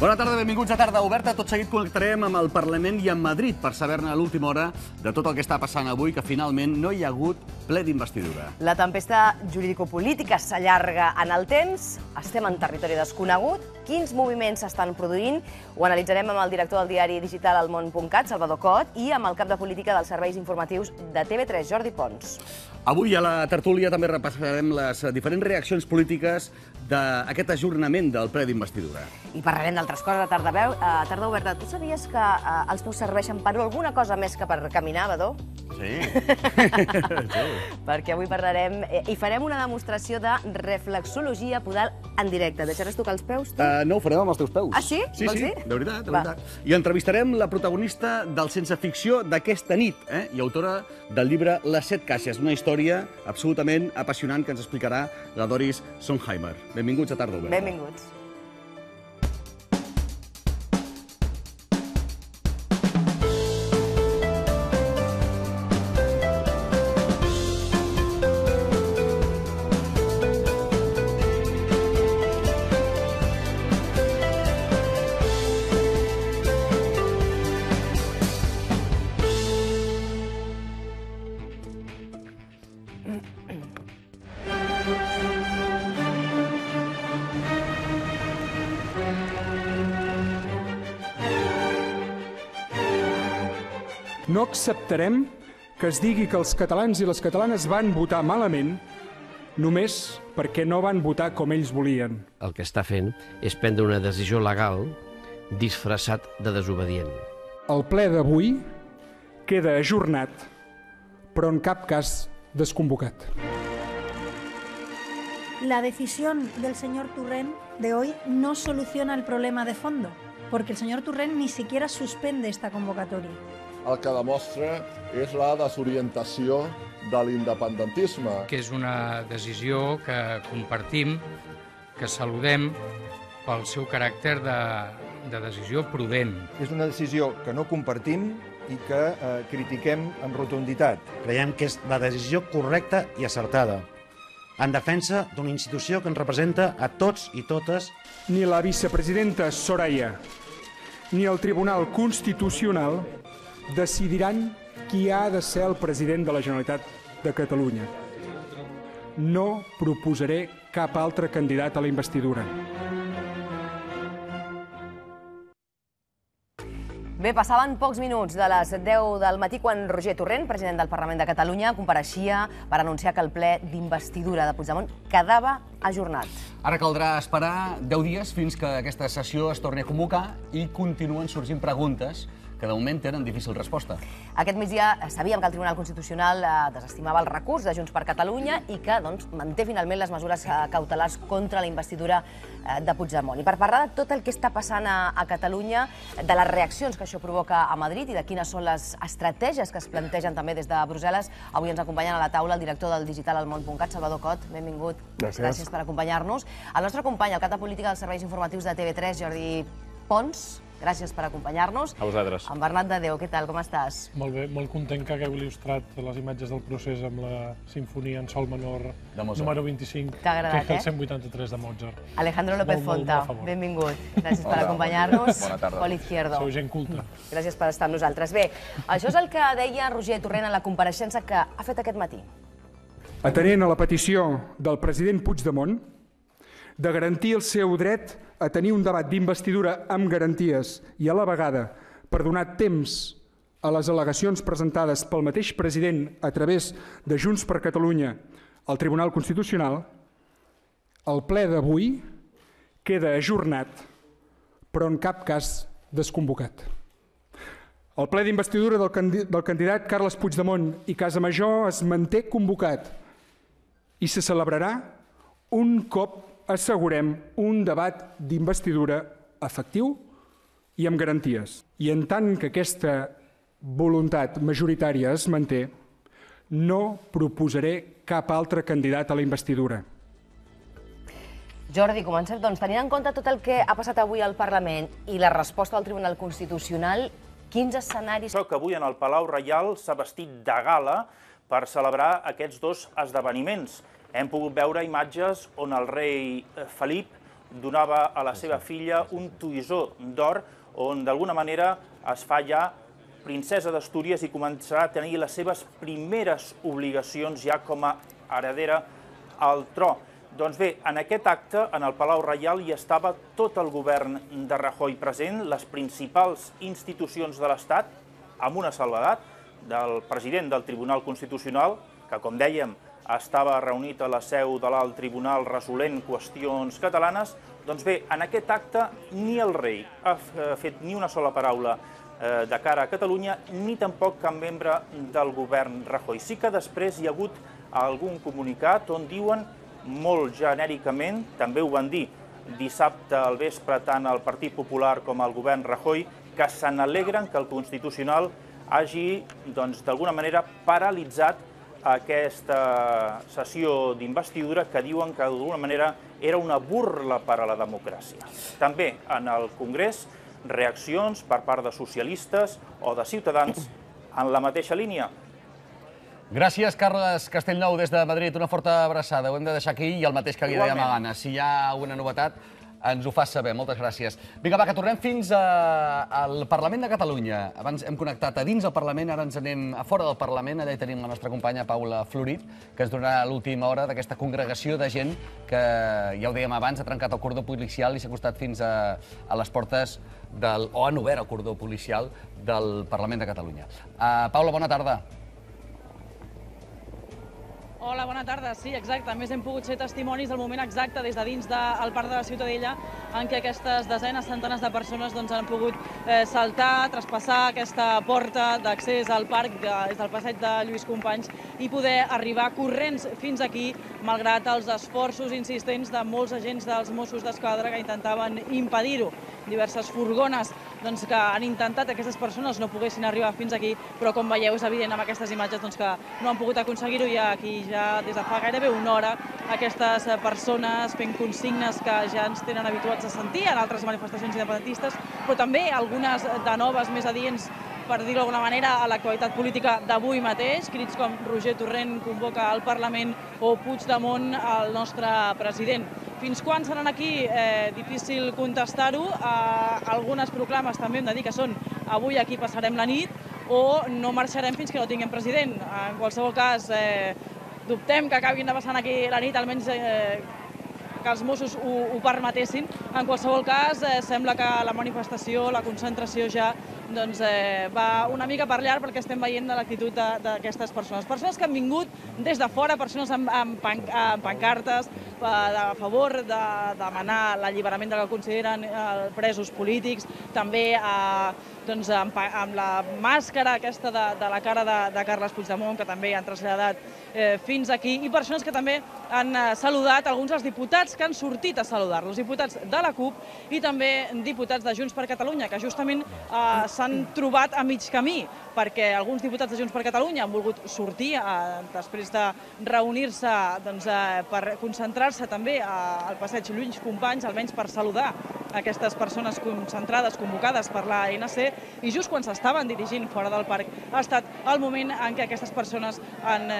Bona tarda, benvinguts a Tarda Oberta. Tot seguit connectarem amb el Parlament i amb Madrid per saber-ne a l'última hora de tot el que està passant avui, que finalment no hi ha hagut ple d'investidura. La tempesta jurídico-política s'allarga en el temps, estem en territori desconegut, quins moviments s'estan produint, ho analitzarem amb el director del diari digital elmon.cat, Salvador Cot, i amb el cap de política dels serveis informatius de TV3, Jordi Pons. Avui a la tertúlia també repassarem les diferents reaccions polítiques d'aquest ajornament del ple d'investidura. I parlarem d'altres coses a Tarda Oberta. Tu sabies que els peus serveixen per alguna cosa més que per caminar, Badó? Sí. Perquè avui parlarem i farem una demostració de reflexologia podal en directe. Deixaràs tocar els peus, tu? No, ho farem amb els teus peus. Ah, sí? Sí, Vols dir? de veritat, de veritat. I entrevistarem la protagonista del Sense Ficció d'aquesta nit, i autora del llibre Les 7 caixes, una història absolutament apassionant que ens explicarà la Doris Sonheimer. Benvinguts a Tarda Oberta. Benvinguts. No acceptarem que es digui que els catalans i les catalanes van votar malament només perquè no van votar com ells volien. El que està fent és prendre una decisió legal disfressat de desobedient. El ple d'avui queda ajornat, però en cap cas desconvocat. La decisión del señor Torrent de hoy no soluciona el problema de fondo, porque el señor Torrent ni siquiera suspende esta convocatoria. El que demostra és la desorientació de l'independentisme. Que és una decisió que compartim, que saludem pel seu caràcter de decisió prudent. És una decisió que no compartim i que critiquem amb rotunditat. Creiem que és la decisió correcta i acertada, en defensa d'una institució que ens representa a tots i totes. Ni la vicepresidenta Soraya ni el Tribunal Constitucional decidiran qui ha de ser el president de la Generalitat de Catalunya. No proposaré cap altre candidat a la investidura. Bé, passaven pocs minuts de les 10 del matí quan Roger Torrent, president del Parlament de Catalunya, compareixia per anunciar que el ple d'investidura de Puigdemont quedava ajornat. Ara caldrà esperar 10 dies fins que aquesta sessió es torni a convocar i continuen sorgint preguntes que de moment tenen difícil resposta. Aquest migdia sabíem que el Tribunal Constitucional desestimava el recurs de Junts per Catalunya i que manté finalment les mesures cautelars contra la investidura de Puigdemont. I per parlar de tot el que està passant a Catalunya, de les reaccions que això provoca a Madrid i de quines són les estratègies que es plantegen també des de Brussel·les, avui ens acompanyen a la taula el director del digital elmon.cat, Salvador Cot. Benvingut. Gràcies per acompanyar-nos. El nostre company, el cap de política dels serveis informatius de TV3, Jordi Pons. Gràcies per acompanyar-nos. A vosaltres. En Bernat de Déu, què tal, com estàs? Molt bé, molt content que hagueu il·lustrat les imatges del procés amb la sinfonia en sol menor número 25, T'ha agradat, que és el 183 de Mozart. Alejandro López Fonta, benvingut. Gràcies per acompanyar-nos. Bona tarda. Pol Izquierdo. Sou gent culta. Gràcies per estar amb nosaltres. Bé, això és el que deia Roger Torrent en la compareixença que ha fet aquest matí. Atenent a la petició del president Puigdemont de garantir el seu dret a tenir un debat d'investidura amb garanties i a la vegada per donar temps a les al·legacions presentades pel mateix president a través de Junts per Catalunya al Tribunal Constitucional, el ple d'avui queda ajornat, però en cap cas desconvocat. El ple d'investidura del candidat Carles Puigdemont i Casamajor es manté convocat i se celebrarà un cop assegurem un debat d'investidura efectiu i amb garanties. I en tant que aquesta voluntat majoritària es manté, no proposaré cap altre candidat a la investidura. Jordi, comencem, doncs, tenint en compte tot el que ha passat avui al Parlament i la resposta del Tribunal Constitucional, quins escenaris... Que avui en el Palau Reial s'ha vestit de gala per celebrar aquests dos esdeveniments. Hem pogut veure imatges on el rei Felip donava a la seva filla un toisó d'or on d'alguna manera es fa ja princesa d'Astúries i començarà a tenir les seves primeres obligacions ja com a heredera al tro. Doncs bé, en aquest acte, en el Palau Reial, hi estava tot el govern de Rajoy present, les principals institucions de l'Estat, amb una salvedat, del president del Tribunal Constitucional, que, com dèiem, estava reunit a la seu de l'Alt Tribunal resolent qüestions catalanes. Doncs bé, en aquest acte ni el rei ha fet ni una sola paraula de cara a Catalunya, ni tampoc cap membre del govern Rajoy. Sí que després hi ha hagut algun comunicat on diuen molt genèricament, també ho van dir dissabte al vespre tant el Partit Popular com el govern Rajoy, que se n'alegren que el Constitucional hagi, d'alguna manera, paralitzat aquesta sessió d'investidura que diuen que d'alguna manera era una burla per a la democràcia. També en el Congrés, reaccions per part de socialistes o de Ciutadans en la mateixa línia. Gràcies, Carles Castellnou, des de Madrid. Una forta abraçada. Ho hem de deixar aquí i el mateix que li dèiem a Gana. Si hi ha una novetat, ens ho fas saber. Moltes gràcies. Vinga, va, que tornem fins al Parlament de Catalunya. Abans hem connectat a dins del Parlament, ara ens anem a fora del Parlament. Allà hi tenim la nostra companya Paula Florit, que ens donarà l'última hora d'aquesta congregació de gent que, ja ho dèiem abans, ha trencat el cordó policial i s'ha acostat fins a les portes o han obert el cordó policial del Parlament de Catalunya. Paula, bona tarda. Hola, bona tarda. Sí, exacte. A més, hem pogut ser testimonis del moment exacte des de dins del Parc de la Ciutadella en què aquestes desenes, centenars de persones han pogut saltar, traspassar aquesta porta d'accés al parc des del passeig de Lluís Companys i poder arribar corrents fins aquí, malgrat els esforços insistents de molts agents dels Mossos d'Esquadra que intentaven impedir-ho. Diverses furgones que han intentat que aquestes persones no poguessin arribar fins aquí, però com veieu és evident amb aquestes imatges que no han pogut aconseguir-ho i aquí ja des de fa gairebé una hora aquestes persones fent consignes que ja ens tenen habituats a sentir en altres manifestacions independentistes, però també algunes de noves més adients, per dir-ho d'alguna manera, a l'actualitat política d'avui mateix, crits com Roger Torrent convoca al Parlament o Puigdemont el nostre president. Fins quan seran aquí? Difícil contestar-ho. Algunes proclames també hem de dir que són avui aquí passarem la nit o no marxarem fins que no tinguem president. En qualsevol cas, dubtem que acabin de passar aquí la nit, almenys que els Mossos ho permetessin. En qualsevol cas, sembla que la manifestació, la concentració ja va una mica per llarg perquè estem veient l'actitud d'aquestes persones. Persones que han vingut des de fora, persones amb pancartes a favor de demanar l'alliberament del que consideren presos polítics, també amb la màscara aquesta de la cara de Carles Puigdemont, que també han traslladat fins aquí, i persones que també han saludat alguns dels diputats que han sortit a saludar-los, diputats de la CUP i també diputats de Junts per Catalunya, que justament s'han trobat a mig camí, perquè alguns diputats de Junts per Catalunya han volgut sortir després de reunir-se per concentrar-se també al passeig Lluís Companys, almenys per saludar aquestes persones concentrades, convocades per l'ANC, i just quan s'estaven dirigint fora del parc ha estat el moment en què aquestes persones han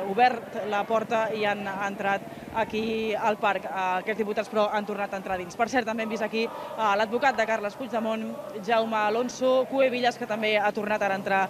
obert la porta i han entrat aquí al parc. Aquests diputats, però, han tornat a entrar dins. Per cert, també hem vist aquí l'advocat de Carles Puigdemont, Jaume Alonso Cuevillas, que també ha tornat a entrar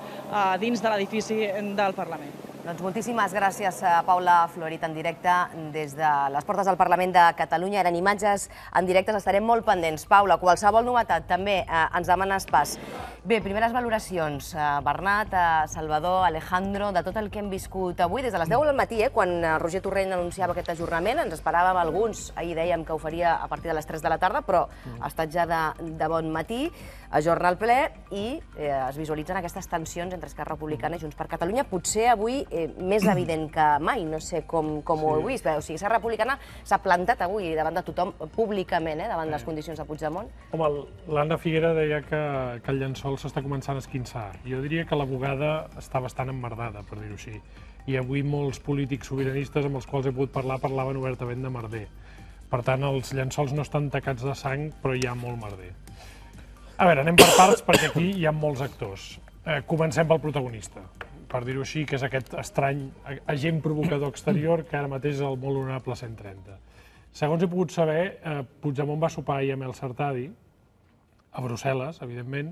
dins de l'edifici del Parlament. Doncs moltíssimes gràcies, Paula Florit, en directe des de les portes del Parlament de Catalunya. Eren imatges en directe, estarem molt pendents. Paula, qualsevol novetat també ens demanes pas. Bé, primeres valoracions. Bernat, Salvador, Alejandro, de tot el que hem viscut avui, des de les 10 del matí, quan Roger Torrent anunciava aquest ajornament, ens esperàvem alguns, ahir dèiem que ho faria a partir de les 3 de la tarda, però ha estat ja de bon matí, ajorna el ple i es visualitzen aquestes tensions entre Esquerra Republicana i Junts per Catalunya. Potser avui més evident que mai, no sé com ho heu vist. O sigui, Esquerra Republicana s'ha plantat avui davant de tothom públicament, davant les condicions de Puigdemont. Home, l'Anna Figuera deia que el llençol s'està començant a esquinçar. Jo diria que la bugada està bastant emmerdada, per dir-ho així. I avui molts polítics sobiranistes amb els quals he pogut parlar parlaven obertament de merder. Per tant, els llençols no estan tacats de sang, però hi ha molt merder. A veure, anem per parts perquè aquí hi ha molts actors. Comencem pel protagonista, per dir-ho així, que és aquest estrany agent provocador exterior que ara mateix és el molt honorable 130. Segons he pogut saber, Puigdemont va sopar ahir amb el Sartadi, a Brussel·les, evidentment,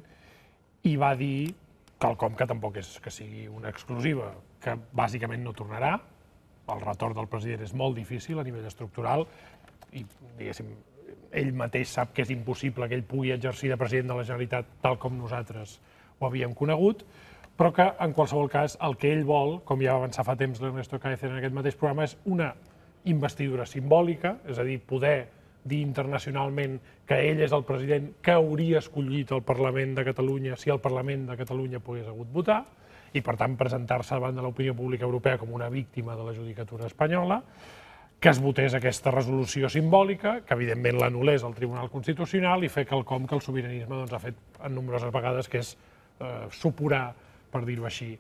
i va dir quelcom que tampoc és que sigui una exclusiva, que bàsicament no tornarà. El retorn del president és molt difícil a nivell estructural i, diguéssim, ell mateix sap que és impossible que ell pugui exercir de president de la Generalitat tal com nosaltres ho havíem conegut, però que, en qualsevol cas, el que ell vol, com ja va avançar fa temps l'Ernesto Caezer en aquest mateix programa, és una investidura simbòlica, és a dir, poder dir internacionalment que ell és el president que hauria escollit el Parlament de Catalunya si el Parlament de Catalunya pogués hagut votar, i, per tant, presentar-se davant de l'opinió pública europea com una víctima de la judicatura espanyola, que es votés aquesta resolució simbòlica, que evidentment l'anul·lés el Tribunal Constitucional i fer quelcom que el sobiranisme ha fet en nombroses vegades, que és supurar, per dir-ho així,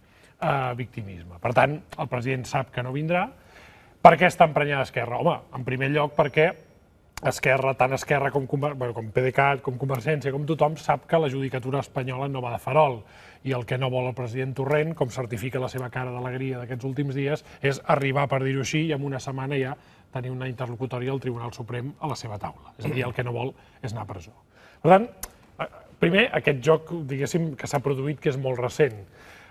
victimisme. Per tant, el president sap que no vindrà. Per què està emprenyada Esquerra? Home, en primer lloc perquè Esquerra, tant Esquerra com PDeCAT, com Convergència, com tothom, sap que la judicatura espanyola no va de farol. I el que no vol el president Torrent, com certifica la seva cara d'alegria d'aquests últims dies, és arribar, per dir-ho així, i en una setmana ja tenir una interlocutòria del Tribunal Suprem a la seva taula. És a dir, el que no vol és anar a presó. Per tant, primer, aquest joc, diguéssim, que s'ha produït, que és molt recent.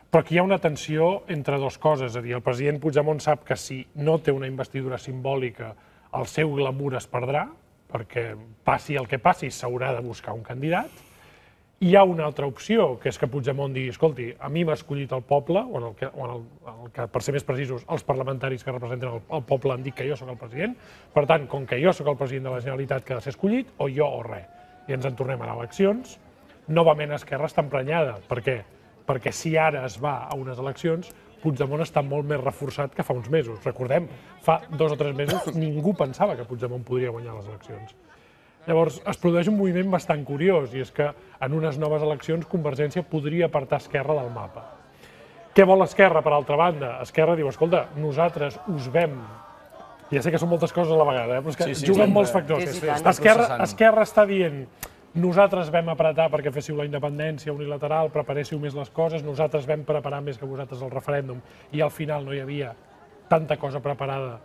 Però aquí hi ha una tensió entre dues coses. És a dir, el president Puigdemont sap que si no té una investidura simbòlica, el seu glamour es perdrà, perquè passi el que passi, s'haurà de buscar un candidat. Hi ha una altra opció, que és que Puigdemont digui, escolti, a mi m'ha escollit el poble, o per ser més precisos, els parlamentaris que representen el poble han dit que jo sóc el president, per tant, com que jo sóc el president de la Generalitat que ha de ser escollit, o jo o res. I ens en tornem a eleccions. Novament Esquerra està emprenyada. Per què? Perquè si ara es va a unes eleccions, Puigdemont està molt més reforçat que fa uns mesos. Recordem, fa 2 o 3 mesos ningú pensava que Puigdemont podria guanyar les eleccions. Llavors, es produeix un moviment bastant curiós, i és que en unes noves eleccions Convergència podria apartar Esquerra del mapa. Què vol Esquerra, per altra banda? Esquerra diu, escolta, nosaltres us vam... Ja sé que són moltes coses a la vegada, però és que juguen molts factors. Esquerra està dient, nosaltres vam apretar perquè féssiu la independència unilateral, preparéssiu més les coses, nosaltres vam preparar més que vosaltres el referèndum, i al final no hi havia tanta cosa preparada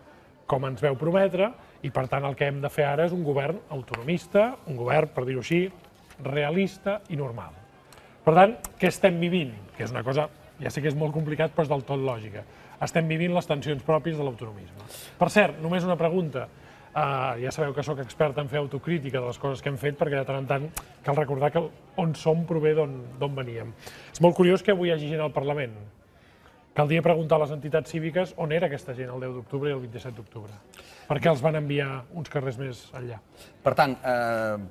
com ens veu prometre, i per tant el que hem de fer ara és un govern autonomista, un govern, per dir-ho així, realista i normal. Per tant, què estem vivint? Que és una cosa, ja sé que és molt complicat, però és del tot lògica. Estem vivint les tensions pròpies de l'autonomisme. Per cert, només una pregunta. Ja sabeu que sóc expert en fer autocrítica de les coses que hem fet, perquè de tant en tant cal recordar que on som prové d'on veníem. És molt curiós que avui hi hagi gent al Parlament. Caldria preguntar a les entitats cíviques on era aquesta gent el 10 d'octubre i el 27 d'octubre. Per què els van enviar uns carrers més enllà? Per tant,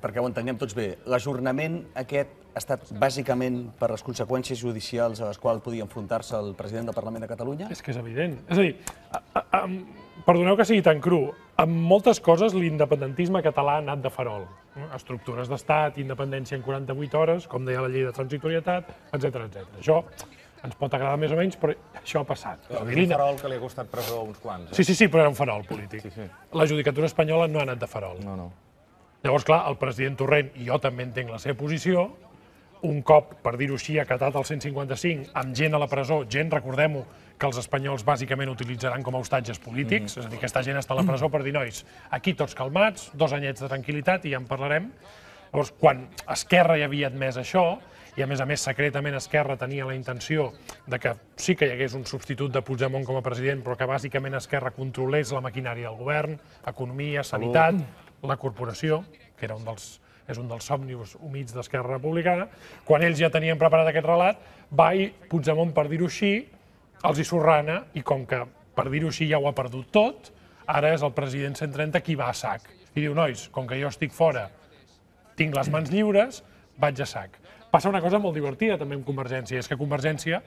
perquè ho entenguem tots bé, l'ajornament aquest ha estat bàsicament per les conseqüències judicials a les quals podia enfrontar-se el president del Parlament de Catalunya? És que és evident. És a dir, perdoneu que sigui tan cru, en moltes coses l'independentisme català ha anat de farol. Estructures d'estat, independència en 48 hores, com deia la llei de transitorietat, etc. Això ens pot agradar més o menys, però això ha passat. És un farol que li ha costat presó a uns quants. Sí, però era un farol polític. La judicatura espanyola no ha anat de farol. Llavors, clar, el president Torrent, i jo també entenc la seva posició, un cop, per dir-ho així, acatat el 155, amb gent a la presó, gent, recordem-ho, que els espanyols bàsicament utilitzaran com a hostatges polítics, és a dir, aquesta gent està a la presó per dir, nois, aquí tots calmats, 2 anyets de tranquil·litat i ja en parlarem. Llavors, quan Esquerra ja havia admès això, i a més, secretament Esquerra tenia la intenció de que sí que hi hagués un substitut de Puigdemont com a president, però que bàsicament Esquerra controlés la maquinària del govern, economia, sanitat, la corporació, que era és un dels somnis humits d'Esquerra Republicana. Quan ells ja tenien preparat aquest relat, va i Puigdemont, per dir-ho així, els hi sorrana, i com que, per dir-ho així, ja ho ha perdut tot, ara és el president 130 qui va a sac. I diu, nois, com que jo estic fora, tinc les mans lliures, vaig a sac. Passa una cosa molt divertida també amb Convergència, és que Convergència,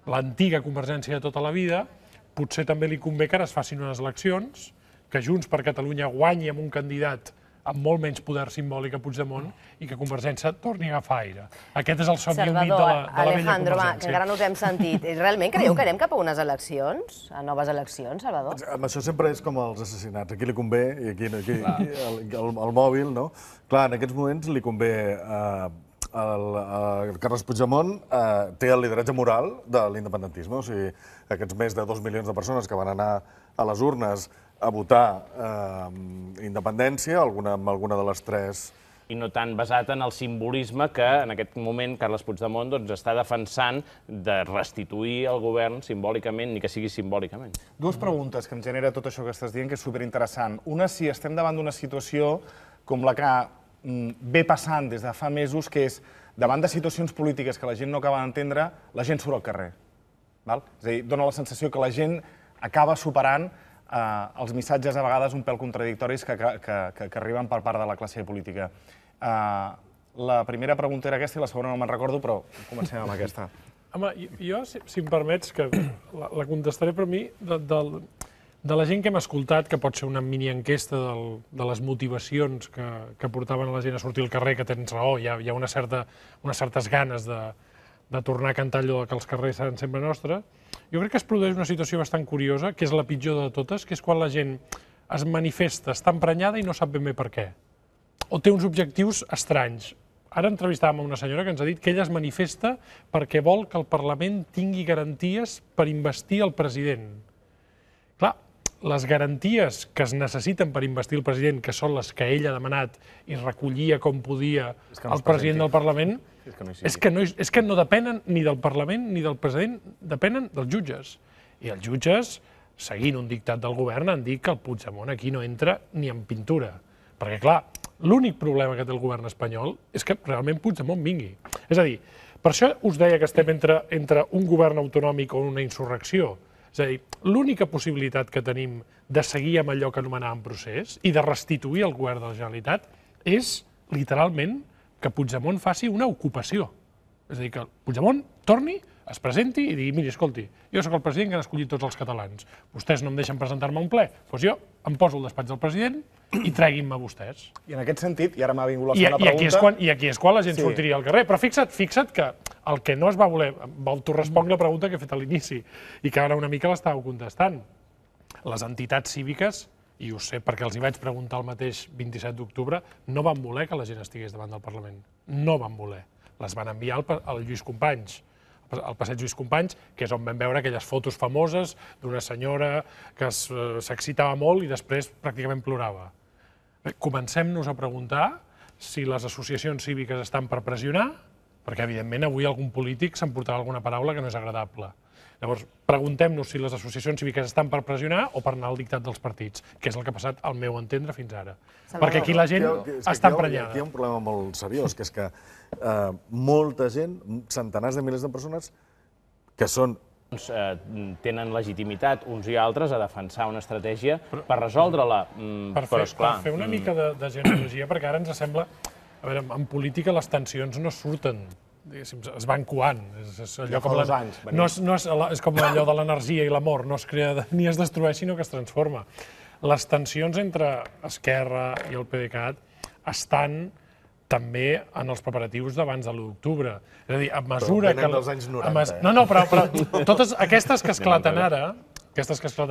l'antiga Convergència de tota la vida, potser també li convé que ara es facin unes eleccions, que Junts per Catalunya guanyi amb un candidat amb molt menys poder simbòlic a Puigdemont i que Convergència torni a agafar aire. Aquest és el somni humit de la vella Convergència. Alejandro, que encara no us hem sentit. Realment creieu que anem cap a unes eleccions, a noves eleccions, Salvador? Això sempre és com els assassinats. Aquí li convé, i aquí el mòbil, no? Clar, en aquests moments li convé Carles Puigdemont té el lideratge moral de l'independentisme. O sigui, aquests més de 2 milions de persones que van anar a les urnes a votar independència, amb alguna de les tres... I no tant basat en el simbolisme que en aquest moment Carles Puigdemont està defensant de restituir el govern simbòlicament, ni que sigui simbòlicament. Dues preguntes que em genera tot això que estàs dient, que és superinteressant. Una, si estem davant d'una situació com la que ve passant des de fa mesos, que és davant de situacions polítiques que la gent no acaba d'entendre, la gent surt al carrer. És a dir, dona la sensació que la gent acaba superant els missatges a vegades un pèl contradictoris que arriben per part de la classe política. La primera pregunta era aquesta i la segona no me'n recordo, però comencem amb aquesta. Home, jo, si em permets, que la contestaré per mi, de la gent que hem escoltat, que pot ser una mini-enquesta de les motivacions que portaven a la gent a sortir al carrer, que tens raó, hi ha unes certes ganes de tornar a cantar allò que els carrers seran sempre nostres. Jo crec que es produeix una situació bastant curiosa, que és la pitjor de totes, que és quan la gent es manifesta, està emprenyada i no sap ben bé per què. O té uns objectius estranys. Ara entrevistàvem una senyora que ens ha dit que ella es manifesta perquè vol que el Parlament tingui garanties per investir el president. Clar, les garanties que es necessiten per investir el president, que són les que ell ha demanat i recollia com podia el president del Parlament, és que no depenen ni del Parlament ni del president, depenen dels jutges. I els jutges, seguint un dictat del govern, han dit que el Puigdemont aquí no entra ni en pintura. Perquè, clar, l'únic problema que té el govern espanyol és que realment Puigdemont vingui. És a dir, per això us deia que estem entre un govern autonòmic o una insurrecció. És a dir, l'única possibilitat que tenim de seguir amb allò que anomenàvem procés i de restituir el govern de la Generalitat és, literalment, que Puigdemont faci una ocupació. És a dir, que Puigdemont torni, es presenti i digui, miri, escolti, jo sóc el president que han escollit tots els catalans. Vostès no em deixen presentar-me a un ple. Doncs jo em poso al despatx del president i treguin-me vostès. I en aquest sentit, i ara m'ha vingut la segona pregunta... I aquí és quan la gent sortiria al carrer. Però fixa't que el que no es va voler... T'ho responc la pregunta que he fet a l'inici i que ara una mica l'estàveu contestant. Les entitats cíviques, i ho sé perquè els hi vaig preguntar el mateix 27 d'octubre, no van voler que la gent estigués davant del Parlament. No van voler. Les van enviar al Lluís Companys, al passeig Lluís Companys, que és on vam veure aquelles fotos famoses d'una senyora que s'excitava molt i després pràcticament plorava. Comencem-nos a preguntar si les associacions cíviques estan per pressionar, perquè evidentment avui algun polític s'emportarà alguna paraula que no és agradable. Llavors, preguntem-nos si les associacions cíviques estan per pressionar o per anar al dictat dels partits, que és el que ha passat, al meu entendre, fins ara. Perquè aquí la gent està emprenyada. Aquí hi ha un problema molt seriós, que és que molta gent, centenars de milers de persones, que són... tenen legitimitat uns i altres a defensar una estratègia per resoldre-la. Per fer una mica de genealogia, perquè ara ens sembla... A veure, en política les tensions no surten, es van coant. És com allò de l'energia i l'amor, no es crea ni es destrueix, sinó que es transforma. Les tensions entre Esquerra i el PDeCAT estan també en els preparatius d'abans de l'1 d'octubre. És a dir, a mesura que... Venen dels anys 90. No, però totes aquestes que esclaten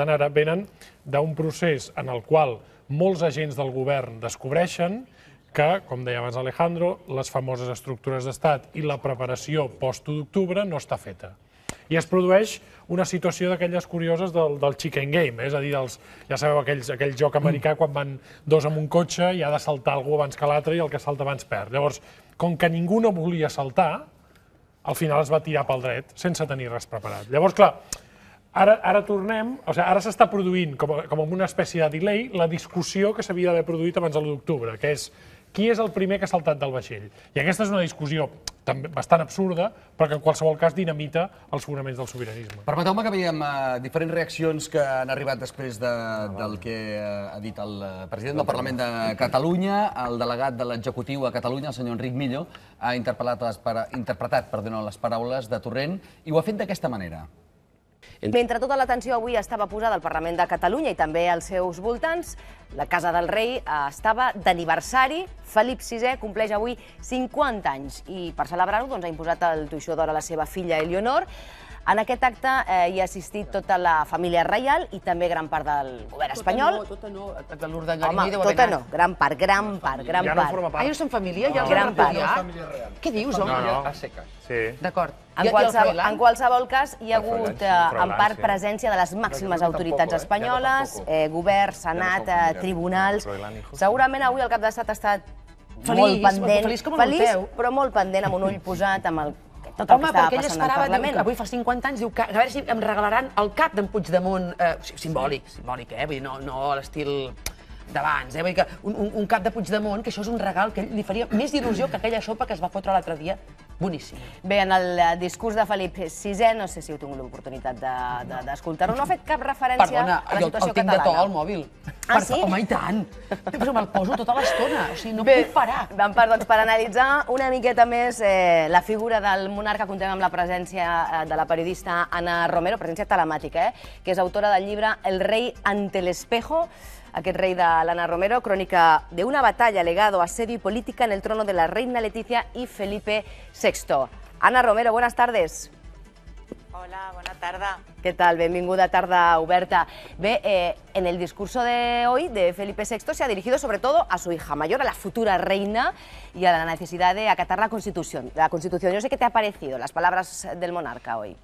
ara venen d'un procés en el qual molts agents del govern descobreixen que, com deia abans Alejandro, les famoses estructures d'estat i la preparació post-1 d'octubre no està feta. I es produeix una situació d'aquelles curioses del chicken game, és a dir, ja sabeu aquell joc americà quan van dos en un cotxe i ha de saltar algú abans que l'altre i el que salta abans perd. Llavors, com que ningú no volia saltar, al final es va tirar pel dret sense tenir res preparat. Llavors, clar, ara tornem, ara s'està produint com una espècie de delay la discussió que s'havia d'haver produït abans de l'1 d'octubre, que és qui és el primer que ha saltat del vaixell. I aquesta és una discussió bastant absurda, però que en qualsevol cas dinamita els fonaments del sobiranisme. Permeteu-me que veiem diferents reaccions que han arribat després del que ha dit el president del Parlament de Catalunya. El delegat de l'executiu a Catalunya, el senyor Enric Millo, ha interpretat les paraules de Torrent i ho ha fet d'aquesta manera. Mentre tota l'atenció avui estava posada al Parlament de Catalunya i també als seus voltants, la Casa del Rei estava d'aniversari. Felip VI compleix avui 50 anys i per celebrar-ho ha imposat el toixó d'or a la seva filla Eleonor. En aquest acte hi ha assistit tota la família reial i també gran part del govern espanyol. Tota no, l'Urdangarín Home, hi deu haver tota anat. no, gran part. Ja no forma part. Ah, no són família? Ja els Gran han part. repudiat? Què dius, home? A seques. Sí. D'acord. En qualsevol cas, hi ha El Froilán, hagut sí, en Froilán, part sí. presència de les màximes autoritats espanyoles, govern, senat, tribunals. Segurament avui el cap d'estat ha estat molt pendent, feliç, però molt pendent, amb un ull posat amb el tot el que estava perquè ell passant al esperava, Parlament. avui fa 50 anys, diu que a veure si em regalaran el cap d'en Puigdemont, simbòlic, vull dir, no a l'estil d'abans, vull dir que un cap de Puigdemont, que això és un regal que li faria més il·lusió que aquella sopa que es va fotre l'altre dia, boníssim. Bé, en el discurs de Felip VI, no sé si heu tingut l'oportunitat d'escoltar-ho, no ha fet cap referència a la situació catalana. Perdona, jo el tinc de to al mòbil. Ah, sí? Home, i tant. Però me'l poso tota l'estona, o sigui, no puc parar. En part, doncs, per analitzar una miqueta més la figura del monarca, contem amb la presència de la periodista Ana Romero, presència telemàtica, que és autora del llibre El rey ante el espejo, aquest rei de l'Anna Romero, crònica de una batalla, legado, asedio y política en el trono de la reina Letizia y Felipe VI. Ana Romero, buenas tardes. Hola, bona tarda. ¿Qué tal? Benvinguda a Tarda Oberta. Ve, en el discurso de hoy de Felipe VI se ha dirigido sobre todo a su hija mayor, a la futura reina, y a la necesidad de acatar la Constitución. Yo sé qué te ha parecido las palabras del monarca hoy.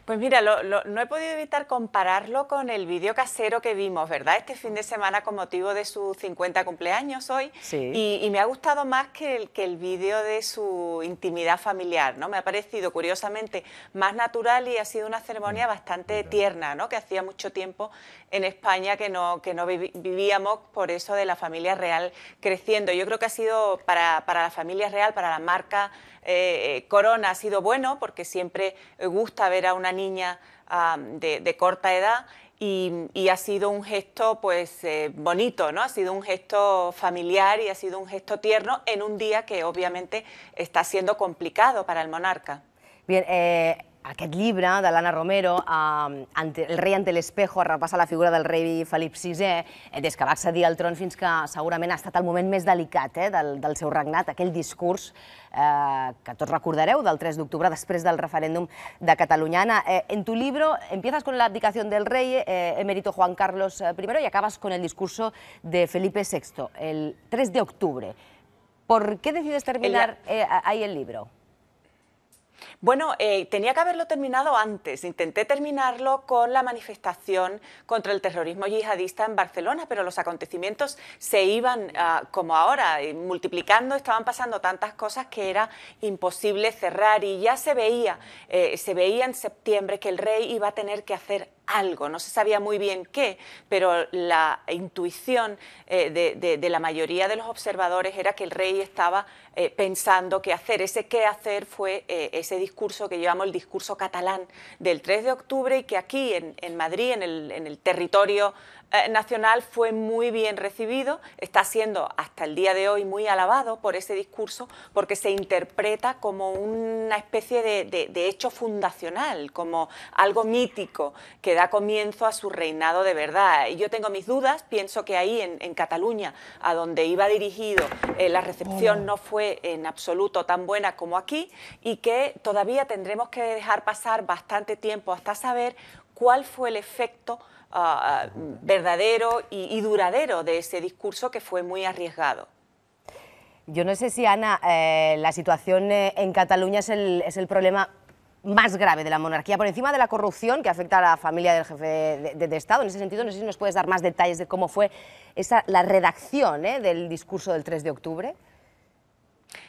Pues mira, no he podido evitar compararlo con el vídeo casero que vimos, ¿verdad? Este fin de semana con motivo de su 50 cumpleaños hoy. Sí. Y me ha gustado más que el vídeo de su intimidad familiar, ¿no? Me ha parecido, curiosamente, más natural y ha sido una ceremonia bastante tierna, ¿no? Que hacía mucho tiempo en España que no vivíamos por eso de la familia real creciendo. Yo creo que ha sido para la familia real, para la marca Corona, ha sido bueno porque siempre gusta ver a una niña de corta edad y ha sido un gesto pues bonito, ¿no? Ha sido un gesto familiar y ha sido un gesto tierno en un día que obviamente está siendo complicado para el monarca. Bien, aquest llibre de l'Anna Romero, El rei ante l'espejo, repassa la figura del rei Felip VI des que va accedir al tron fins que segurament ha estat el moment més delicat del seu regnat, aquell discurs que tots recordareu del 3 de octubre després del referéndum de Catalunya. Ana, en tu libro empiezas con la abdicación del rey emérito Juan Carlos I y acabas con el discurso de Felipe VI, el 3 de octubre. ¿Por qué decides terminar ahí el libro? Bueno, tenía que haberlo terminado antes. Intenté terminarlo con la manifestación contra el terrorismo yihadista en Barcelona, pero los acontecimientos se iban, como ahora, multiplicando, estaban pasando tantas cosas que era imposible cerrar y ya se veía en septiembre que el rey iba a tener que hacer algo, no se sabía muy bien qué, pero la intuición de la mayoría de los observadores era que el rey estaba pensando qué hacer. Ese qué hacer fue ese discurso que llevamos, el discurso catalán del 3 de octubre y que aquí en Madrid, en el territorio nacional, fue muy bien recibido, está siendo hasta el día de hoy muy alabado por ese discurso porque se interpreta como una especie de hecho fundacional, como algo mítico que da comienzo a su reinado de verdad. Y yo tengo mis dudas, pienso que ahí en Cataluña, a donde iba dirigido, la recepción no fue en absoluto tan buena como aquí y que todavía tendremos que dejar pasar bastante tiempo hasta saber cuál fue el efecto verdadero y duradero de ese discurso que fue muy arriesgado. Yo no sé si, Ana, la situación en Cataluña es el problema más grave de la monarquía, por encima de la corrupción que afecta a la familia del jefe de Estado. En ese sentido, no sé si nos puedes dar más detalles de cómo fue la redacción del discurso del 3 de octubre.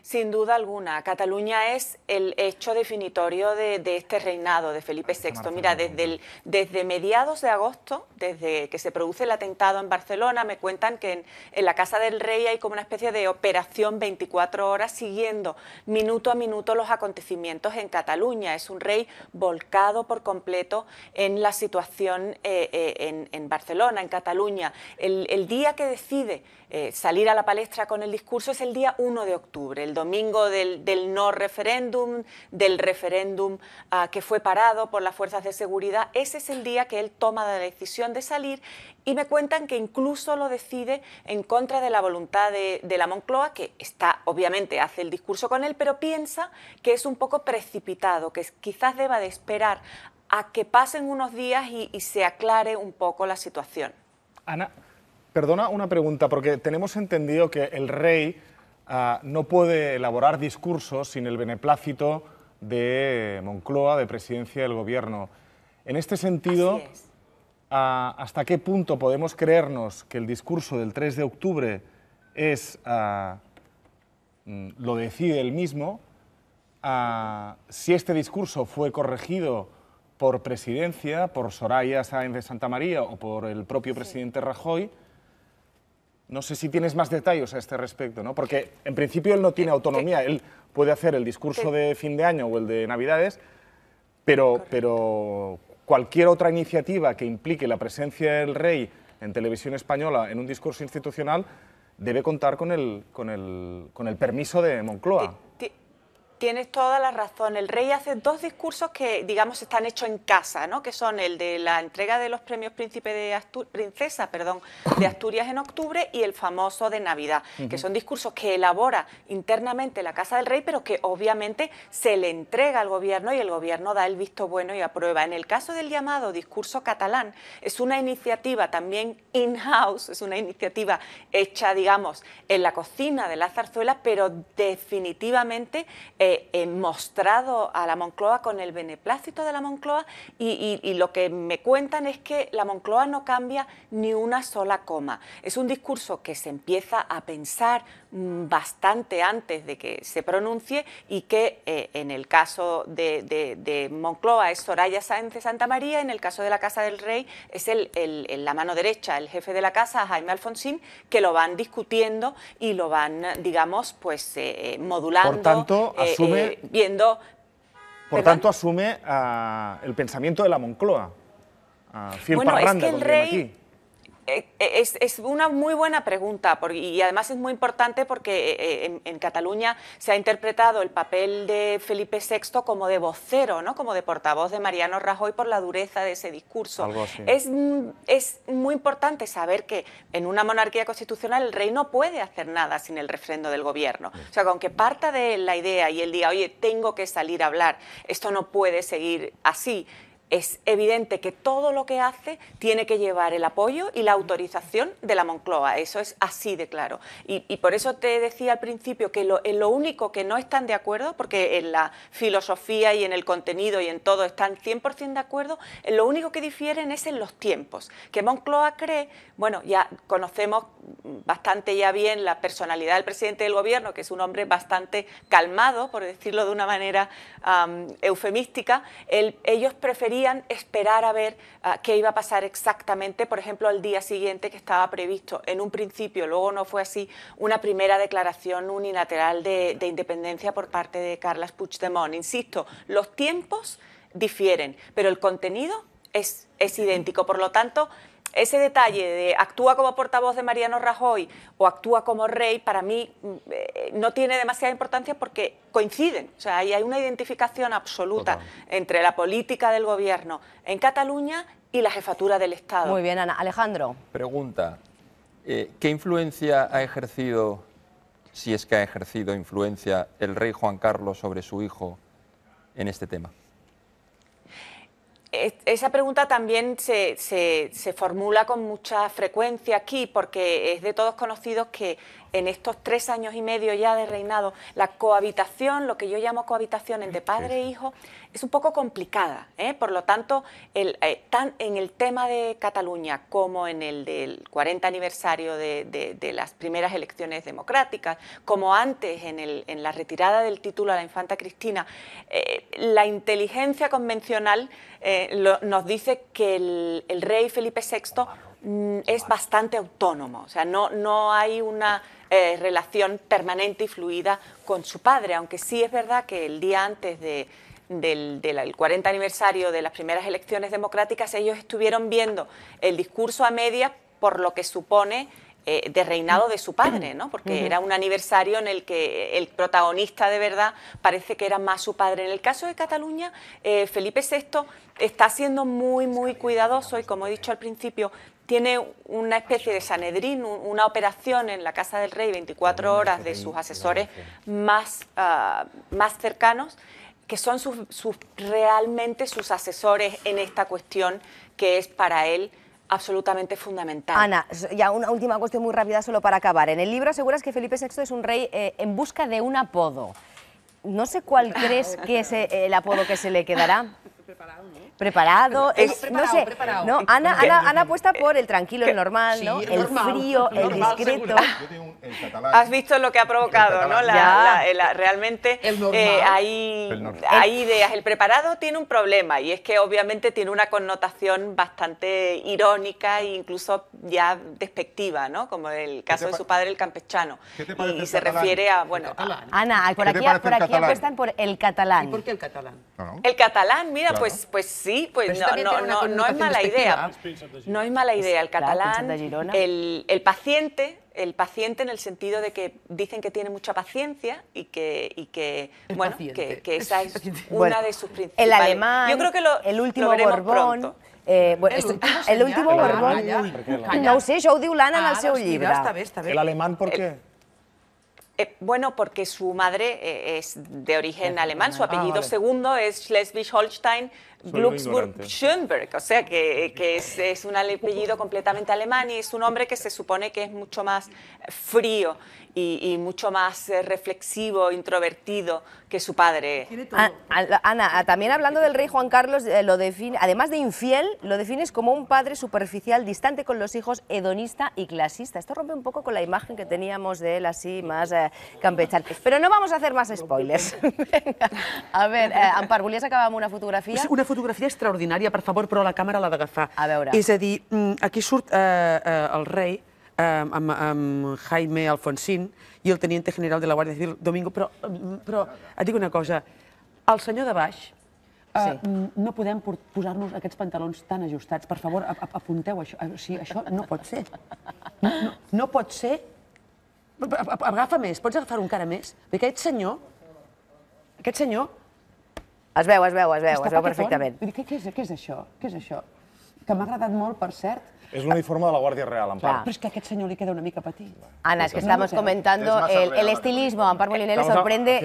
Sin duda alguna, Cataluña es el hecho definitorio de este reinado de Felipe VI. Mira, desde mediados de agosto, desde que se produce el atentado en Barcelona, me cuentan que en la Casa del Rey hay como una especie de operación 24 horas siguiendo minuto a minuto los acontecimientos en Cataluña. Es un rey volcado por completo en la situación en Barcelona, en Cataluña. El día que decide salir a la palestra con el discurso es el día 1 de octubre, el domingo del no referéndum, del referéndum que fue parado por las fuerzas de seguridad. Ese es el día que él toma la decisión de salir y me cuentan que incluso lo decide en contra de la voluntad de la Moncloa, que obviamente hace el discurso con él, pero piensa que es un poco precipitado, que quizás deba de esperar a que pasen unos días y se aclare un poco la situación. Ana, perdona una pregunta, porque tenemos entendido que el rey no puede elaborar discursos sin el beneplácito de Moncloa, de Presidencia del Gobierno. En este sentido, ¿hasta qué punto podemos creernos que el discurso del 3 de octubre lo decide él mismo? Si este discurso fue corregido por Presidencia, por Soraya Sáenz de Santamaría o por el propio presidente Rajoy. No sé si tienes más detalles a este respecto, ¿no? Porque en principio él no tiene autonomía, él puede hacer el discurso de fin de año o el de Navidades, pero cualquier otra iniciativa que implique la presencia del rey en televisión española en un discurso institucional debe contar con el permiso de Moncloa. Tienes toda la razón. El rey hace dos discursos que, digamos, están hechos en casa, ¿no? Que son el de la entrega de los premios Princesa de Asturias en octubre y el famoso de Navidad, que son discursos que elabora internamente la Casa del Rey, pero que obviamente se le entrega al gobierno y el gobierno da el visto bueno y aprueba. En el caso del llamado discurso catalán, es una iniciativa también in-house, es una iniciativa hecha, digamos, en la cocina de la zarzuela, pero definitivamente mostrado a la Moncloa con el beneplácito de la Moncloa y lo que me cuentan es que la Moncloa no cambia ni una sola coma. Es un discurso que se empieza a pensar bastante antes de que se pronuncie y que en el caso de Moncloa es Soraya Sáenz de Santamaría, en el caso de la Casa del Rey es la mano derecha, el jefe de la casa, Jaime Alfonsín, que lo van discutiendo y lo van, digamos, pues modulando. Por tanto, asume, viendo... Por tanto, asume el pensamiento de la Moncloa. Bueno, es que el rey... Es una muy buena pregunta y además es muy importante porque en Cataluña se ha interpretado el papel de Felipe VI como de vocero, ¿no? Como de portavoz de Mariano Rajoy por la dureza de ese discurso. Algo así. Es muy importante saber que en una monarquía constitucional el rey no puede hacer nada sin el refrendo del gobierno. O sea, aunque parta de la idea y él diga, oye, tengo que salir a hablar, esto no puede seguir así, es evidente que todo lo que hace tiene que llevar el apoyo y la autorización de la Moncloa. Eso es así de claro. Y por eso te decía al principio que en lo único que no están de acuerdo, porque en la filosofía y en el contenido y en todo están 100% de acuerdo, en lo único que difieren es en los tiempos. Que Moncloa cree, bueno, ya conocemos bastante ya bien la personalidad del presidente del gobierno, que es un hombre bastante calmado, por decirlo de una manera eufemística. Ellos preferían esperar a ver qué iba a pasar exactamente, por ejemplo, al día siguiente que estaba previsto en un principio, luego no fue así, una primera declaración unilateral de independencia por parte de Carles Puigdemont. Insisto, los tiempos difieren, pero el contenido es idéntico. Por lo tanto, ese detalle de actúa como portavoz de Mariano Rajoy o actúa como rey, para mí no tiene demasiada importancia porque coinciden. O sea, hay una identificación absoluta entre la política del gobierno en Cataluña y la jefatura del Estado. Muy bien, Ana. Alejandro. Pregunta, ¿qué influencia ha ejercido, si es que ha ejercido influencia, el rey Juan Carlos sobre su hijo en este tema? Esa pregunta también se formula con mucha frecuencia aquí porque es de todos conocidos que en estos 3 años y medio ya de reinado la cohabitación, lo que yo llamo cohabitación entre padre e hijo, es un poco complicada, ¿eh? Por lo tanto, tan en el tema de Cataluña como en el del 40 aniversario de las primeras elecciones democráticas, como antes en la retirada del título a la infanta Cristina, la inteligencia convencional nos dice que el rey Felipe VI es bastante autónomo, o sea, no hay una relación permanente y fluida con su padre, aunque sí es verdad que el día antes del 40 aniversario de las primeras elecciones democráticas ellos estuvieron viendo el discurso a medias por lo que supone de reinado de su padre, ¿no? Porque era un aniversario en el que el protagonista de verdad parece que era más su padre. En el caso de Cataluña, Felipe VI está siendo muy, muy cuidadoso y, como he dicho al principio, tiene una especie de Sanedrín, una operación en la Casa del Rey 24 horas de sus asesores más cercanos, que son realmente sus asesores en esta cuestión que es para él absolutamente fundamental. Ana, ya una última cuestión muy rápida solo para acabar. En el libro aseguras que Felipe VI es un rey en busca de un apodo. No sé cuál crees que es el apodo que se le quedará. Preparado, no sé, no, Ana apuesta por el tranquilo, el normal, ¿no? El frío, el discreto. Has visto lo que ha provocado, ¿no? Realmente hay ideas. El preparado tiene un problema y es que obviamente tiene una connotación bastante irónica e incluso ya despectiva, ¿no? Como el caso de su padre, el campechano. Y se refiere a, bueno... Ana, por aquí apuestan por el catalán. ¿Y por qué el catalán? El catalán, mira, pues sí, pues no es mala idea. No es mala idea. El catalán, el paciente en el sentido de que dicen que tiene mucha paciencia y que bueno, que esa es una de sus principales. El alemán, yo creo que el último Borbón. El último Borbón. No ho sé, això ho diu l'Anna en el seu llibre. ¿El alemán por qué? Bueno, porque su madre es de origen alemán, su apellido segundo es Schleswig-Holstein, Glücksburg-Schönberg, o sea que es un apellido completamente alemán y es un hombre que se supone que es mucho más frío y mucho más reflexivo, introvertido que su padre. Ana, también hablando del rey Juan Carlos, lo define, además de infiel, lo defines como un padre superficial, distante con los hijos, hedonista y clasista. Esto rompe un poco con la imagen que teníamos de él así más campechano. Pero no vamos a hacer más spoilers. Venga. A ver, Ampar, volies acabar amb una fotografia? Una fotografia extraordinària, per favor, però la càmera l'ha d'agafar. A veure. És a dir, aquí surt el rei amb Jaime Alfonsín i el teniente general de la Guàrdia Civil, Domingo, però et dic una cosa, el senyor de baix, no podem posar-nos aquests pantalons tan ajustats. Per favor, apunteu això. O sigui, això no pot ser. No pot ser. Agafa més, pots agafar un cara més? Perquè aquest senyor... Es veu perfectament. Què és això? Què és això? Que m'ha agradat molt, per cert. Es un uniforme de la Guardia Real, Ampar. Pero es que a aquest senyor li queda una mica petit. Ana, es que estamos comentando el estilismo. A Ampar Moliner le sorprende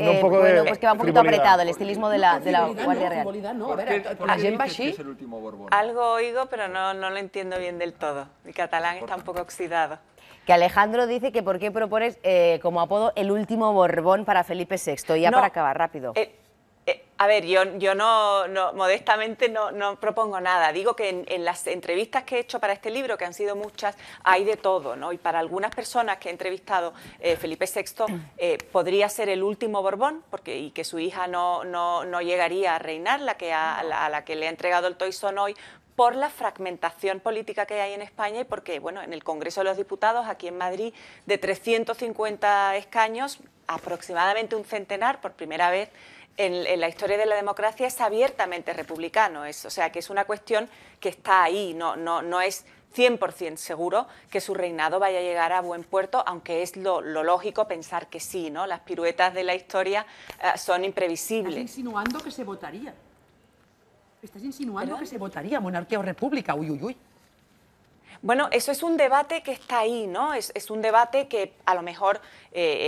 pues que va un poquito apretado, el estilismo de la Guardia Real. No, a veure, la gent va així. Algo oigo, pero no lo entiendo bien del todo. Mi catalán está un poco oxidado. Que Alejandro dice que por qué propones como apodo el último Borbón para Felipe VI. Ya para acabar, rápido. A ver, yo modestamente no propongo nada. Digo que en las entrevistas que he hecho para este libro, que han sido muchas, hay de todo, ¿no? Y para algunas personas que he entrevistado, Felipe VI podría ser el último Borbón, y que su hija no llegaría a reinar, a la que le ha entregado el toisón hoy, por la fragmentación política que hay en España y porque, bueno, en el Congreso de los Diputados, aquí en Madrid, de 350 escaños, aproximadamente un centenar, por primera vez, en la historia de la democracia es abiertamente republicano, o sea que es una cuestión que está ahí, no es 100% seguro que su reinado vaya a llegar a buen puerto, aunque es lo lógico pensar que sí, ¿no? Las piruetas de la historia son imprevisibles. Estás insinuando que se votaría. Estás insinuando que se votaría monarquía o república, uy, uy, uy. Bueno, eso es un debate que está ahí, ¿no? Es un debate que a lo mejor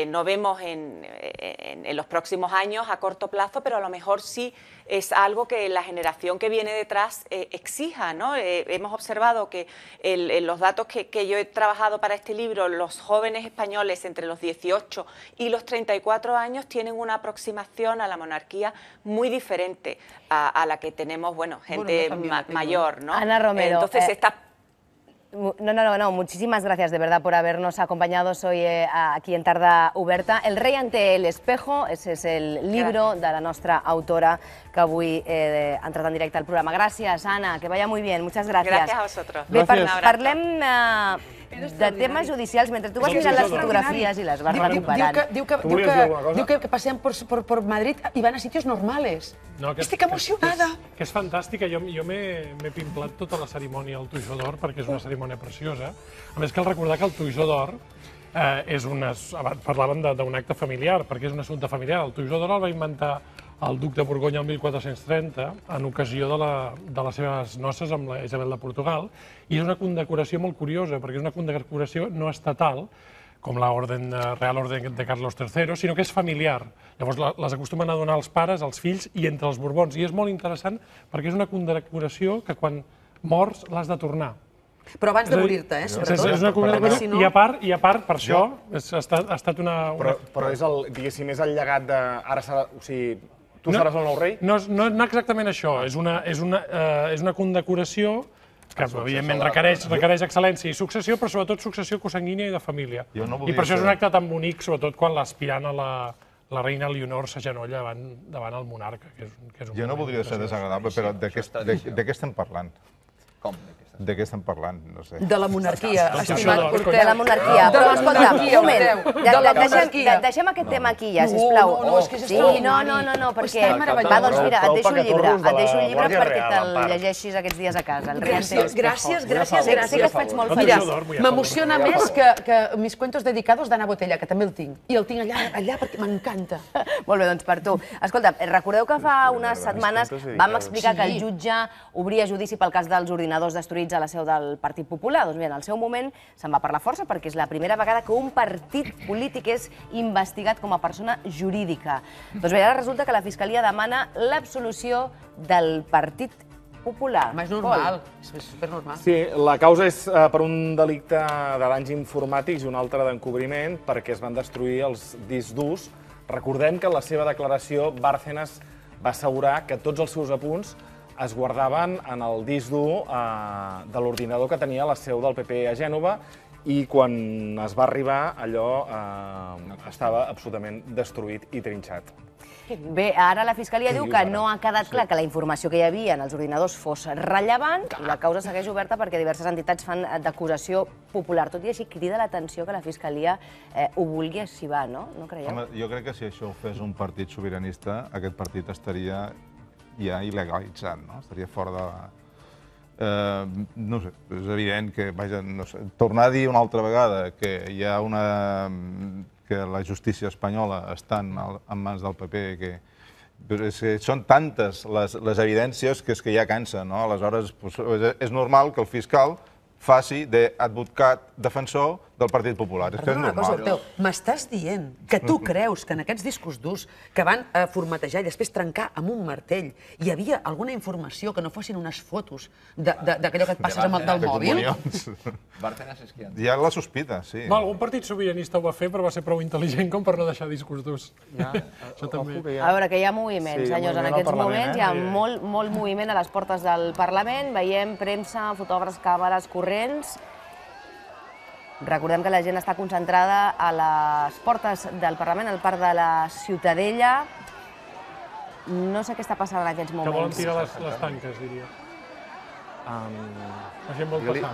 no vemos en los próximos años a corto plazo, pero a lo mejor sí es algo que la generación que viene detrás exija, ¿no? Hemos observado que en los datos que yo he trabajado para este libro, los jóvenes españoles entre los 18 y los 34 años tienen una aproximación a la monarquía muy diferente a la que tenemos, bueno, gente mayor, ¿no? Ana Romero. Entonces, No, muchísimas gracias de verdad por habernos acompañado hoy aquí en Tarda Oberta. El rei ante el espejo, ese es el libro de la nostra autora que avui ha entrat en directe al programa. Gràcies, Anna, que vaya muy bien, muchas gracias. Gracias a vosotros. Bé, parlem de temes judicials, mentre tu vas mirant les fotografies i les vas recuperant. Diu que pasean por Madrid y van a sitios normales. Estic emocionada. Que és fantàstica. Jo m'he pimplat tota la cerimònia al Toisó d'Or, perquè és una cerimònia preciosa. A més, cal recordar que el Toisó d'Or és parlàvem d'un acte familiar, perquè és un assumpte familiar. El Toisó d'Or el va inventar el duc de Borgonya el 1430 en ocasió de les seves noces amb la Isabel de Portugal, i és una condecoració molt curiosa, perquè és una condecoració no estatal, com la Real Orden de Carlos III, sinó que és familiar. Llavors les acostumen a donar als pares, als fills i entre els Borbons. I és molt interessant perquè és una condecoració que quan mors l'has de tornar. Però abans de morir-te, sobretot. És una condecoració, i a part, per això, ha estat una... Però és, diguéssim, és el llegat de... Ara serà... O sigui, tu seràs el nou rei? No exactament això. És una condecoració que, evidentment, requereix excel·lència i successió, però sobretot successió consanguínia i de família. I per això és un acte tan bonic, sobretot quan l'aspirant a la reina Leonor s'agenolla davant el monarca. Jo no voldria ser desagradable, però de què estem parlant? Com? De què estem parlant? No sé. De la monarquia, estimat Cortés. De la monarquia. Però, escolta, un moment, deixem aquest tema aquí ja, sisplau. No, és que és extraordinari. No, perquè... Va, doncs mira, et deixo un llibre perquè te'l llegeixis aquests dies a casa. Gràcies. Sé que et faig molt feliç. M'emociona més que mis cuentos dedicados d'Anna Botella, que també el tinc. I el tinc allà perquè m'encanta. Molt bé, doncs per tu. Escolta, recordeu que fa unes setmanes vam explicar que el jutge obria judici pel cas dels ordinadors destruïts a la seu del Partit Popular. Doncs bé, en el seu moment se'n va per la força perquè és la primera vegada que un partit polític és investigat com a persona jurídica. Doncs bé, ara resulta que la Fiscalia demana l'absolució del Partit Popular. És normal, és supernormal. Sí, la causa és per un delicte de danys informàtics i un altre d'encobriment perquè es van destruir els discs durs. Recordem que en la seva declaració Bárcenas va assegurar que tots els seus apunts es guardaven en el disc dur de l'ordinador que tenia la seu del PP a Gènova i quan es va arribar allò estava absolutament destruït i trinxat. Bé, ara la Fiscalia diu que no ha quedat clar que la informació que hi havia en els ordinadors fos rellevant i la causa segueix oberta perquè diverses entitats fan d'acusació popular. Tot i així crida l'atenció que la Fiscalia ho vulgui arxivar, no? No creieu? Home, jo crec que si això ho fes un partit sobiranista, aquest partit estaria ja il·legalitzat, no? Estaria fora de... No sé, és evident que, vaja, no sé, tornar a dir una altra vegada que hi ha que la justícia espanyola està en mans del PP, que són tantes les evidències que és que ja cansa, no? Aleshores, és normal que el fiscal faci d'advocat defensor del Partit Popular. És que és normal. M'estàs dient que tu creus que en aquests discos durs que van formatejar i després trencar amb un martell hi havia alguna informació que no fossin unes fotos d'aquellò que et passes del mòbil? Hi ha la sospita, sí. Algun partit sobiranista ho va fer, però va ser prou intel·ligent com per no deixar discos durs. A veure, que hi ha moviment, senyors. En aquests moments hi ha molt moviment a les portes del Parlament. Veiem premsa, fotògrafs, càmeres, corrents. Recordem que la gent està concentrada a les portes del Parlament, al Parc de la Ciutadella. No sé què està passant en aquests moments. Que volen tirar les tanques, diria. La gent vol passar.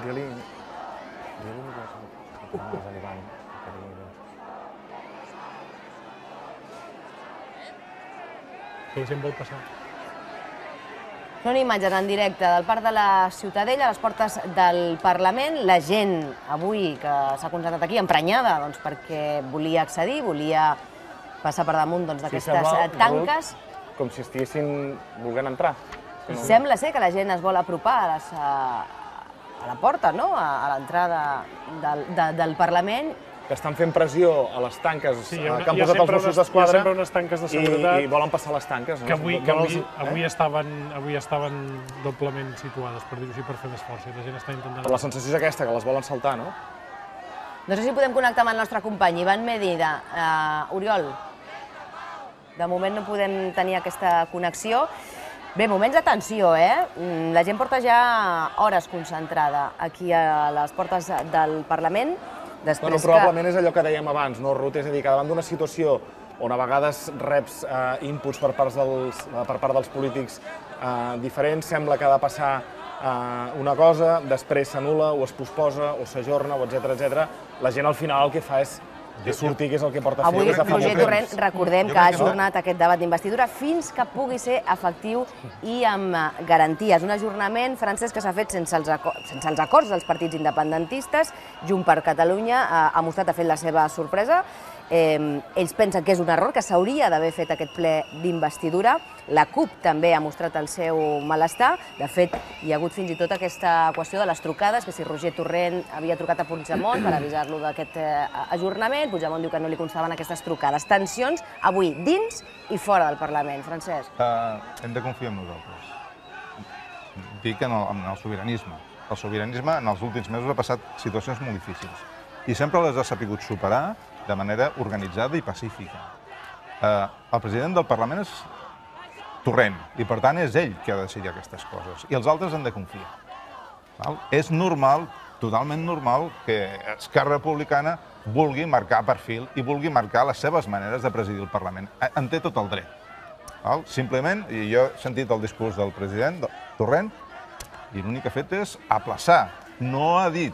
La gent vol passar. Són imatges en directe del Parc de la Ciutadella, a les portes del Parlament. La gent avui que s'ha concentrat aquí, emprenyada, perquè volia accedir, volia passar per damunt d'aquestes tanques. Com si estiguessin volent entrar. Sembla ser que la gent es vol apropar a la porta, a l'entrada del Parlament. Que estan fent pressió a les tanques que han posat els Mossos d'Esquadra. Hi ha sempre unes tanques de seguretat. I volen passar les tanques. Que avui estaven doblement situades, per dir-ho així, per fer més força. La gent està intentant... Però la sensació és aquesta, que les volen saltar, no? No sé si podem connectar amb el nostre company, Ivan Medina. Oriol, de moment no podem tenir aquesta connexió. Bé, moments de tensió, La gent porta ja hores concentrada aquí a les portes del Parlament. Probablement és allò que dèiem abans, no, Ruth? És a dir, que davant d'una situació on a vegades reps inputs per part dels polítics diferents, sembla que ha de passar una cosa, després s'anul·la o es posposa o s'ajorna o etc. La gent al final el que fa és sortir, que és el que porta a fer. Avui Roger Torrent, recordem que ha ajornat aquest debat d'investidura fins que pugui ser efectiu i amb garanties. Un ajornament, Francesc, que s'ha fet sense els acords dels partits independentistes. Junts per Catalunya ha mostrat, ha fet la seva sorpresa. Ells pensen que és un error, que s'hauria d'haver fet aquest ple d'investidura. La CUP també ha mostrat el seu malestar. De fet, hi ha hagut fins i tot aquesta qüestió de les trucades, que si Roger Torrent havia trucat a Puigdemont per avisar-lo d'aquest ajornament, Puigdemont diu que no li constaven aquestes trucades. Tensions avui dins i fora del Parlament. Francesc. Hem de confiar en nosaltres. Dic en el sobiranisme. El sobiranisme en els últims mesos ha passat situacions molt difícils i sempre les ha sabut superar de manera organitzada i pacífica. El president del Parlament és Torrent i, per tant, és ell qui ha de decidir aquestes coses i els altres han de confiar. És normal, totalment normal, que Esquerra Republicana vulgui marcar perfil i vulgui marcar les seves maneres de presidir el Parlament. En té tot el dret. Simplement, i jo he sentit el discurs del president Torrent, i l'únic que ha fet és aplaçar. No ha dit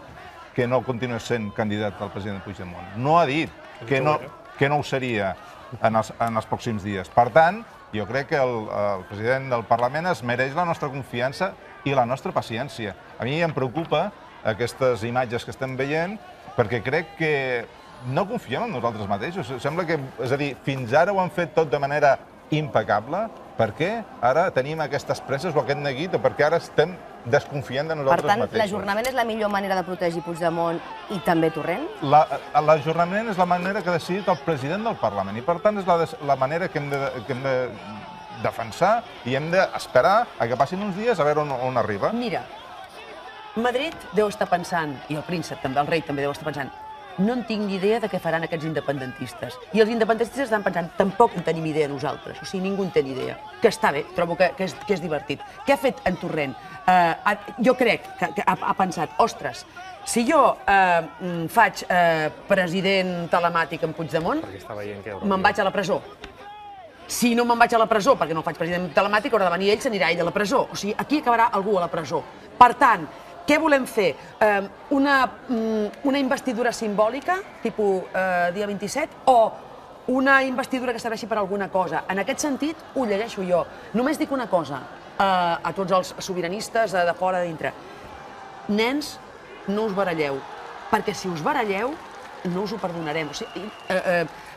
que no continués sent candidat al president Puigdemont. No ha dit que no ho seria en els pròxims dies. Per tant, jo crec que el president del Parlament es mereix la nostra confiança i la nostra paciència. A mi em preocupa aquestes imatges que estem veient perquè crec que no confiem en nosaltres mateixos. Sembla que, és a dir, fins ara ho han fet tot de manera impecable. Per què ara tenim aquestes presses o aquest neguit o per què ara estem desconfiant de nosaltres mateixos? Per tant, l'ajornament és la millor manera de protegir Puigdemont i també Torrent? L'ajornament és la manera que ha decidit el president del Parlament i, per tant, és la manera que hem de defensar i hem d'esperar a que passin uns dies a veure on arriba. Mira, Madrid deu estar pensant, i el príncep també, el rei també deu estar pensant, no en tinc ni idea de què faran aquests independentistes. I els independentistes estan pensant, tampoc en tenim idea nosaltres. O sigui, ningú en té ni idea. Que està bé, trobo que és divertit. Què ha fet en Torrent? Jo crec que ha pensat, ostres, si jo faig president telemàtic en Puigdemont, me'n vaig a la presó. Si no me'n vaig a la presó, perquè no faig president telemàtic, haurà de venir ell, s'anirà ell a la presó. O sigui, aquí acabarà algú a la presó. Per tant, què volem fer? Una investidura simbòlica, tipus dia 27, o una investidura que serveixi per alguna cosa? En aquest sentit, ho llegeixo jo. Només dic una cosa a tots els sobiranistes de fora, de dintre. Nens, no us baralleu, perquè si us baralleu, no us ho perdonarem. O sigui,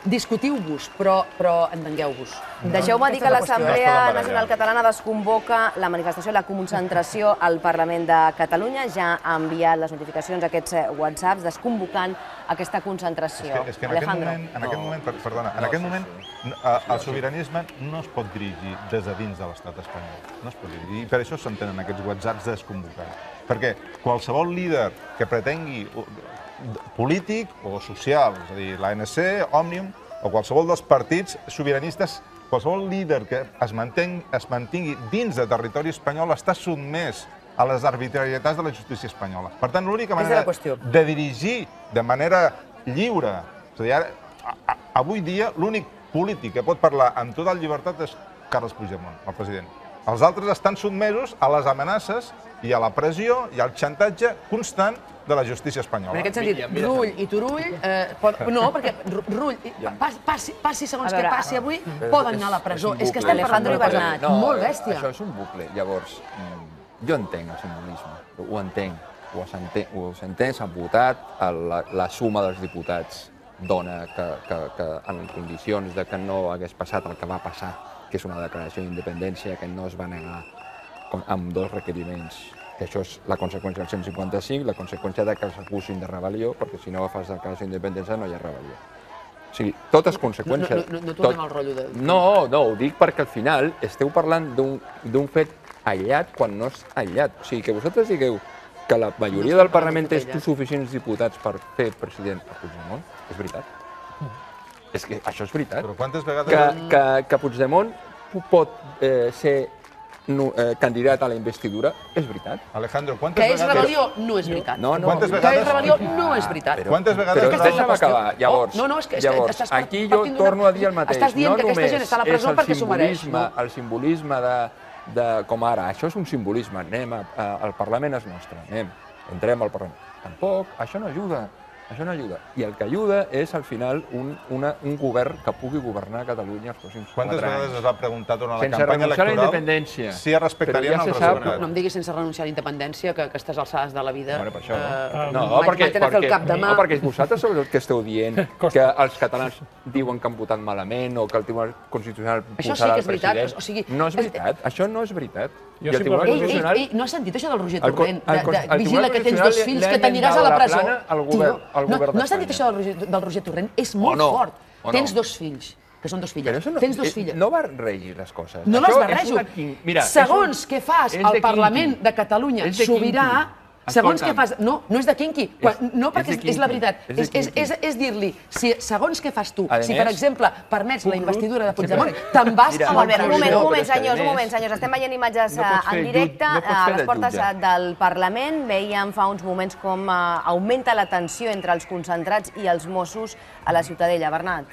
discutiu-vos, però entengueu-vos. Deixeu-me dir que l'Assemblea Nacional Catalana desconvoca la manifestació, la concentració al Parlament de Catalunya. Ja ha enviat les notificacions a aquests whatsapps desconvocant aquesta concentració. És que en aquest moment el sobiranisme no es pot dirigir des de dins de l'estat espanyol. No es pot dirigir. I per això s'entenen aquests whatsapps desconvocats. Perquè qualsevol líder que pretengui polític o social, és a dir, l'ANC, Òmnium, o qualsevol dels partits sobiranistes, qualsevol líder que es mantingui dins de territori espanyol està sotmès a les arbitrarietats de la justícia espanyola. Per tant, l'única manera de dirigir de manera lliure, és a dir, avui dia l'únic polític que pot parlar amb total llibertat és Carles Puigdemont, el president. Els altres estan sotmesos a les amenaces i a la pressió i al xantatge constant de la justícia espanyola. En aquest sentit, Rull i Turull... No, perquè Rull, passi segons què passi avui, poden anar a la presó. És que estem parlant d'una cosa molt bèstia. Això és un bucle. Llavors, jo entenc el simbolisme, ho entenc. Ho s'entén, s'ha votat, la suma dels diputats dona que en condicions de que no hagués passat el que va passar, que és una declaració d'independència que no es va negar amb dos requeriments, que això és la conseqüència del 155, la conseqüència que s'acusin de rebel·lió, perquè si no fas declaració d'independència no hi ha rebel·lió. O sigui, totes conseqüències... No tornem al rotllo de... No, ho dic perquè al final esteu parlant d'un fet aïllat quan no és aïllat. O sigui, que vosaltres digueu que la majoria del Parlament té suficients diputats per fer president a Puigdemont, és veritat. És que això és veritat. Però quantes vegades... Que Puigdemont pot ser candidat a la investidura, és veritat. Alejandro, quantes vegades... Que és rebel·lió, no és veritat. Que és rebel·lió, no és veritat. Quantes vegades... Però deixa'm acabar. Llavors, aquí jo torno a dir el mateix. Estàs dient que aquesta gent està a la presó perquè s'ho mereix. El simbolisme com ara, això és un simbolisme, anem, el Parlament és nostre, entrem al Parlament. Tampoc, això no ajuda. Això no ajuda. I el que ajuda és, al final, un govern que pugui governar Catalunya els pròxims 4 anys. Quantes vegades es va preguntar durant la Sense campanya renunciar a la electoral independència. si es respectarien els resultats? No em diguis sense renunciar a la independència, que a aquestes alçades de la vida... Bueno, per això no. No, perquè vosaltres sou els que esteu dient que els catalans diuen que han votat malament o que el Tribunal Constitucional posarà el president. No és veritat, això no és veritat. No has sentit això del Roger Torrent? Vigila que tens 2 fills, que t'aniràs a la presó. No has sentit això del Roger Torrent? És molt fort. Tens 2 fills, que són 2 filles. Tens 2 filles. No barregis les coses. No les barrejo. Segons què fas al Parlament de Catalunya sobirà, segons què fas... No, no és de quinqui. No, perquè és la veritat. És dir-li, segons què fas tu, si per exemple permets la investidura de Puigdemont, te'n vas a la presó. Un moment, senyors. Estem veient imatges en directe a les portes del Parlament. Veiem fa uns moments com augmenta la tensió entre els concentrats i els Mossos a la Ciutadella. Bernat.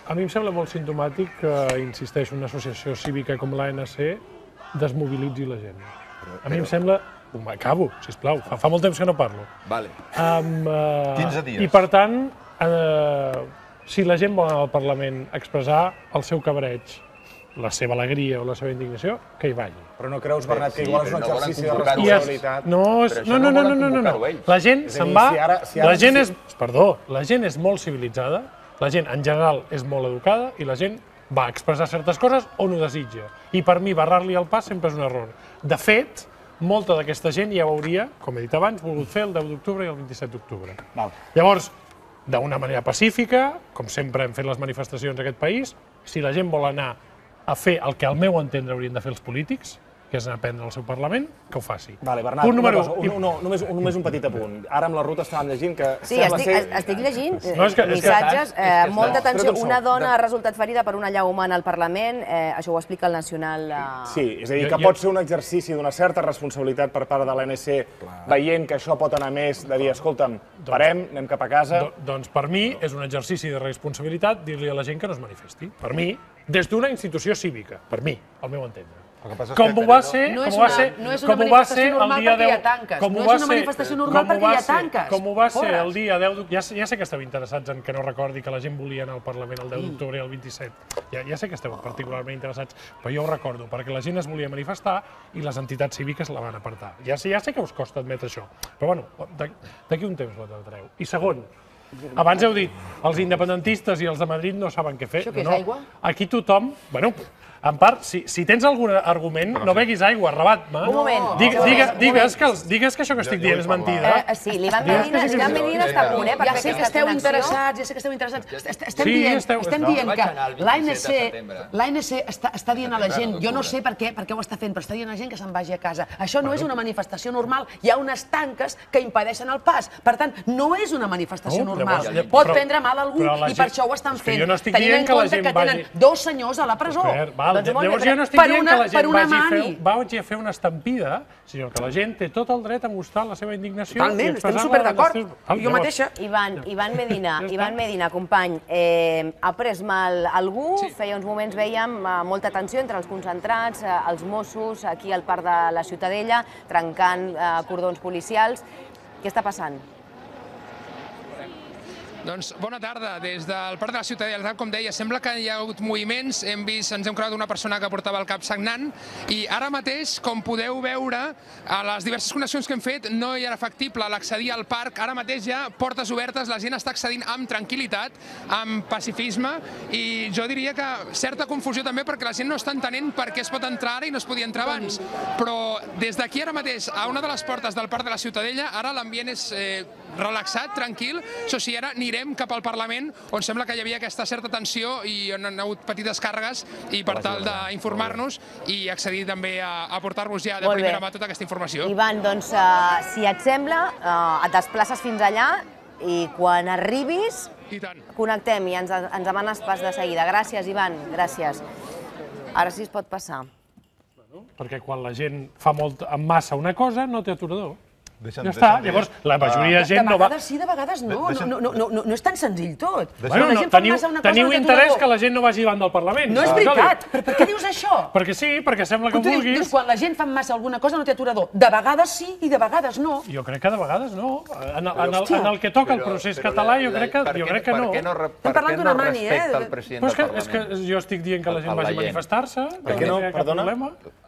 A mi em sembla molt simptomàtic que, insisteixo, una associació cívica com l'ANC desmobilitzi la gent. A mi em sembla... Acabo, sisplau, fa molt temps que no parlo. 15 dies. I per tant, si la gent vol anar al Parlament a expressar el seu cabreig, la seva alegria o la seva indignació, que hi vagi. Però no creus, Bernat, que igual és un exercici de responsabilitat? No. La gent se'n va... La gent és molt civilitzada, la gent en general és molt educada i la gent va expressar certes coses on ho desitja. I per mi barrar-li el pas sempre és un error. De fet, molta d'aquesta gent ja ho hauria, com he dit abans, volgut fer el 10 d'octubre i el 27 d'octubre. Llavors, d'una manera pacífica, com sempre hem fet les manifestacions en aquest país, si la gent vol anar a fer el que al meu entendre haurien de fer els polítics, que és anar a prendre el seu Parlament, que ho faci. Bernat, només un petit apunt. Ara amb la ruta estàvem llegint que... Sí, estic llegint missatges, molta tensió. Una dona ha resultat ferida per una allau humana al Parlament, això ho explica el Nacional... Sí, és a dir, que pot ser un exercici d'una certa responsabilitat per part de l'ANC, veient que això pot anar més, de dir, escolta'm, parem, anem cap a casa... Doncs per mi és un exercici de responsabilitat dir-li a la gent que no es manifesti. Per mi, des d'una institució cívica, per mi, al meu entendre. Com ho va ser el dia 10... No és una manifestació normal perquè hi ha tanques. Com ho va ser el dia 10 d'octubre... Ja sé que esteu interessats en que no recordi que la gent volia anar al Parlament el 10 d'octubre i el 27. Ja sé que esteu particularment interessats, però jo ho recordo, perquè la gent es volia manifestar i les entitats cíviques la van apartar. Ja sé que us costa admetre això, però bueno, d'aquí un temps ho admetreu. I segon, abans heu dit, els independentistes i els de Madrid no saben què fer. Això què és aigua? Aquí tothom... Bueno, en part, si tens algun argument, no beguis aigua, Rabat. Un moment. Digues que això que estic dient és mentida. Sí, l'Ivan Medina està a punt, per ja sé que esteu interessats, Estem dient que l'ANC està dient a la gent, jo no sé per què ho està fent, però està dient a la gent que se'n vagi a casa. Això no és una manifestació normal. Hi ha unes tanques que impedeixen el pas. Per tant, no és una manifestació normal. Pot prendre mal algú i per això ho estan fent. Tenint en compte que tenen 2 senyors a la presó. Llavors jo no estic dient que la gent vagi a fer una estampida, sinó que la gent té tot el dret a mostrar la seva indignació. Totalment, estem superdd'acord. Jo mateixa. Ivan Medina, company, ha pres mal algú? Feia uns moments veiem molta tensió entre els concentrats, els Mossos, aquí al Parc de la Ciutadella, trencant cordons policials. Què està passant? Doncs bona tarda. Des del Parc de la Ciutadella, com deia, sembla que hi ha hagut moviments. Ens hem creuat una persona que portava el cap sagnant i ara mateix, com podeu veure, a les diverses connexions que hem fet no hi era factible l'accedir al parc. Ara mateix hi ha portes obertes, la gent està accedint amb tranquil·litat, amb pacifisme i jo diria que certa confusió també perquè la gent no està entenent per què es pot entrar ara i no es podia entrar abans. Però des d'aquí ara mateix, a una de les portes del Parc de la Ciutadella, ara l'ambient és relaxat, tranquil. Això sí, ara anirem cap al Parlament, on sembla que hi havia aquesta certa tensió i on han hagut petites càrregues i per tal d'informar-nos i accedir també a portar-vos ja de primera mà tota aquesta informació. Ivan, doncs, si et sembla, et desplaces fins allà i quan arribis connectem i ens demanes pas de seguida. Gràcies, Ivan, gràcies. Ara sí es pot passar. Perquè quan la gent fa molt en massa una cosa, no té aturador. Ja està, llavors la majoria de gent no va... De vegades sí, de vegades no. No és tan senzill tot. Teniu interès que la gent no vagi davant del Parlament. No és veritat. Per què dius això? Perquè sí, perquè sembla que vulguis. Dius, quan la gent fa massa alguna cosa no té aturador. De vegades sí i de vegades no. Jo crec que de vegades no. En el que toca el procés català jo crec que no. Per què no respecta el president del Parlament? És que jo estic dient que la gent vagi a manifestar-se. Per què no, perdona?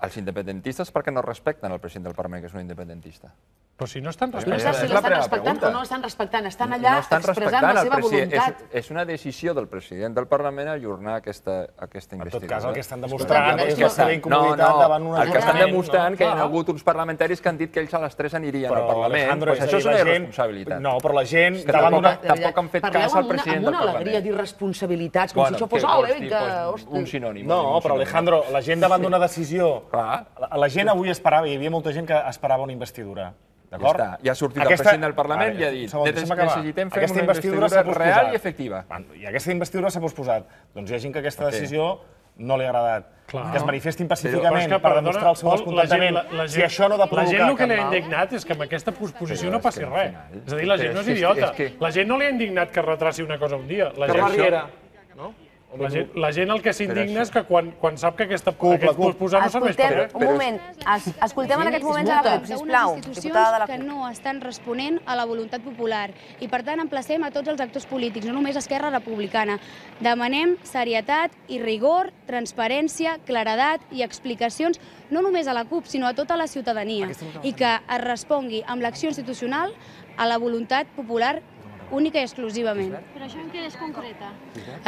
Els independentistes per què no respecten el president del Parlament, que és un independentista? Però si no estan respectant. No saps si l'estan respectant o no l'estan respectant. Estan allà expressant la seva voluntat. És una decisió del president del Parlament ajornar aquesta investidura. En tot cas, el que estan demostrant és la seva incomoditat davant un el que estan demostrant que hi ha hagut uns parlamentaris que han dit que ells a les 3 anirien al Parlament. Això és una irresponsabilitat. No, però la gent... Tampoc han fet cas al president del Parlament. Parleu amb una alegria d'irresponsabilitats, com si això fos... Un sinònim. No, però Alejandro, la gent davant d'una decisió... La gent avui esperava, hi havia molta gent que esperava una investidura. Ja ha sortit el president del Parlament i ha dit necessitem fer una investidura real i efectiva. I aquesta investidura s'ha posposat. Doncs hi ha gent que aquesta decisió no li ha agradat. Que es manifestin pacíficament per demostrar el seu descontentament. Si això no ha de provocar... La gent el que li ha indignat és que amb aquesta posposició no passi res. És a dir, la gent no és idiota. La gent no li ha indignat que retraci una cosa un dia. La gent el que s'indigna és que quan sap que aquesta posposar no serveix per res. Un moment, escoltem en aquests moments a la CUP, sisplau, diputada de la CUP. Que no estan responent a la voluntat popular i per tant emplacem a tots els actors polítics, no només Esquerra Republicana. Demanem serietat i rigor, transparència, claredat i explicacions no només a la CUP, sinó a tota la ciutadania i que es respongui amb l'acció institucional a la voluntat popular única i exclusivament. Però això en què es concreta?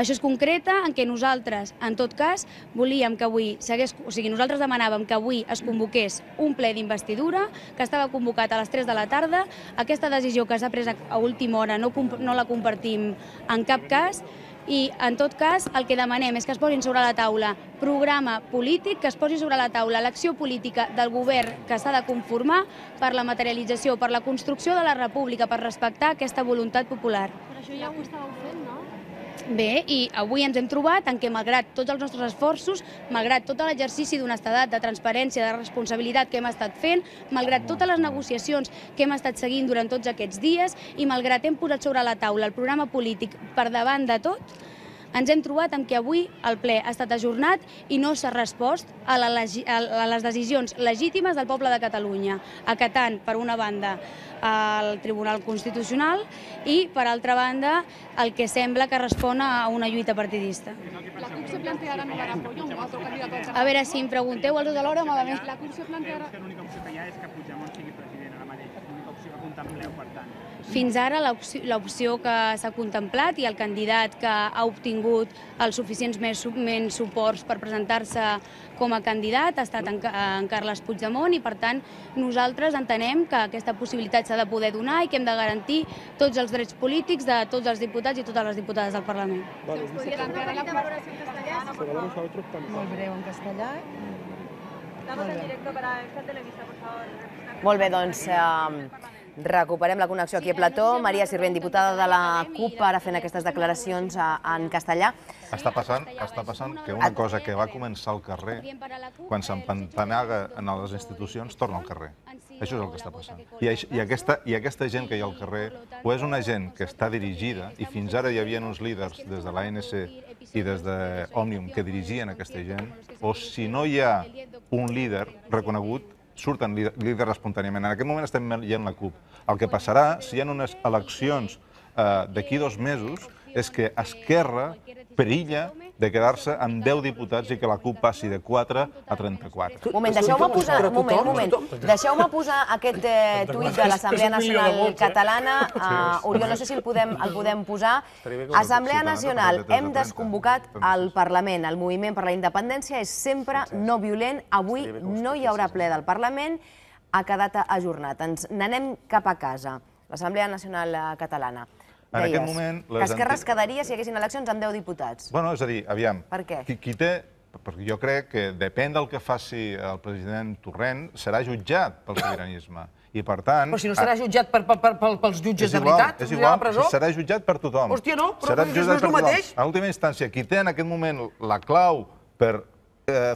Això es concreta en què nosaltres, en tot cas, volíem que avui nosaltres demanàvem que avui es convoqués un ple d'investidura, que estava convocat a les 3 de la tarda. Aquesta decisió que s'ha pres a última hora no la compartim en cap cas, i en tot cas el que demanem és que es posin sobre la taula programa polític, que es posi sobre la taula l'acció política del govern que s'ha de conformar per la materialització, per la construcció de la república, per respectar aquesta voluntat popular. Però això ja ho estàveu fent, no? Bé, i avui ens hem trobat en què, malgrat tots els nostres esforços, malgrat tot l'exercici d'honestedat, de transparència, de responsabilitat que hem estat fent, malgrat totes les negociacions que hem estat seguint durant tots aquests dies i malgrat hem posat sobre la taula el programa polític per davant de tot, ens hem trobat amb que avui el ple ha estat ajornat i no s'ha respost a les decisions legítimes del poble de Catalunya, acatant, per una banda, el Tribunal Constitucional i, per altra banda, el que sembla que respon a una lluita partidista. La CUP se plantearà no dar apoyo a un altre candidat. A veure, si em pregunteu els dos alhora, malament. La CUP se plantearà... L'única opció que hi ha és que Puigdemont sigui president ara mateix. L'única opció que contempleu, per tant. Fins ara l'opció que s'ha contemplat i el candidat que ha obtingut els suficients menys suports per presentar-se com a candidat ha estat en Carles Puigdemont i, per tant, nosaltres entenem que aquesta possibilitat s'ha de poder donar i que hem de garantir tots els drets polítics de tots els diputats i totes les diputades del Parlament. ¿Se podria plantear la valoració en castellà? Molt breu en castellà. Estamos en directo para esta televisa, por favor. Molt bé, doncs recuperem la connexió aquí a Plató. Maria Sirvent, diputada de la CUP, ara fent aquestes declaracions en castellà. Està passant que una cosa que va començar al carrer, quan s'empantanaga en les institucions, torna al carrer. Això és el que està passant. I aquesta gent que hi ha al carrer, o és una gent que està dirigida, i fins ara hi havia uns líders des de l'ANC i des d'Òmnium que dirigien aquesta gent, o si no hi ha un líder reconegut, surten líders espontàniament. En aquest moment estem veient la CUP. El que passarà, si hi ha unes eleccions d'aquí 2 mesos, és que Esquerra perilla de quedar-se amb 10 diputats i que la CUP passi de 4 a 34. Moment, deixeu-me posar aquest tuit de l'Assemblea Nacional Catalana. Oriol, no sé si el podem posar. Assemblea Nacional, hem desconvocat el Parlament. El moviment per la independència és sempre no violent. Avui no hi haurà ple del Parlament. Ha quedat ajornat. Ens n'anem cap a casa. L'Assemblea Nacional Catalana. En aquest moment... Que Esquerra es quedaria si hi haguessin eleccions amb 10 diputats. Bueno, és a dir, aviam. Per què? Qui té... Perquè jo crec que depèn del que faci el president Torrent, serà jutjat pel sobiranisme. I per tant... Però si no serà jutjat pels jutges de veritat, és igual, serà jutjat per tothom. Hòstia, no, però no és el mateix. En última instància, qui té en aquest moment la clau per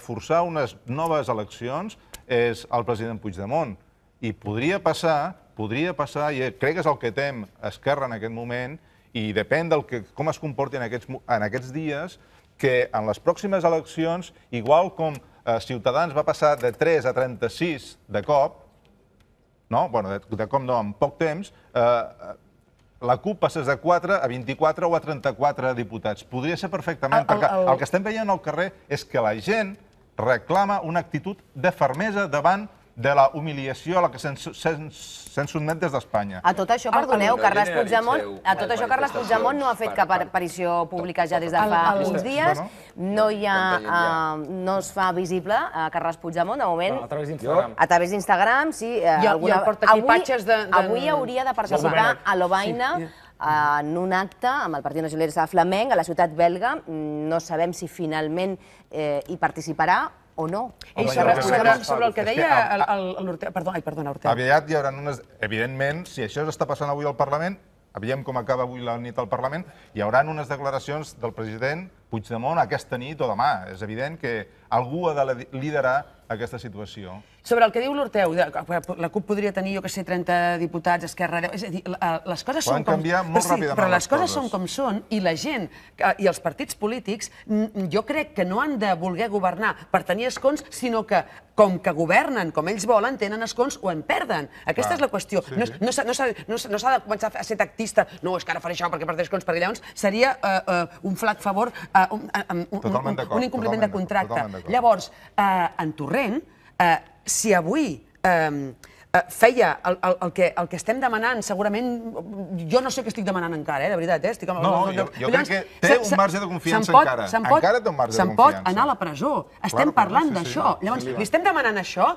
forçar unes noves eleccions és el president Puigdemont. I podria passar podria passar, i crec que és el que tem Esquerra en aquest moment, i depèn de com es comporti en aquests dies, que en les pròximes eleccions, igual com Ciutadans va passar de 3 a 36 de cop, de cop no, en poc temps, la CUP passés de 4 a 24 o a 34 diputats. Podria ser perfectament, perquè el que estem veient al carrer és que la gent reclama una actitud de fermesa davant de la humiliació a la que se'n sotmet des d'Espanya. A tot això, perdoneu, Carles Puigdemont no ha fet cap aparició pública ja des de fa uns dies. No es fa visible a Carles Puigdemont, de moment. A través d'Instagram. A través d'Instagram, sí. Avui hauria de participar a Lovaina en un acte amb el Partit Nacionalista Flamenc a la ciutat belga. No sabem si finalment hi participarà o no. Sobre el que deia l'Ortega... Perdona, Ortega. Aviat hi haurà unes... Evidentment, si això està passant avui al Parlament, veiem com acaba avui la nit al Parlament, hi haurà unes declaracions del president Puigdemont aquesta nit o demà. És evident que algú ha de liderar aquesta situació. Sobre el que diu l'Orteu, la CUP podria tenir, jo que sé, 30 diputats, Esquerra... És a dir, les coses són com... Poden canviar molt ràpidament les coses. Però les coses són com són, i la gent i els partits polítics, jo crec que no han de voler governar per tenir escons, sinó que, com que governen com ells volen, tenen escons o en perden. Aquesta és la qüestió. No s'ha de començar a ser tactista. No, és que ara faré això perquè perdré escons, perquè llavors seria un flac favor, un incompliment de contracte. Llavors, en Torrent, si avui feia el que estem demanant, segurament... Jo no sé què estic demanant encara, de veritat. No, jo crec que té un marge de confiança encara. Encara té un marge de confiança. Se'n pot anar a la presó. Estem parlant d'això. Llavors, li estem demanant això.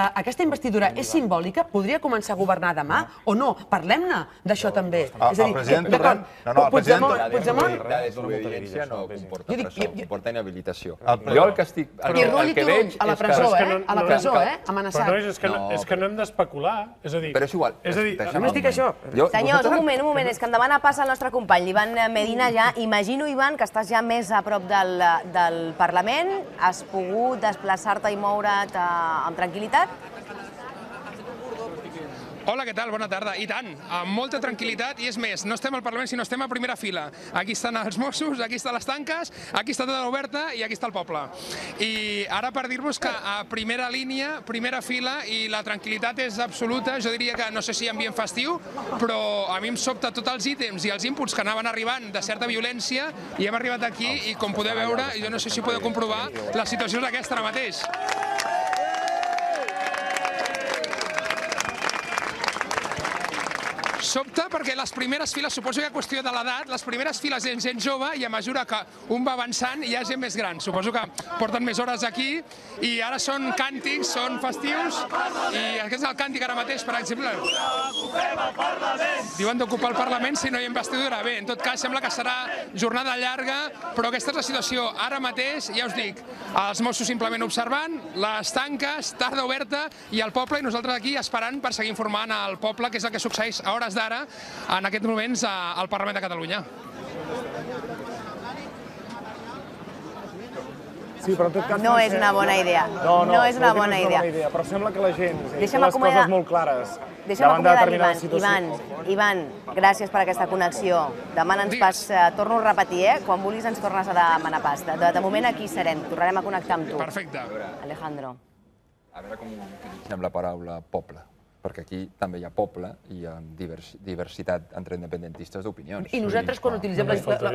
Aquesta investidura és simbòlica? Podria començar a governar demà o no? Parlem-ne d'això també. El president Torrent... Puigdemont... La desobediència no comporta presó, comporta inhabilitació. Jo el que estic... I Rulli Turull, a la presó, amenaçat. Però és que no hem d'especular. És a dir... Però és igual. Només dic això. Senyors, un moment, és que em demana pas el nostre company, l'Ivan Medina, ja. Imagino, Ivan, que estàs ja més a prop del Parlament. Has pogut desplaçar-te i moure't amb tranquil·litat? Hola, què tal? Bona tarda. I tant, amb molta tranquil·litat, i és més, no estem al Parlament, sinó estem a primera fila. Aquí estan els Mossos, aquí estan les tanques, aquí està tota l'oberta i aquí està el poble. I ara per dir-vos que a primera línia, primera fila, i la tranquil·litat és absoluta, jo diria que no sé si ambient festiu, però a mi em sobta tots els ítems i els inputs que anaven arribant de certa violència, i hem arribat aquí i com podeu veure, jo no sé si podeu comprovar, la situació és aquesta ara mateix. Sobta perquè les primeres files, suposo que hi ha qüestió de l'edat, les primeres files és gent jove i a mesura que un va avançant hi ha gent més gran. Suposo que porten més hores aquí i ara són càntics, són festius i aquest és el càntic ara mateix, per exemple. Diuen d'ocupar el Parlament si no hi ha investidura. Bé, en tot cas sembla que serà jornada llarga, però aquesta és la situació. Ara mateix, ja us dic, els Mossos simplement observant, les tanques, tarda oberta i el poble, i nosaltres aquí esperant per seguir informant al poble què és el que succeeix a hores d'ara, en aquests moments, al Parlament de Catalunya. Sí, però en tot cas... No és una bona idea. No és una bona idea. Però sembla que la gent té les coses molt clares. Deixa'm acomiadar l'Ivan. Ivan, gràcies per aquesta connexió. Demana ens pas, torno a repetir, quan vulguis ens tornes a demanar pas. De moment aquí serem, tornarem a connectar amb tu. Perfecte. Alejandro. A veure com utilitzem la paraula poble, perquè aquí també hi ha poble i hi ha diversitat entre independentistes d'opinions. I nosaltres quan utilitzem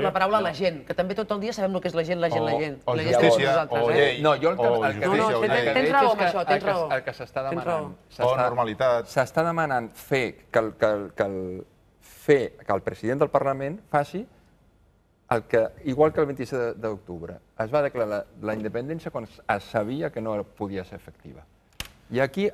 la paraula la gent, que també tot el dia sabem el que és la gent, la gent. O justícia, o llei. No, jo el que tens raó amb això, tens raó. El que s'està demanant... O normalitat. S'està demanant que el president del Parlament faci el que, igual que el 27 d'octubre, es va declarar la independència quan es sabia que no podia ser efectiva. I aquí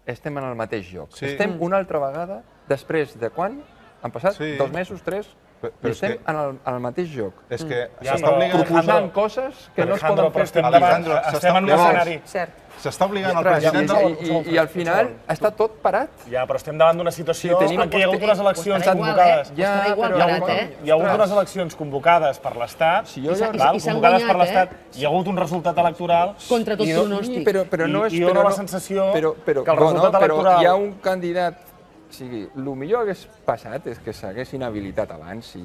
estem en el mateix lloc. Estem una altra vegada, després de quan? Han passat 2 mesos, 3? I estem en el mateix lloc. És que proposant coses que no es poden fer. Estem en un escenari. S'està obligant el president i al final està tot parat. Ja, però estem davant d'una situació en què hi ha hagut unes eleccions convocades. Hi ha hagut unes eleccions convocades per l'Estat, convocades per l'Estat, hi ha hagut un resultat electoral... Contra tot pronòstic. I dona la sensació que el resultat electoral... Hi ha un candidat sigui, el millor que hagués passat és que s'haguessin habilitat abans i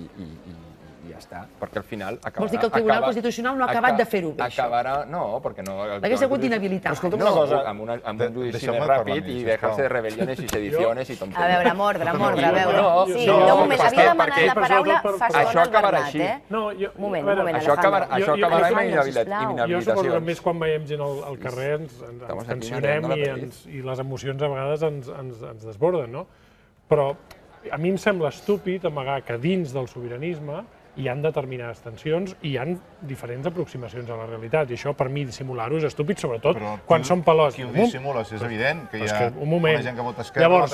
ja està, perquè al final acabarà... Vols dir que el Tribunal Constitucional no ha acabat de fer-ho bé, això? Acabarà... No, perquè no... L'hagués hagut d'inhabilitar. Escolta'm una cosa... Amb un judici més ràpid i deixar-se de rebel·liones i sediciones i tonteries. A veure, mordre, a veure. Sí, un moment, havia demanat la paraula fa estona al Bernat, eh? Un moment, Alejandro. Això acabarà amb inhabilitacions. Jo suposo que més quan veiem gent al carrer ens tensionem i les emocions a vegades ens desborden, no? Però a mi em sembla estúpid amagar que dins del sobiranisme hi ha determinades tensions i hi ha diferents aproximacions a la realitat. I això, per mi, dissimular-ho és estúpid, sobretot quan són pelots. Qui ho dissimules? És evident que hi ha una gent que vota esquerra... Llavors,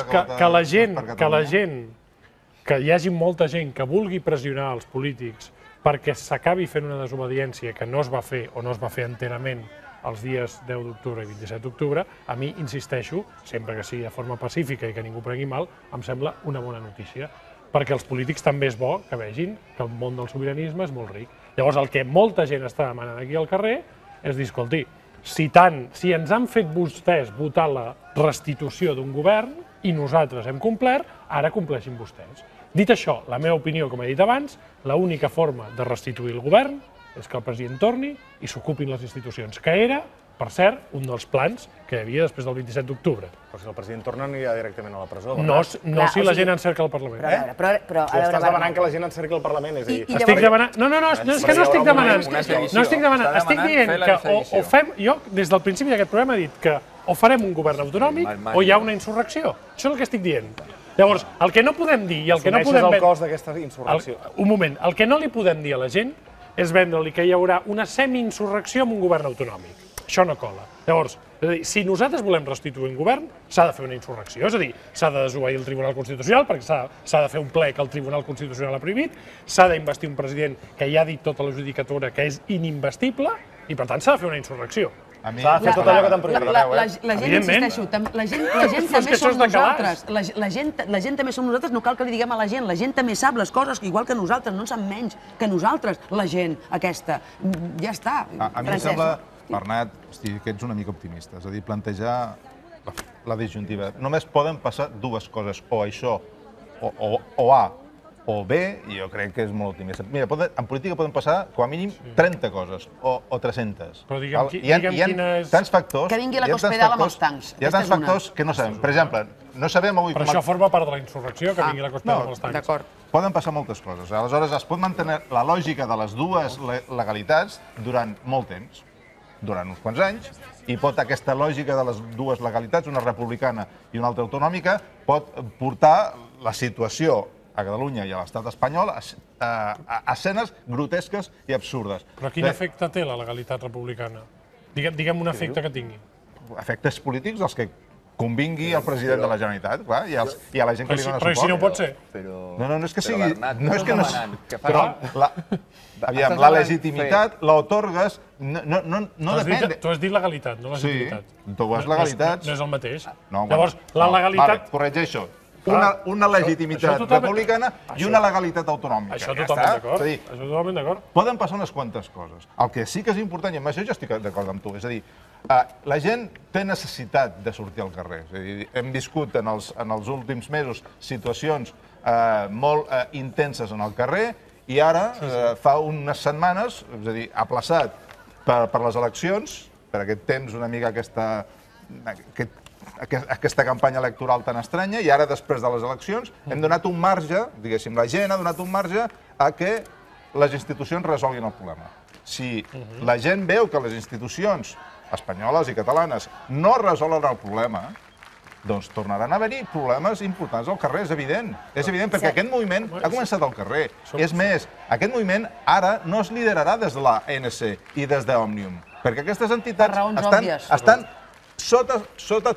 que hi hagi molta gent que vulgui pressionar els polítics perquè s'acabi fent una desobediència que no es va fer o no es va fer enterament els dies 10 d'octubre i 27 d'octubre, a mi, insisteixo, sempre que sigui de forma pacífica i que ningú prengui mal, em sembla una bona notícia. Perquè els polítics també és bo que vegin que el món del sobiranisme és molt ric. Llavors, el que molta gent està demanant aquí al carrer és dir, escolti, si ens han fet vostès votar la restitució d'un govern i nosaltres hem complert, ara compleixin vostès. Dit això, la meva opinió, com he dit abans, l'única forma de restituir el govern és que el president torni i s'ocupin les institucions, que era, per cert, un dels plans que hi havia després del 27 d'octubre. Però si el president torna anirà directament a la presó. No si la gent encerca el Parlament. Però estàs demanant que la gent encerqui el Parlament, és a dir... Estic demanant... No, és que no estic demanant. No estic demanant. Estic dient que o fem... Jo, des del principi d'aquest programa, he dit que o farem un govern autonòmic o hi ha una insurrecció. Això és el que estic dient. Llavors, el que no podem dir i el que no podem... Assumeixes el cost d'aquesta insurrecció. Un moment. El que no li podem dir a la gent és vendre-li que hi haurà una semi-insurrecció amb un govern autonòmic. Això no cola. Llavors, si nosaltres volem restituir un govern, s'ha de fer una insurrecció. És a dir, s'ha de desobeir el Tribunal Constitucional, perquè s'ha de fer un ple que el Tribunal Constitucional ha prohibit, s'ha d'investir un president que ja ha dit tota la judicatura que és inimvestible, i per tant s'ha de fer una insurrecció. S'ha de fer tot allò que t'han prohibit. La gent, insisteixo, la gent també som nosaltres. La gent també som nosaltres, no cal que li diguem a la gent també sap les coses, igual que nosaltres, no en sap menys que nosaltres, la gent aquesta. Ja està. A mi em sembla, Bernat, que ets una mica optimista, és a dir, plantejar la disjuntiva. Només poden passar dues coses, o això, o A, o B, i jo crec que és molt optimista. Mira, en política poden passar, com a mínim, 30 coses, o 300. Però digue'm quina és... Tants factors... Que vingui la Cospedal amb els tancs. Hi ha tants factors que no sabem. Per exemple, no sabem avui... Però això forma part de la insurrecció, que vingui la Cospedal amb els tancs. D'acord. Poden passar moltes coses. Aleshores, es pot mantenir la lògica de les dues legalitats durant molt temps, durant uns quants anys, i aquesta lògica de les dues legalitats, una republicana i una altra autonòmica, pot portar la situació a Catalunya i a l'estat espanyol a escenes grotesques i absurdes. Però quin efecte té la legalitat republicana? Digue'm un efecte que tingui. Efectes polítics dels que convingui el president de la Generalitat, clar, i a la gent que li dona suport. Però si no pot ser. No és que sigui... No és que no... Però, aviam, la legitimitat l'atorgues... No depèn... Tu has dit legalitat, no legitimitat. Sí, tu has legalitat... No és el mateix. Llavors, la legalitat... Corregeixo. Una legitimitat republicana i una legalitat autonòmica. Això totalment d'acord. Poden passar unes quantes coses. El que sí que és important, i amb això jo estic d'acord amb tu, és a dir, la gent té necessitat de sortir al carrer. És a dir, hem viscut en els últims mesos situacions molt intenses en el carrer i ara, fa unes setmanes, és a dir, aplaçat per les eleccions, per aquest temps una mica aquesta campanya electoral tan estranya, i ara, després de les eleccions, hem donat un marge, diguéssim, la gent ha donat un marge a que les institucions resolguin el problema. Si la gent veu que les institucions espanyoles i catalanes no resolen el problema, doncs tornaran a haver-hi problemes importants al carrer, és evident. És evident, perquè aquest moviment ha començat al carrer. És més, aquest moviment ara no es liderarà des de l'ANC i des d'Òmnium, perquè aquestes entitats estan sota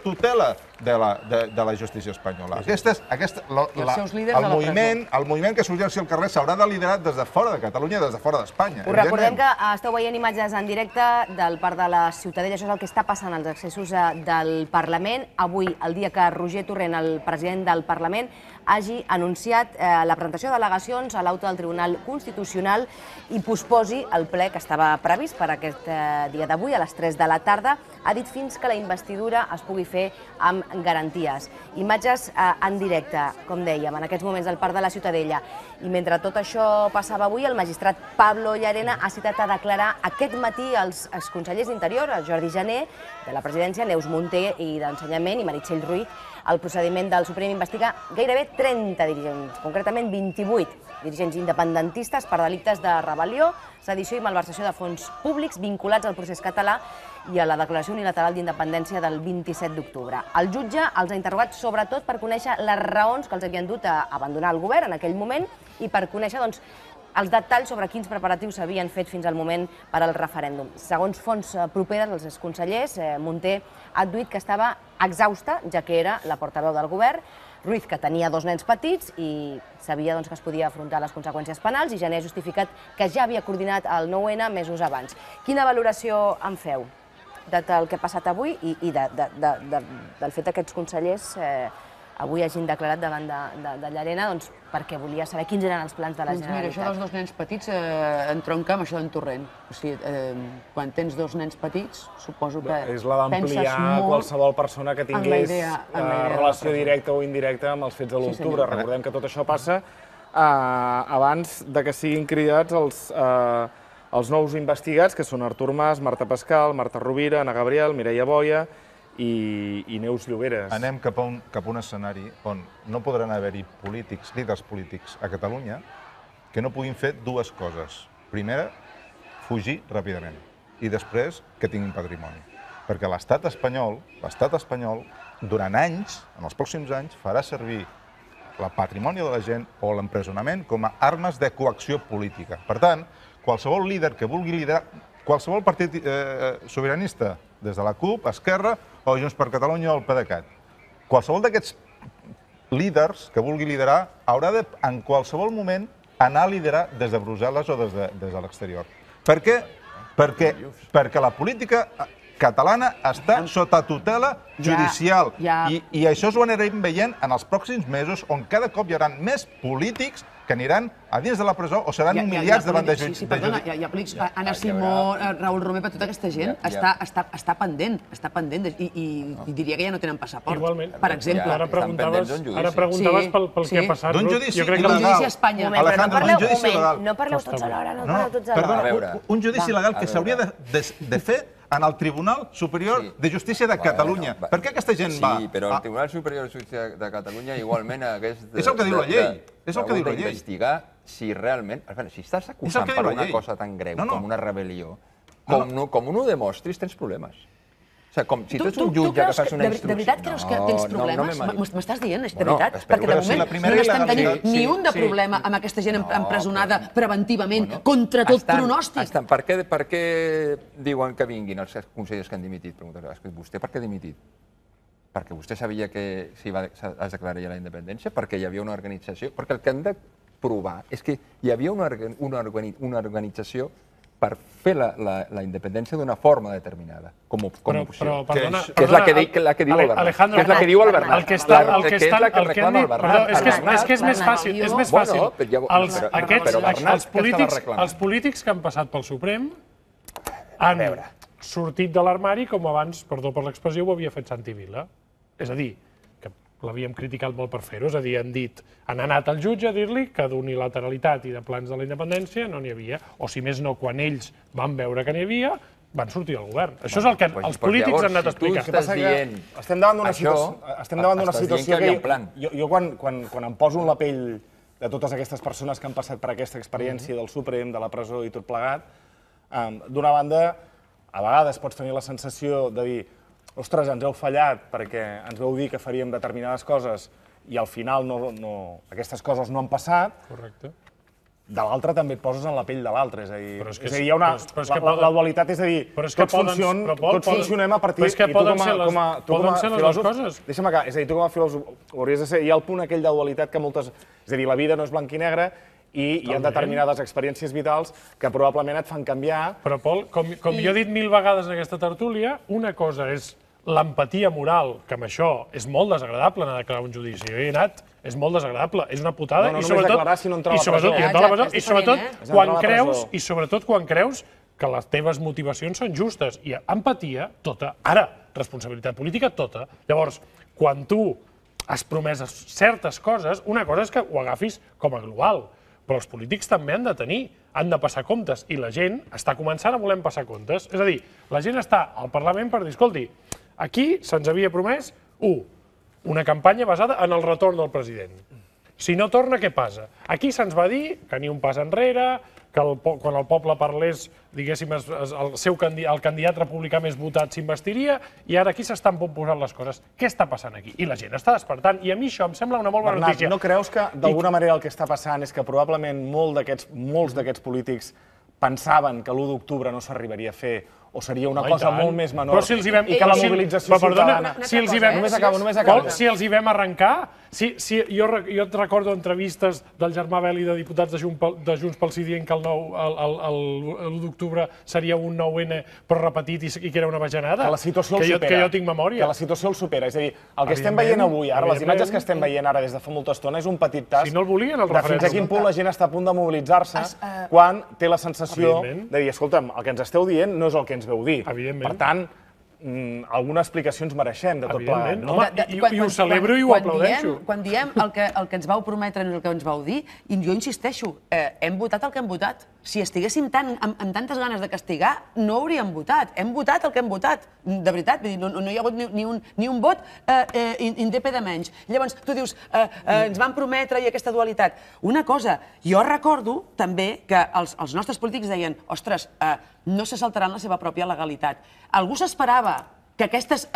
tutela de la justícia espanyola. El moviment que sorgeixi al carrer s'haurà de liderar des de fora de Catalunya, des de fora d'Espanya. Us recordem que esteu veient imatges en directe del Parc de la Ciutadella. Això és el que està passant als accessos del Parlament. Avui, el dia que Roger Torrent, el president del Parlament, hagi anunciat la presentació de delegacions a l'auto del Tribunal Constitucional i posposi el ple que estava previst per aquest dia d'avui a les 3 de la tarda. Ha dit fins que la investidura es pugui fer amb garanties. Imatges en directe, com dèiem, en aquests moments al Parc de la Ciutadella. I mentre tot això passava avui, el magistrat Pablo Llarena ha citat a declarar aquest matí els consellers d'Interior, el Jordi Jané, de la Presidència, Neus Munté i d'Ensenyament i Meritxell Ruiz. El procediment del Suprem investiga gairebé 30 dirigents, concretament 28 dirigents independentistes per delictes de rebel·lió, sedició i malversació de fons públics vinculats al procés català i a la declaració unilateral d'independència del 27 d'octubre. El jutge els ha interrogat sobretot per conèixer les raons que els havien dut a abandonar el govern en aquell moment i per conèixer els detalls sobre quins preparatius s'havien fet fins al moment per al referèndum. Segons fonts properes als exconsellers, Munté ha adduït que estava exhausta, ja que era la portaveu del govern, Ruiz, que tenia 2 nens petits i sabia que es podia afrontar les conseqüències penals, i Jané ha justificat que ja havia coordinat el 9-N mesos abans. Quina valoració en feu del que ha passat avui i del fet que aquests consellers avui hagin declarat davant de Llarena perquè volia saber quins eren els plans de la Generalitat? Mira, això dels 2 nens petits entronca amb això d'en Torrent. O sigui, quan tens 2 nens petits, suposo que és la d'ampliar qualsevol persona que tingués relació directa o indirecta amb els fets de l'octubre. Recordem que tot això passa abans que siguin cridats els nous investigats, que són Artur Mas, Marta Pascal, Marta Rovira, Ana Gabriel, Mireia Boia i Neus Lloberes. Anem cap a un escenari on no podran haver-hi polítics, líders polítics a Catalunya que no puguin fer 2 coses. Primera, fugir ràpidament i després que tinguin patrimoni. Perquè l'estat espanyol, durant anys, en els pròxims anys, farà servir el patrimoni de la gent o l'empresonament com a armes de coacció política. Per tant, qualsevol líder que vulgui liderar, qualsevol partit sobiranista, des de la CUP, Esquerra o Junts per Catalunya o el PDeCAT, qualsevol d'aquests líders que vulgui liderar haurà de, en qualsevol moment, anar a liderar des de Brussel·les o des de l'exterior. Per què? Perquè la política catalana està sota tutela judicial. I això ho anirem veient en els pròxims mesos, on cada cop hi haurà més polítics que aniran a dins de la presó o seran humiliats davant de jutges. Sí, perdona, hi ha polítics, Anna Simó, Raül Romer, tota aquesta gent està pendent i diria que ja no tenen passaport, per exemple. Ara preguntaves pel que ha passat. D'un judici il·legal. Un judici a Espanya. No parleu tots alhora, no parleu tots alhora. Perdona, un judici il·legal que s'hauria de fer en el Tribunal Superior de Justícia de Catalunya. Per què aquesta gent va? Sí, però el Tribunal Superior de Justícia de Catalunya igualment hagués És el que diu la llei. És el que diu la llei. Investigar si realment... Si estàs acusant per una cosa tan greu com una rebel·lió, com no ho demostris, tens problemes. O sigui, si tu ets un jutge que fas una instrucció... De veritat creus que tens problemes? M'estàs dient, de veritat? Perquè de moment no n'estem tenint ni un de problema amb aquesta gent empresonada preventivament, contra tot pronòstic. Per què diuen que vinguin els consellers que han dimitit? Vostè per què ha dimitit? Perquè vostè sabia que es declararia la independència? Perquè hi havia una organització? Perquè el que hem de provar és que hi havia una organització per fer la independència d'una forma determinada, com a opció. Que és la que diu el Bernat. Que és la que diu el Bernat. Que és la que reclama el Bernat. És que és més fàcil. Els polítics que han passat pel Suprem han sortit de l'armari com abans, perdó per l'expressió, ho havia fet Santi Vila. És a dir, que l'havíem criticat molt per fer-ho, és a dir, han anat al jutge a dir-li que d'unilateralitat i de plans de la independència no n'hi havia, o si més no, quan ells van veure que n'hi havia, van sortir del govern. Això és el que els polítics han anat a explicar. Estem davant d'una situació que jo quan em poso en la pell de totes aquestes persones que han passat per aquesta experiència del Suprem, de la presó i tot plegat, d'una banda, a vegades pots tenir la sensació de dir ostres, ens heu fallat perquè ens vau dir que faríem determinades coses i al final aquestes coses no han passat. Correcte. De l'altre també et poses en la pell de l'altre. És a dir, hi ha la dualitat, és a dir, tots funcionem a partir... Però és que poden ser les dues coses. Deixa'm acá, és a dir, tu com a filòsof hauries de ser... Hi ha el punt aquell de dualitat que moltes... És a dir, la vida no és blanc i negre i hi ha determinades experiències vitals que probablement et fan canviar... Però, Pol, com jo he dit 1000 vegades en aquesta tertúlia, una cosa és l'empatia moral, que amb això és molt desagradable anar a declarar un judici. Jo hi he anat, és molt desagradable, és una putada. No només declarar, sinó entrar a la presó. I sobretot quan creus que les teves motivacions són justes. I empatia, tota. Ara, responsabilitat política, tota. Llavors, quan tu has promès certes coses, una cosa és que ho agafis com a global, però els polítics també han de tenir, han de passar comptes, i la gent està començant a voler passar comptes. És a dir, la gent està al Parlament per dir, escolti, aquí se'ns havia promès, una campanya basada en el retorn del president. Si no torna, què passa? Aquí se'ns va dir que ni un pas enrere, que quan el poble parlés, diguéssim, el candidat republicà més votat s'investiria, i ara aquí s'estan posant les coses. Què està passant aquí? I la gent està despertant, i a mi això em sembla una molt bona notícia. Bernat, no creus que d'alguna manera el que està passant és que probablement molts d'aquests polítics pensaven que l'1 d'octubre no s'arribaria a fer o seria una cosa molt més menor i que la mobilització ciutadana... Només acabo. Si els hi vam arrencar, jo et recordo entrevistes del Germà Bel i de diputats de Junts pel Sí dient que l'1 d'octubre seria un 9N però repetit i que era una bajanada. Que la situació el supera. Que jo tinc memòria. Que la situació el supera. És a dir, el que estem veient avui, ara, les imatges que estem veient ara des de fa molta estona és un petit tas de fins a quin punt la gent està a punt de mobilitzar-se quan té la sensació de dir, escolta'm, el que ens esteu dient no és el que ens veu dir. Per tant, alguna explicació ens mereixem de tot plegat. I ho celebro i ho aplaudeixo. Quan diem el que ens vau prometre no és el que ens vau dir, i jo insisteixo, hem votat el que hem votat. Si estiguéssim amb tantes ganes de castigar, no hauríem votat. Hem votat el que hem votat, de veritat. No hi ha hagut ni un vot indep de menys. Llavors, tu dius, ens van prometre i aquesta dualitat. Una cosa, jo recordo també que els nostres polítics deien, ostres, no se saltaran la seva pròpia legalitat. Algú s'esperava que aquestes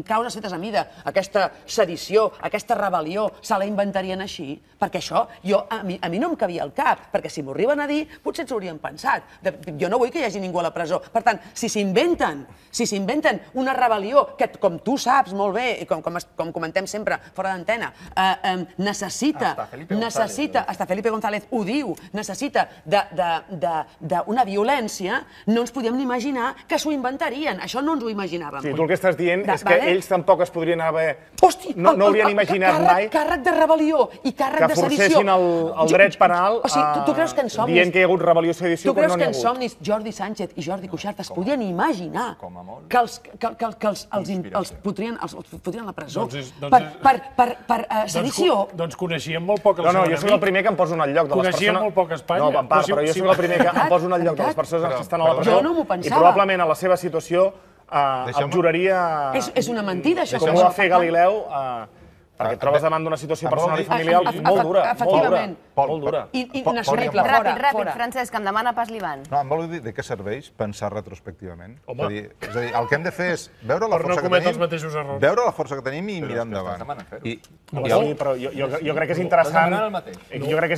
causes fetes a mida, aquesta sedició, aquesta rebel·lió, se la inventarien així? Perquè això a mi no em cabia al cap, perquè si m'ho arriben a dir, potser ens ho haurien pensat. Jo no vull que hi hagi ningú a la presó. Per tant, si s'inventen una rebel·lió que, com tu saps molt bé, i com comentem sempre fora d'antena, necessita, hasta Felipe González ho diu, necessita d'una violència, no ens podíem ni imaginar que s'ho inventarien. Això no ens ho imaginàvem. Sí, tu el que estàs dient és que ells tampoc es podrien haver... No haurien imaginat mai... Càrrec de rebel·lió i càrrec de sedició. Que forcessin el dret penal dient que hi ha hagut rebel·lió i sedició, però no n'hi ha hagut. Tu creus que en somnis Jordi Sánchez i Jordi Cuixart es podien imaginar que els fotrien a la presó per sedició? Doncs coneixíem molt poc el seu enemic. No, jo soc el primer que em poso en el lloc de les persones... Coneixíem molt poc Espanya. No, Empar, però jo soc el primer que em poso en el lloc de les persones que estan a la presó i probablement a la seva situació abjuraria... És una mentida, això. Com ho va fer Galileu, perquè et trobes davant d'una situació personal i familiar molt dura. Efectivament. Molt dura. Inassolible. Ràpid, Francesc, em demana pas l'Ivan. No, em vol dir de què serveix pensar retrospectivament? És a dir, el que hem de fer és veure la força que tenim i mirar endavant. Però jo crec que és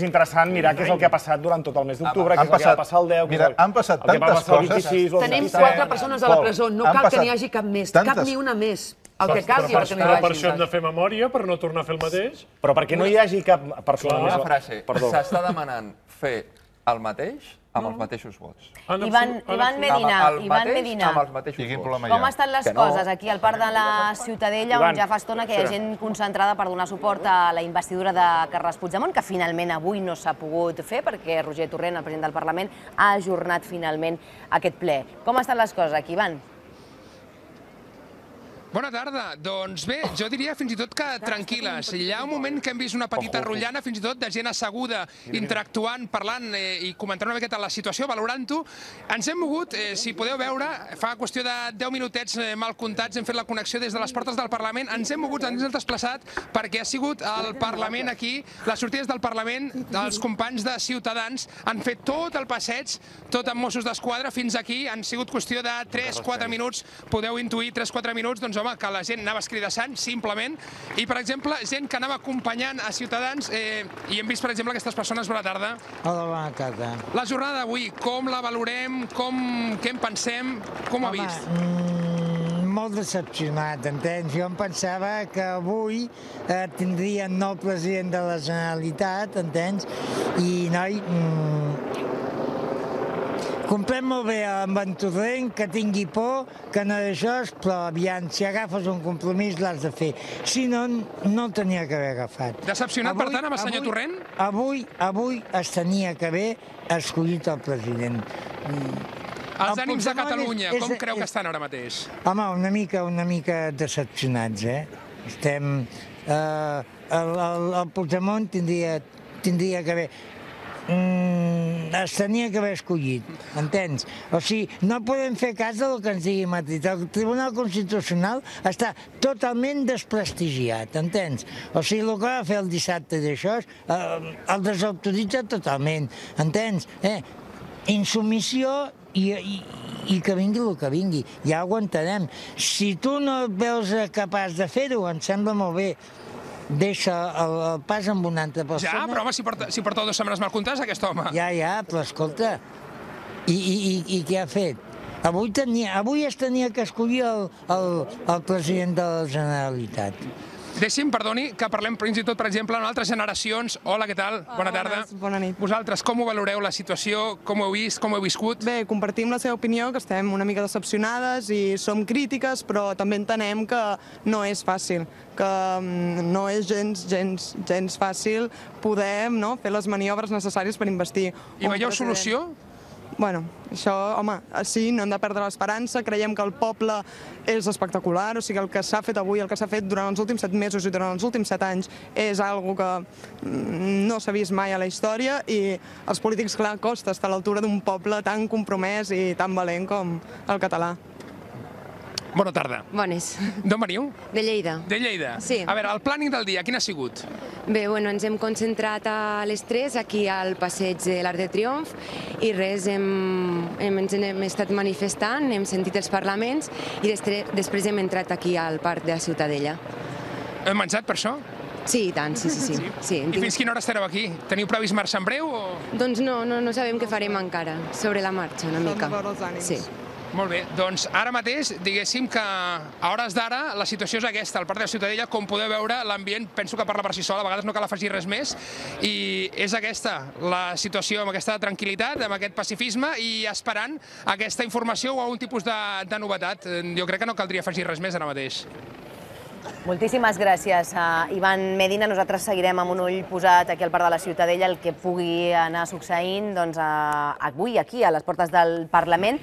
interessant mirar què és el que ha passat durant tot el mes d'octubre, què és el que va passar el 10, mira, han passat tantes coses. Tenim 4 persones a la presó, no cal que n'hi hagi cap més, cap ni una més. El que calgui perquè no hi hagi. Per això hem de fer memòria, per no tornar a fer el mateix. Però perquè no hi hagi cap persona més... Una frase, s'està demanant fer el mateix amb els mateixos vots. Ivan Medina, com estan les coses aquí al Parc de la Ciutadella, on ja fa estona que hi ha gent concentrada per donar suport a la investidura de Carles Puigdemont, que finalment avui no s'ha pogut fer perquè Roger Torrent, el president del Parlament, ha ajornat finalment aquest ple. Com estan les coses aquí, Ivan? Bona tarda. Doncs bé, jo diria fins i tot que tranquil·les. Hi ha un moment que hem vist una petita rotllana, fins i tot de gent asseguda, interactuant, parlant i comentant una miqueta la situació, valorant-ho. Ens hem mogut, si podeu veure, fa qüestió de 10 minutets mal comptats, hem fet la connexió des de les portes del Parlament, ens hem mogut, ens hem desplaçat, perquè ha sigut el Parlament aquí, les sortides del Parlament, els companys de Ciutadans han fet tot el passeig, tot amb Mossos d'Esquadra, fins aquí, han sigut qüestió de 3-4 minuts, podeu intuir 3-4 minuts, doncs home, que la gent anava escridassant, simplement, i, per exemple, gent que anava acompanyant a Ciutadans, i hem vist, per exemple, aquestes persones. Bona tarda. Hola, bona tarda. La jornada d'avui, com la valorem, què en pensem, com ho ha vist? Molt decepcionat, entens? Jo em pensava que avui tindríem nou president de la Generalitat, entens? I, noi, Comprem molt bé amb en Torrent, que tingui por, que no d'això, però aviam, si agafes un compromís l'has de fer. Si no, no el tenia que haver agafat. Decepcionat, per tant, amb el senyor Torrent? Avui es tenia que haver escollit el president. Els ànims de Catalunya, com creu que estan ara mateix? Home, una mica decepcionats, Estem... El Puigdemont tindria que haver... es tenia que haver escollit, entens? O sigui, no podem fer cas del que ens digui Madrid. El Tribunal Constitucional està totalment desprestigiat, entens? O sigui, el que va fer el dissabte d'això el desautoritza totalment, entens? Insubmissió i que vingui el que vingui, ja ho aguantarem. Si tu no et veus capaç de fer-ho, em sembla molt bé. Deixa el pas amb una altra persona. Ja, però home, si porta 2 setmanes mal comptades, aquest home. Ja, però escolta, i què ha fet? Avui es tenia que escollir el president de la Generalitat. Deixi'm, perdoni, que parlem fins i tot, per exemple, en altres generacions. Hola, què tal? Bona tarda. Bona nit. Vosaltres, com ho valoreu, la situació? Com ho heu vist? Com ho heu viscut? Bé, compartim la seva opinió, que estem una mica decepcionades i som crítiques, però també entenem que no és fàcil, que no és gens fàcil poder fer les maniobres necessàries per investir. I veieu solució? Bueno, això, home, sí, no hem de perdre l'esperança, creiem que el poble és espectacular, o sigui, el que s'ha fet avui, el que s'ha fet durant els últims 7 mesos i durant els últims 7 anys és algo que no s'ha vist mai a la història i als polítics, clar, costa estar a l'altura d'un poble tan compromès i tan valent com el català. Bona tarda. Bones. D'on veniu? De Lleida. De Lleida? Sí. A veure, el plàning del dia, quin ha sigut? Bé, ens hem concentrat a les 3 aquí al passeig de l'Arc de Triomf i res, ens hem estat manifestant, hem sentit els parlaments i després hem entrat aquí al Parc de la Ciutadella. Heu menjat per això? Sí, i tant, sí. I fins quina hora estareu aquí? Teniu previst marxar en breu? Doncs no sabem què farem encara, sobre la marxa una mica. Sí. Molt bé, doncs ara mateix, diguéssim que a hores d'ara la situació és aquesta, al Parc de la Ciutadella, com podeu veure, l'ambient penso que parla per si sol, a vegades no cal afegir res més, i és aquesta, la situació amb aquesta tranquil·litat, amb aquest pacifisme i esperant aquesta informació o algun tipus de novetat. Jo crec que no caldria afegir res més ara mateix. Moltíssimes gràcies, Ivan Medina. Nosaltres seguirem amb un ull posat aquí al Parc de la Ciutadella el que pugui anar succeint avui aquí, a les portes del Parlament.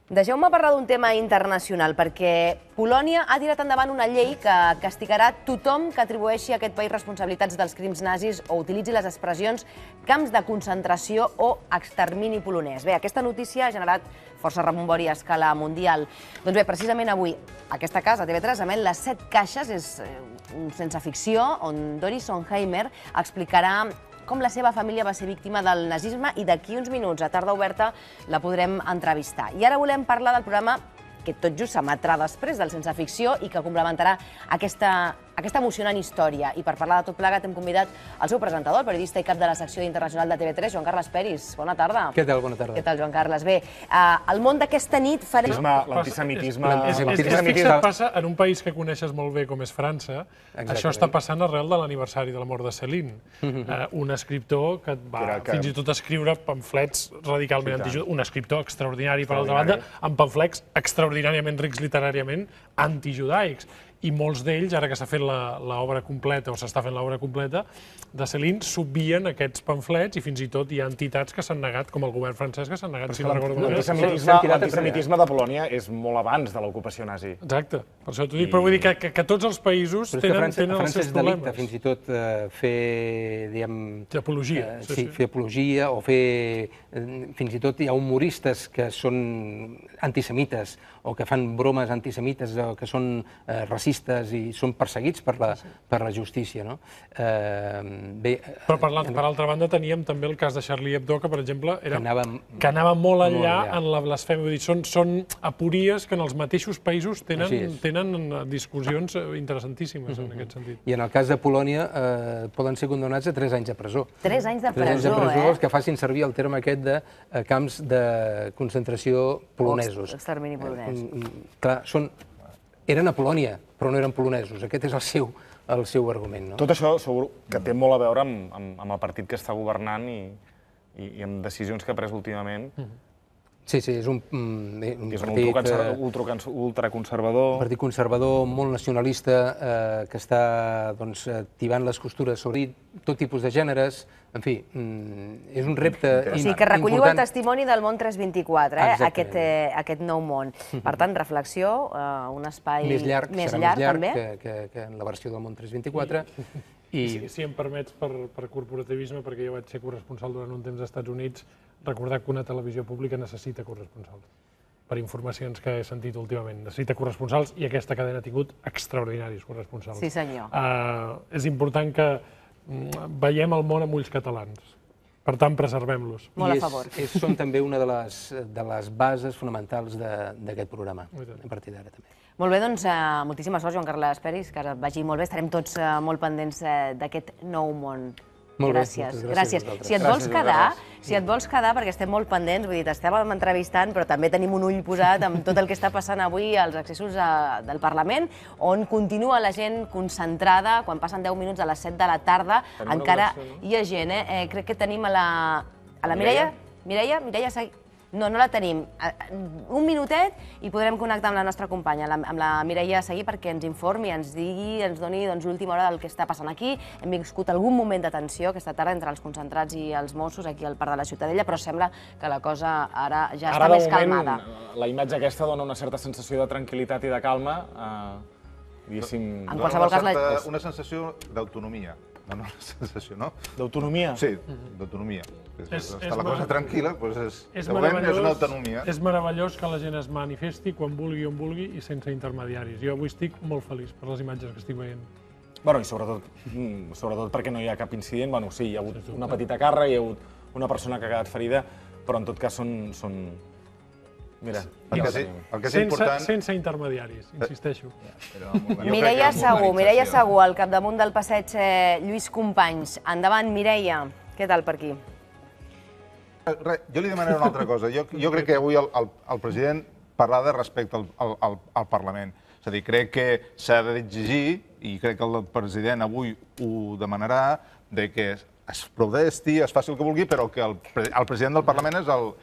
Deixeu-me parlar d'un tema internacional, perquè Polònia ha tirat endavant una llei que castigarà tothom que atribueixi a aquest país responsabilitats dels crims nazis o utilitzi les expressions camps de concentració o extermini polonès. Bé, aquesta notícia ha generat força rebombori a escala mundial. Doncs bé, precisament avui, aquesta casa, TV3, emet Les 7 caixes, és un sense ficció, on Doris Sonheimer explicarà com la seva família va ser víctima del nazisme i d'aquí uns minuts, a Tarda Oberta, la podrem entrevistar. I ara volem parlar del programa que tot just s'emetrà després del Sense Ficció i que complementarà aquesta emocionant història. I per parlar de tot plegat hem convidat el seu presentador, el periodista i cap de la secció internacional de TV3, Joan Carles Peris. Bona tarda. Què tal? Bona tarda. Què tal, Joan Carles? Bé, al món d'aquesta nit farem... L'antisemitisme... Fixa't, passa en un país que coneixes molt bé com és França. Això està passant arrel de l'aniversari de la mort de Céline. Un escriptor que va fins i tot escriure pamflets radicalment antijudaïcs. Un escriptor extraordinari, per altra banda, amb pamflets extraordinàriament rics literàriament antijudaics. I molts d'ells, ara que s'ha fet l'obra completa, o s'està fent l'obra completa, de Céline, s'obvien aquests pamflets i fins i tot hi ha entitats que s'han negat, com el govern francès, que s'han negat, si no recordo malament. L'antisemitisme de Polònia és molt abans de l'ocupació nazi. Exacte, per això t'ho dic, però vull dir que tots els països tenen els seus problemes. A França és delicte, fins i tot fer, diguem... Apologia. Sí, fer apologia o fer... Fins i tot hi ha humoristes que són antisemites o que fan bromes antisemites o que són racistes i són perseguits per la justícia. Però per altra banda teníem també el cas de Charlie Hebdo, que per exemple que anava molt enllà en la blasfèmia. Són apories que en els mateixos països tenen discussions interessantíssimes en aquest sentit. I en el cas de Polònia poden ser condemnats a 3 anys de presó. 3 anys de presó, 3 anys de presó, els que facin servir el terme aquest de camps de concentració polonesos. Extermini polonès. Clar, eren a Polònia, però no eren polonesos. Aquest és el seu argument. Tot això segur que té molt a veure amb el partit que està governant i amb decisions que ha pres últimament. Sí, és un partit ultraconservador. Un partit conservador, molt nacionalista, que està tibant les costures sobre tot tipus de gèneres. En fi, és un repte important. O sigui, que recolliu el testimoni del món 324, aquest nou món. Per tant, reflexió, un espai més llarg també. Que en la versió del món 324. Si em permets, per corporativisme, perquè jo vaig ser corresponsal durant un temps als Estats Units, recordar que una televisió pública necessita corresponsals. Per informacions que he sentit últimament. Necessita corresponsals i aquesta cadena ha tingut extraordinaris corresponsals. Sí, senyor. És important que veiem el món amb ulls catalans. Per tant, preservem-los. Molt a favor. Són també una de les bases fonamentals d'aquest programa, a partir d'ara també. Molt bé, doncs moltíssima sort, Joan Carles Peris, que vagi molt bé. Estarem tots molt pendents d'aquest nou món. Gràcies. Si et vols quedar, perquè estem molt pendents, vull dir, t'estàvem entrevistant, però també tenim un ull posat amb tot el que està passant avui als accessos del Parlament, on continua la gent concentrada, quan passen 10 minuts a les 7 de la tarda, encara hi ha gent, crec que tenim a la Mireia. Mireia, no la tenim. Un minutet i podrem connectar amb la nostra companya, amb la Mireia Seguí, perquè ens informi, ens digui, ens doni l'última hora del que està passant aquí. Hem viscut algun moment de tensió aquesta tarda entre els concentrats i els Mossos aquí al Parc de la Ciutadella, però sembla que la cosa ara ja està més calmada. La imatge aquesta dona una certa sensació de tranquil·litat i de calma. En qualsevol cas... Una sensació d'autonomia. No, una sensació, no? D'autonomia? Sí, d'autonomia. Està la cosa tranquil·la, doncs és una autonomia. És meravellós que la gent es manifesti quan vulgui, on vulgui i sense intermediaris. Jo avui estic molt feliç per les imatges que estic veient. Bueno, i sobretot perquè no hi ha cap incident. Bueno, sí, hi ha hagut una petita càrrega, hi ha hagut una persona que ha quedat ferida, però en tot cas són... Mira, el que és important... Sense intermediaris, insisteixo. Mireia Segú, al capdamunt del passeig Lluís Companys. Endavant, Mireia. Què tal per aquí? Jo li demanaré una altra cosa. Jo crec que avui el president parlava respecte al Parlament. És a dir, crec que s'ha d'exigir, i crec que el president avui ho demanarà, que es protesti, es faci el que vulgui, però que el president del Parlament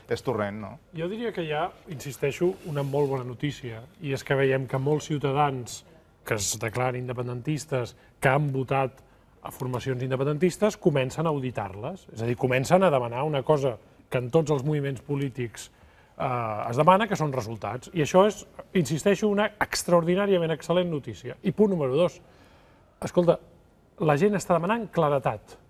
és torrent, no? Jo diria que hi ha, insisteixo, una molt bona notícia, i és que veiem que molts ciutadans que es declaren independentistes, que han votat a formacions independentistes, comencen a auditar-les. És a dir, comencen a demanar una cosa que en tots els moviments polítics es demana, que són resultats. I això és, insisteixo, una extraordinàriament excel·lent notícia. I punt número 2. Escolta, la gent està demanant claretat.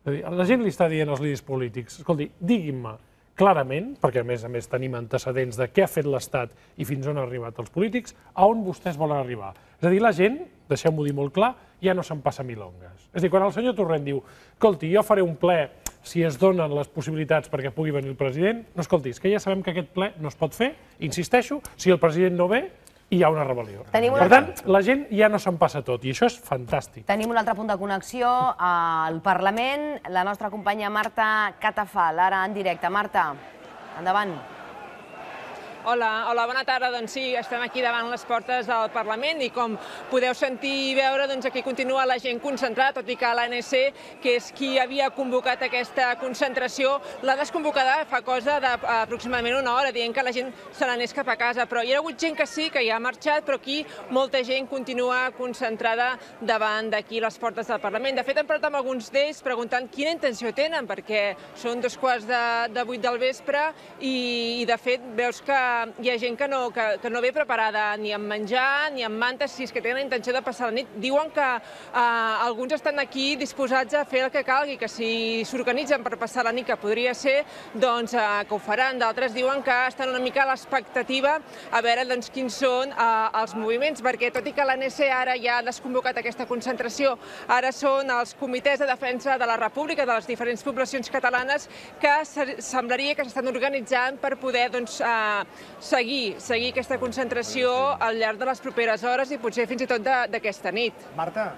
La gent li està dient als líders polítics, escolti, diguin-me clarament, perquè a més tenim antecedents de què ha fet l'Estat i fins on han arribat els polítics, a on vostès volen arribar. És a dir, la gent, deixeu-m'ho dir molt clar, ja no se'n passa milongues. És a dir, quan el senyor Torrent diu, escolti, jo faré un ple si es donen les possibilitats perquè pugui venir el president, no, escolti, és que ja sabem que aquest ple no es pot fer, insisteixo, si el president no ve, hi ha una rebel·lió. Per tant, la gent ja no se'n passa tot, i això és fantàstic. Tenim un altre punt de connexió al Parlament, la nostra companya Marta Catafal, ara en directe. Marta, endavant. Hola, bona tarda. Doncs sí, estem aquí davant les portes del Parlament i com podeu sentir i veure, doncs aquí continua la gent concentrada, tot i que l'ANC, que és qui havia convocat aquesta concentració, l'ha desconvocada fa cosa d'aproximadament una hora, dient que la gent se n'anés cap a casa. Però hi ha hagut gent que sí, que ja ha marxat, però aquí molta gent continua concentrada davant d'aquí les portes del Parlament. De fet, hem parlat amb alguns d'ells preguntant quina intenció tenen, perquè són 7:15 del vespre i de fet veus que hi ha gent que no ve preparada ni amb menjar ni amb mantes, si és que tenen la intenció de passar la nit. Diuen que alguns estan aquí disposats a fer el que calgui, que si s'organitzen per passar la nit, que podria ser, doncs que ho faran. D'altres diuen que estan una mica a l'expectativa a veure quins són els moviments, perquè tot i que l'ANC ara ja ha desconvocat aquesta concentració, ara són els comitès de defensa de la República, de les diferents poblacions catalanes, que semblaria que s'estan organitzant per poder seguir aquesta concentració al llarg de les properes hores i potser fins i tot d'aquesta nit. Marta,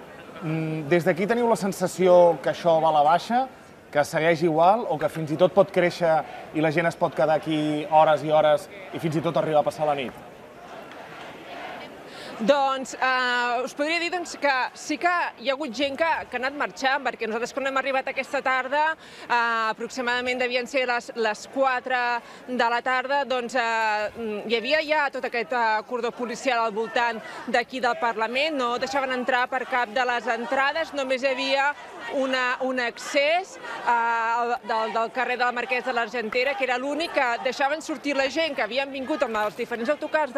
des d'aquí teniu la sensació que això va a la baixa, que segueix igual o que fins i tot pot créixer i la gent es pot quedar aquí hores i hores i fins i tot arribar a passar la nit? Doncs us podria dir que sí que hi ha hagut gent que ha anat marxant, perquè nosaltres quan hem arribat aquesta tarda, aproximadament devien ser les 4 de la tarda, doncs hi havia ja tot aquest cordó policial al voltant d'aquí del Parlament, no deixaven entrar per cap de les entrades, només hi havia un accés del carrer de la Marquès de l'Argentera, que era l'únic que deixaven sortir la gent que havien vingut amb els diferents autocars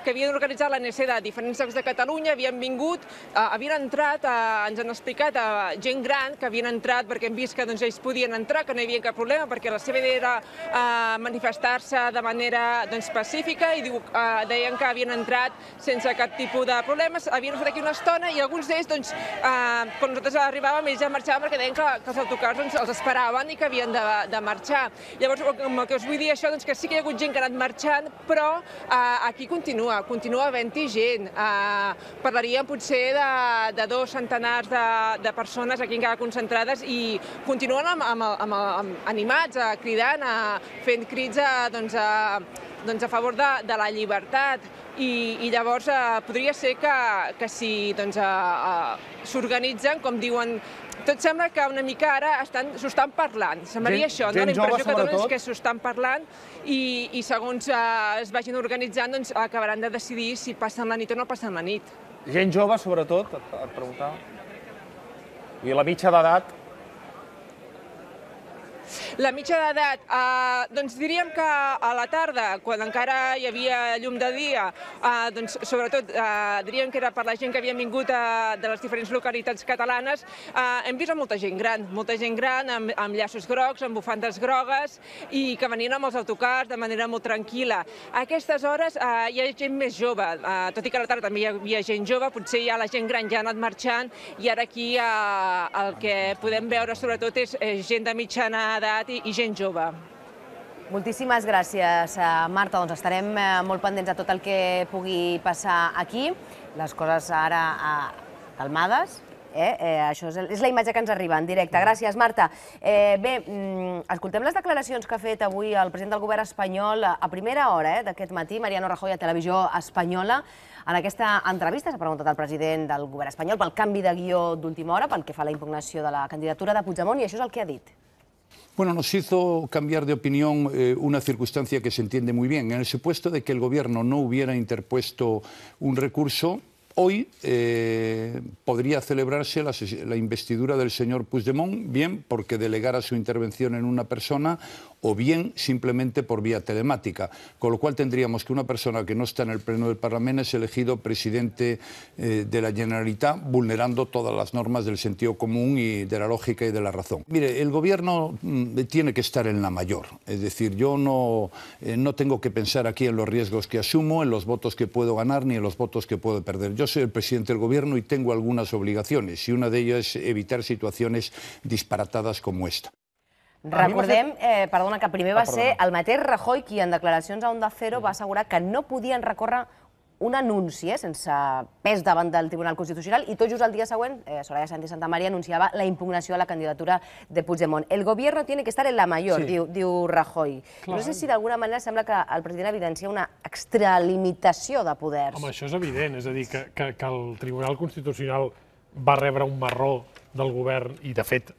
que havien organitzat l'ANC de diferents llocs de Catalunya, havien vingut, havien entrat, ens han explicat, gent gran que havien entrat perquè hem vist que ells podien entrar, que no hi havia cap problema, perquè la seva idea era manifestar-se de manera pacífica i deien que havien entrat sense cap tipus de problemes, havien estat aquí una estona i alguns d'ells, quan nosaltres arribàvem, ells ja marxaven perquè deien que els autocars els esperaven i que havien de marxar. Llavors, el que us vull dir això, que sí que hi ha hagut gent que ha anat marxant, però aquí continua havent-hi gent. Parlaríem potser de 2 centenars de persones aquí encara concentrades i continuen animats, cridant, fent crits a favor de la llibertat. I llavors podria ser que si s'organitzen, com diuen, tot sembla que una mica ara s'ho estan parlant. Semblaria això, no? La impressió que donen és que s'ho estan parlant i segons es vagin organitzant acabaran de decidir si passen la nit o no passen la nit. Gent jove, sobretot, et preguntava. I la mitja d'edat? La mitja d'edat, doncs diríem que a la tarda, quan encara hi havia llum de dia, doncs sobretot diríem que era per la gent que havia vingut de les diferents localitats catalanes, hem vist molta gent gran amb llaços grocs, amb bufandes grogues i que venien amb els autocars de manera molt tranquil·la. A aquestes hores hi ha gent més jove, tot i que a la tarda també hi havia gent jove, potser ja la gent gran ja ha anat marxant i ara aquí el que podem veure sobretot és gent de mitjana edat i gent jove. Moltíssimes gràcies, Marta. Doncs estarem molt pendents de tot el que pugui passar aquí. Les coses ara calmades. Això és la imatge que ens arriba en directe. Gràcies, Marta. Bé, escoltem les declaracions que ha fet avui el president del govern espanyol a primera hora d'aquest matí, Mariano Rajoy, a Televisió Espanyola. En aquesta entrevista s'ha preguntat al president del govern espanyol pel canvi de guió d'última hora, pel que fa a la impugnació de la candidatura de Puigdemont, i això és el que ha dit. Bueno, nos hizo cambiar de opinión una circunstancia que se entiende muy bien. En el supuesto de que el Gobierno no hubiera interpuesto un recurso, hoy podría celebrarse la investidura del señor Puigdemont, bien porque delegara su intervención en una persona o bien simplemente por vía telemática, con lo cual tendríamos que una persona que no está en el Pleno del Parlamento es elegido presidente de la Generalitat, vulnerando todas las normas del sentido común y de la lógica y de la razón. Mire, el Gobierno tiene que estar en la mayor, es decir, yo no tengo que pensar aquí en los riesgos que asumo, en los votos que puedo ganar ni en los votos que puedo perder. Yo soy el presidente del Gobierno y tengo algunas obligaciones, y una de ellas es evitar situaciones disparatadas como esta. Recordem, perdona, que primer va ser el mateix Rajoy qui en declaracions a Onda Cero va assegurar que no podien recórrer un anunci sense pes davant del Tribunal Constitucional i tot just el dia següent, Soraya Sáenz de Santamaría anunciava la impugnació a la candidatura de Puigdemont. El gobierno tiene que estar en la mayor, diu Rajoy. No sé si d'alguna manera sembla que el president evidencia una extralimitació de poders. Home, això és evident, és a dir, que el Tribunal Constitucional va rebre un marró del govern i, de fet,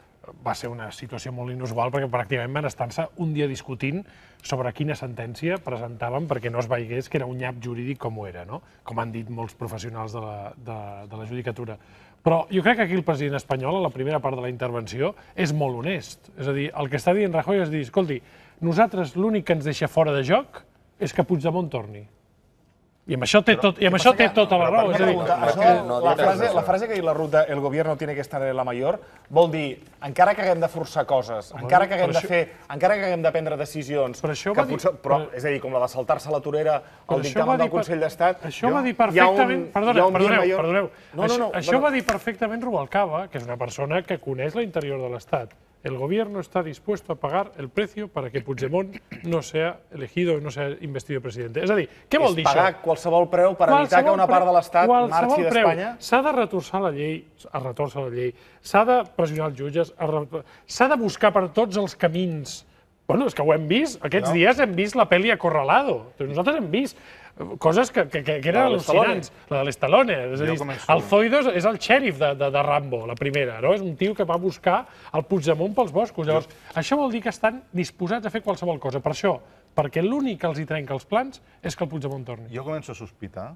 va ser una situació molt inusual perquè pràcticament van estar-se un dia discutint sobre quina sentència presentaven perquè no es veiés que era un nyap jurídic com ho era, com han dit molts professionals de la judicatura. Però jo crec que aquí el president espanyol, a la primera part de la intervenció, és molt honest. És a dir, el que està dient Rajoy és dir, escolti, nosaltres l'únic que ens deixa fora de joc és que Puigdemont torni. I amb això té tota la raó. La frase que ha dit la Ruta, el gobierno tiene que estar en la mayor, vol dir, encara que haguem de forçar coses, encara que haguem de fer, encara que haguem de prendre decisions, però, és a dir, com la de saltar-se a la torera al dictamen del Consell d'Estat... Això va dir perfectament... Perdoneu. Això va dir perfectament Rubalcaba, que és una persona que coneix l'interior de l'Estat. El gobierno está dispuesto a pagar el precio para que Puigdemont no sea elegido, no sea investido presidente. És a dir, què vol dir això? És pagar qualsevol preu per evitar que una part de l'Estat marxi d'Espanya? S'ha de retorçar la llei, s'ha de pressionar els jutges, s'ha de buscar per tots els camins Bueno, és que ho hem vist. Aquests dies hem vist la pel·li Acorralado. Nosaltres hem vist coses que eren al·lucinants. La de l'Stallone. És a dir, el Zoido és el xèrif de Rambo, la primera. És un tio que va buscar el Puigdemont pels boscos. Llavors, això vol dir que estan disposats a fer qualsevol cosa. Per això, perquè l'únic que els hi trenca els plans és que el Puigdemont torni. Jo començo a sospitar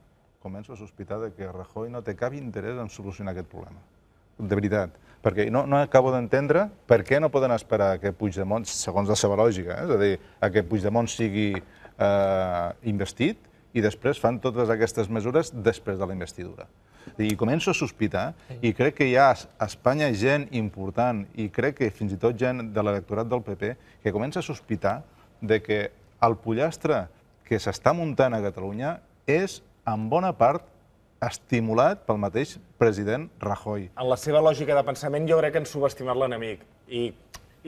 que Rajoy no té cap interès en solucionar aquest problema. De veritat. Perquè no acabo d'entendre per què no poden esperar que Puigdemont, segons la seva lògica, és a dir, que Puigdemont sigui investit i després fan totes aquestes mesures després de la investidura. I començo a sospitar, i crec que hi ha a Espanya gent important, i crec que fins i tot gent de l'electorat del PP, que comença a sospitar de que el pollastre que s'està muntant a Catalunya és, en bona part, estimulat pel mateix president Rajoy. En la seva lògica de pensament jo crec que han subestimat l'enemic i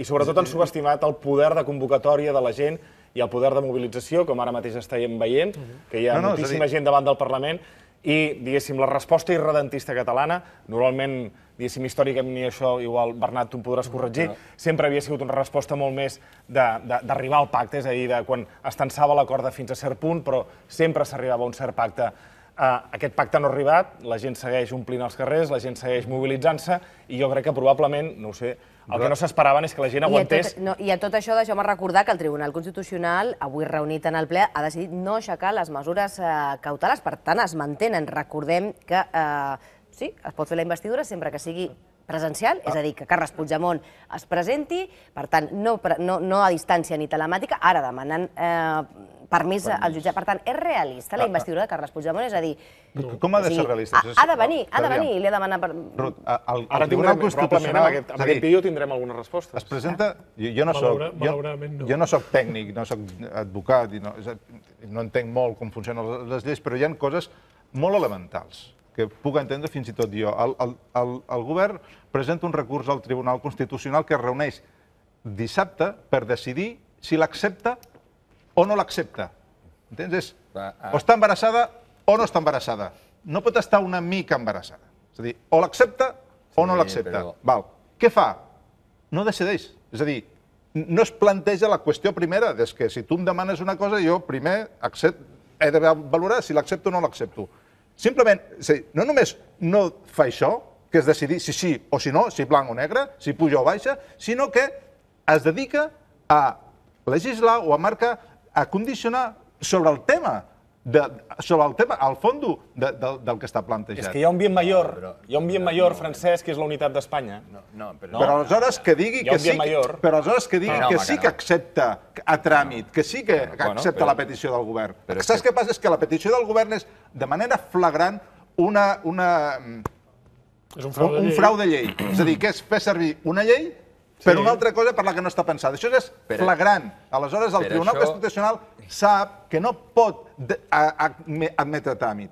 sobretot han subestimat el poder de convocatòria de la gent i el poder de mobilització, com ara mateix estàvem veient, que hi ha moltíssima gent davant del Parlament i, diguéssim, la resposta irredentista catalana, normalment, diguéssim, històricament, i això, igual, Bernat, tu em podràs corregir, sempre havia sigut una resposta molt més d'arribar al pacte, és a dir, de quan es tensava la corda fins a cert punt, però sempre s'arribava a un cert pacte. Aquest pacte no ha arribat, la gent segueix omplint els carrers, la gent segueix mobilitzant-se i jo crec que probablement, no ho sé, el que no s'esperaven és que la gent aguantés... I a tot això deixeu-me recordar que el Tribunal Constitucional, avui reunit en el ple, ha decidit no aixecar les mesures cautelars, per tant es mantenen. Recordem que sí, es pot fer la investidura sempre que sigui presencial, és a dir, que Carles Puigdemont es presenti, per tant, no a distància ni telemàtica, ara demanant permís al jutjat. Per tant, és realista la investidura de Carles Puigdemont? És a dir... Com ha de ser realista? Ha de venir, i li ha demanat... Ruth, ara probablement amb aquest vídeo tindrem alguna resposta. Es presenta... Jo no soc tècnic, no soc advocat, no entenc molt com funcionen les lleis, però hi ha coses molt elementals que puc entendre fins i tot jo. El govern presenta un recurs al Tribunal Constitucional que es reuneix dissabte per decidir si l'accepta o no l'accepta. Entens? O està embarassada o no està embarassada. No pot estar una mica embarassada. És a dir, o l'accepta o no l'accepta. Què fa? No decideix. És a dir, no es planteja la qüestió primera, és que si tu em demanes una cosa, jo primer he de valorar si l'accepto o no l'accepto. Simplement, no només no fa això, que és decidir si sí o si no, si blanc o negre, si puja o baixa, sinó que es dedica a legislar o a marcar, a condicionar sobre el tema, al fons del que està plantejat. És que hi ha un bien mayor francès, que és la unitat d'Espanya. Però aleshores que digui que sí que accepta a tràmit, que sí que accepta la petició del govern. Saps què passa? És que la petició del govern és, de manera flagrant, un frau de llei. És a dir, que és fer servir una llei per una altra cosa per la que no està pensada. Això és flagrant. Aleshores, el Tribunal Constitucional sap que no pot admetre tràmit.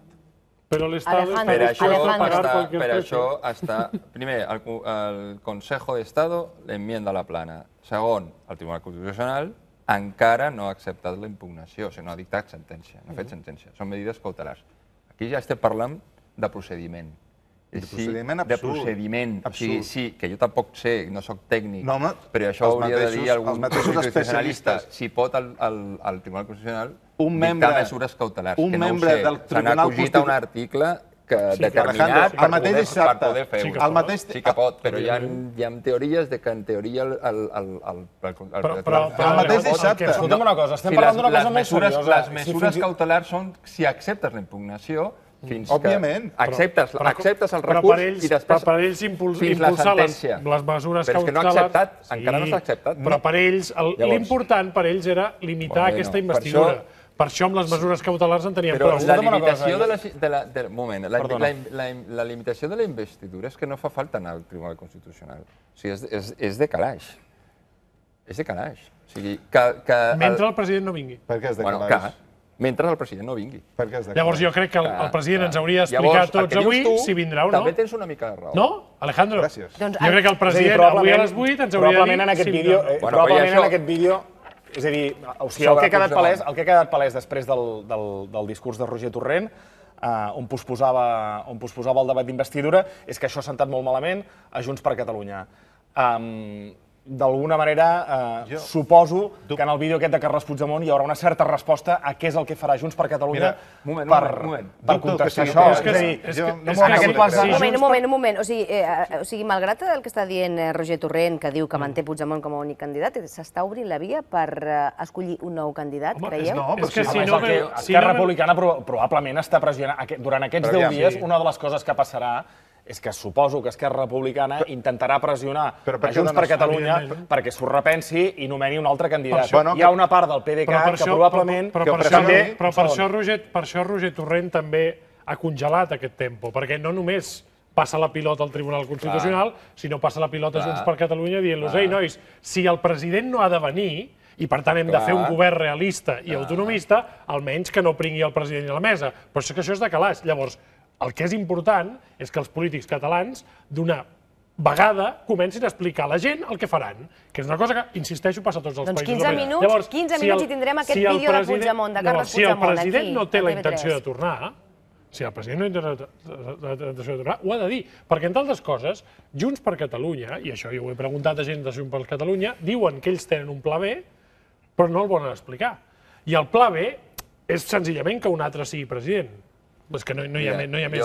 Però l'Estat... Per això està... Primer, el Consejo d'Estado l'enmienda la plana. Segon, el Tribunal Constitucional encara no ha acceptat la impugnació, o sigui, no ha dictat sentència, no ha fet sentència. Són medides cautelars. Aquí ja estem parlant de procediment. De procediment absurd. De procediment. O sigui, sí, que jo tampoc sé, no soc tècnic, però això hauria de dir algun constitucionalista. Si pot el Tribunal Constitucional dictar mesures cautelars. Un membre del Tribunal Constitucional... Se n'ha acogit a un article determinat per poder fer-ho. Sí que pot, però hi ha teories que en teoria Però el mateix dissabte... Escolta'm una cosa, estem parlant d'una cosa molt seriosa. Les mesures cautelars són si acceptes la impugnació, fins que acceptes el recurs i després fins la sentència. Les mesures però és que no ha acceptat, encara no s'ha acceptat. Però per ells, l'important per ells era limitar aquesta investidura. Per això amb les mesures cautelars en teníem prou. Però la limitació de la investidura és que no fa falta anar al Tribunal Constitucional. O sigui, és de calaix. És de calaix. Mentre el president no vingui. Per què és de calaix? Mentre el president no vingui. Llavors jo crec que el president ens hauria d'explicar tots avui si vindrà o no. També tens una mica de raó. No? Alejandro? Jo crec que el president avui a les 8 ens hauria de dir... Probablement en aquest vídeo... És a dir, el que ha quedat palès després del discurs de Roger Torrent, on posposava el debat d'investidura, és que això ha sentat molt malament a Junts per Catalunya. d'alguna manera, suposo que en el vídeo aquest de Carles Puigdemont hi haurà una certa resposta a què és el que farà Junts per Catalunya per contestar això. Un moment. O sigui, malgrat el que està dient Roger Torrent, que diu que manté Puigdemont com a únic candidat, s'està obrint la via per escollir un nou candidat, creieu? No, però Esquerra Republicana probablement està pressionant. Durant aquests 10 dies, una de les coses que passarà és que suposo que Esquerra Republicana intentarà pressionar a Junts per Catalunya perquè s'ho repensi i nomeni un altre candidat. Hi ha una part del PDeCAT que probablement... Però per això Roger Torrent també ha congelat aquest tempo, perquè no només passa la pilota al Tribunal Constitucional, sinó passa la pilota a Junts per Catalunya dient-los, ei, nois, si el president no ha de venir, i per tant hem de fer un govern realista i autonomista, almenys que no pringui el president a la mesa. Però és que això és de calaix. Llavors, el que és important és que els polítics catalans, d'una vegada, comencin a explicar a la gent el que faran, que és una cosa que, insisteixo, passa a tots els països. Doncs 15 minuts i tindrem aquest vídeo de Puigdemont, de Carles Puigdemont, aquí. Si el president no té la intenció de tornar, ho ha de dir, perquè, entre altres coses, Junts per Catalunya, i això jo ho he preguntat a gent de Junts per Catalunya, diuen que ells tenen un pla B, però no el volen explicar. I el pla B és senzillament que un altre sigui president. És que no hi ha més...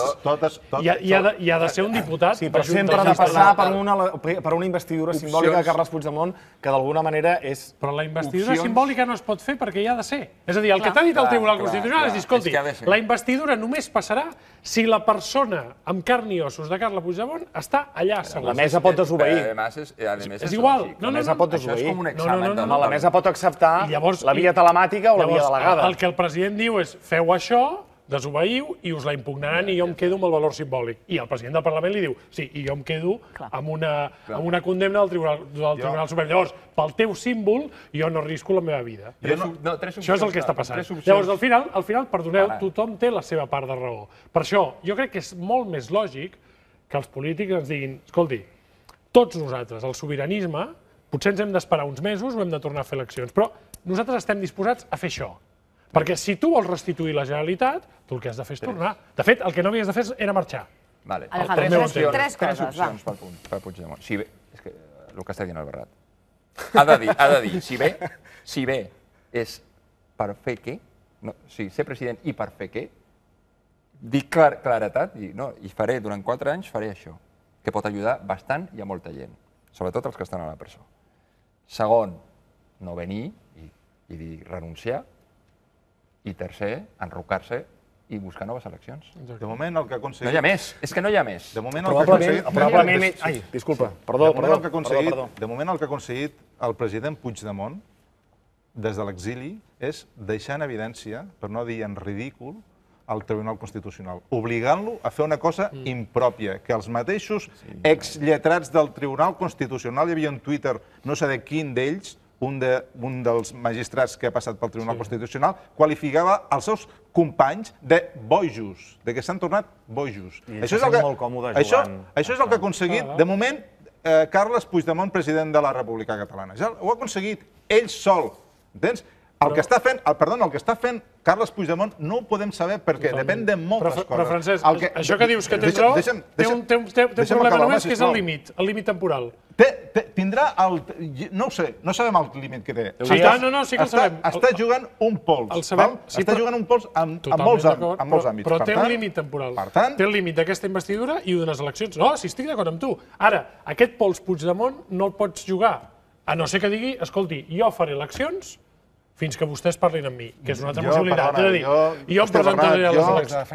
Hi ha de ser un diputat... Sí, però sempre ha de passar per una investidura simbòlica de Carles Puigdemont, que d'alguna manera és... Però la investidura simbòlica no es pot fer perquè hi ha de ser. És a dir, el que t'ha dit el Tribunal Constitucional és dir, escolti, la investidura només passarà si la persona amb carn i ossos de Carles Puigdemont està allà assegut. La mesa pot desobeir. És igual. La mesa pot desobeir. La mesa pot acceptar la via telemàtica o la via delegada. El que el president diu és, feu això, desobeïu i us la impugnaran i jo em quedo amb el valor simbòlic. I el president del Parlament li diu, sí, i jo em quedo amb una condemna del Tribunal Suprem. Llavors, pel teu símbol, jo no arrisco la meva vida. Això és el que està passant. Llavors, al final, perdoneu, tothom té la seva part de raó. Per això, jo crec que és molt més lògic que els polítics ens diguin, escolti, tots nosaltres, el sobiranisme, potser ens hem d'esperar uns mesos o hem de tornar a fer eleccions, però nosaltres estem disposats a fer això. Perquè si tu vols restituir la Generalitat, tu el que has de fer és tornar. De fet, el que no havies de fer era marxar. Alejandro, tres coses, va. Per Puigdemont. Si bé, és que el que està dient el Bernat. Ha de dir, si bé és per fer què, ser president i per fer què, dir claretat, i faré, durant 4 anys faré això, que pot ajudar bastant i a molta gent, sobretot els que estan a la presó. Segon, no venir i dir renunciar, i tercer, enrocar-se i buscar noves eleccions. De moment el que ha aconseguit... No hi ha més, és que no hi ha més. De moment el que ha aconseguit... Probablement... Ai, disculpa, perdó. De moment el que ha aconseguit el president Puigdemont des de l'exili és deixar en evidència, per no dir en ridícul, al Tribunal Constitucional, obligant-lo a fer una cosa impròpia, que els mateixos exlletrats del Tribunal Constitucional, hi havia un Twitter, no sé de quin d'ells, un dels magistrats que ha passat pel Tribunal Constitucional, qualificava els seus companys de bojos, de que s'han tornat bojos. Això és el que ha aconseguit, de moment, Carles Puigdemont, president de la República Catalana. Ja ho ha aconseguit ell sol, entens? El que està fent Carles Puigdemont no ho podem saber perquè depèn de moltes coses. Però, Francesc, això que dius que tens raó, té un problema només, que és el límit temporal. Tindrà el... No ho sé, no sabem el límit que té. Sí que el sabem. Està jugant un pols. Està jugant un pols amb molts àmbits. Però té un límit temporal. Té el límit d'aquesta investidura i d'unes eleccions. No, si estic d'acord amb tu. Ara, aquest pols Puigdemont no el pots jugar, a no ser que digui, escolti, jo faré eleccions fins que vostès parlin amb mi, que és una altra possibilitat. És a dir, jo em presentaré a les eleccions.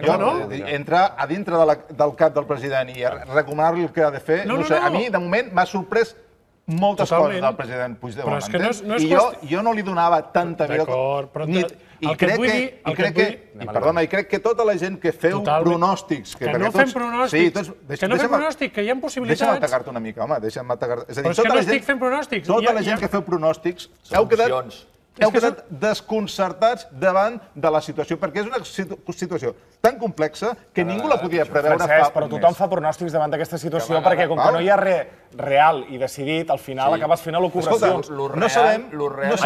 Entrar a dintre del cap del president i recomanar-li el que ha de fer, no sé, a mi, de moment, m'ha sorprès moltes coses del president Puigdemont, entens? I jo no li donava tanta vida... I crec que tota la gent que feu pronòstics... Que no fem pronòstics, que hi ha possibilitats... Deixa'm atacar-te una mica, home, deixa'm atacar-te... Però és que no estic fent pronòstics. Tota la gent que feu pronòstics heu quedat heu quedat desconcertats davant de la situació, perquè és una situació tan complexa que ningú la podia preveure fa un mes. Francesc, però tothom fa pronòstics davant d'aquesta situació perquè com que no hi ha res real i decidit, al final acabes fent elucubracions.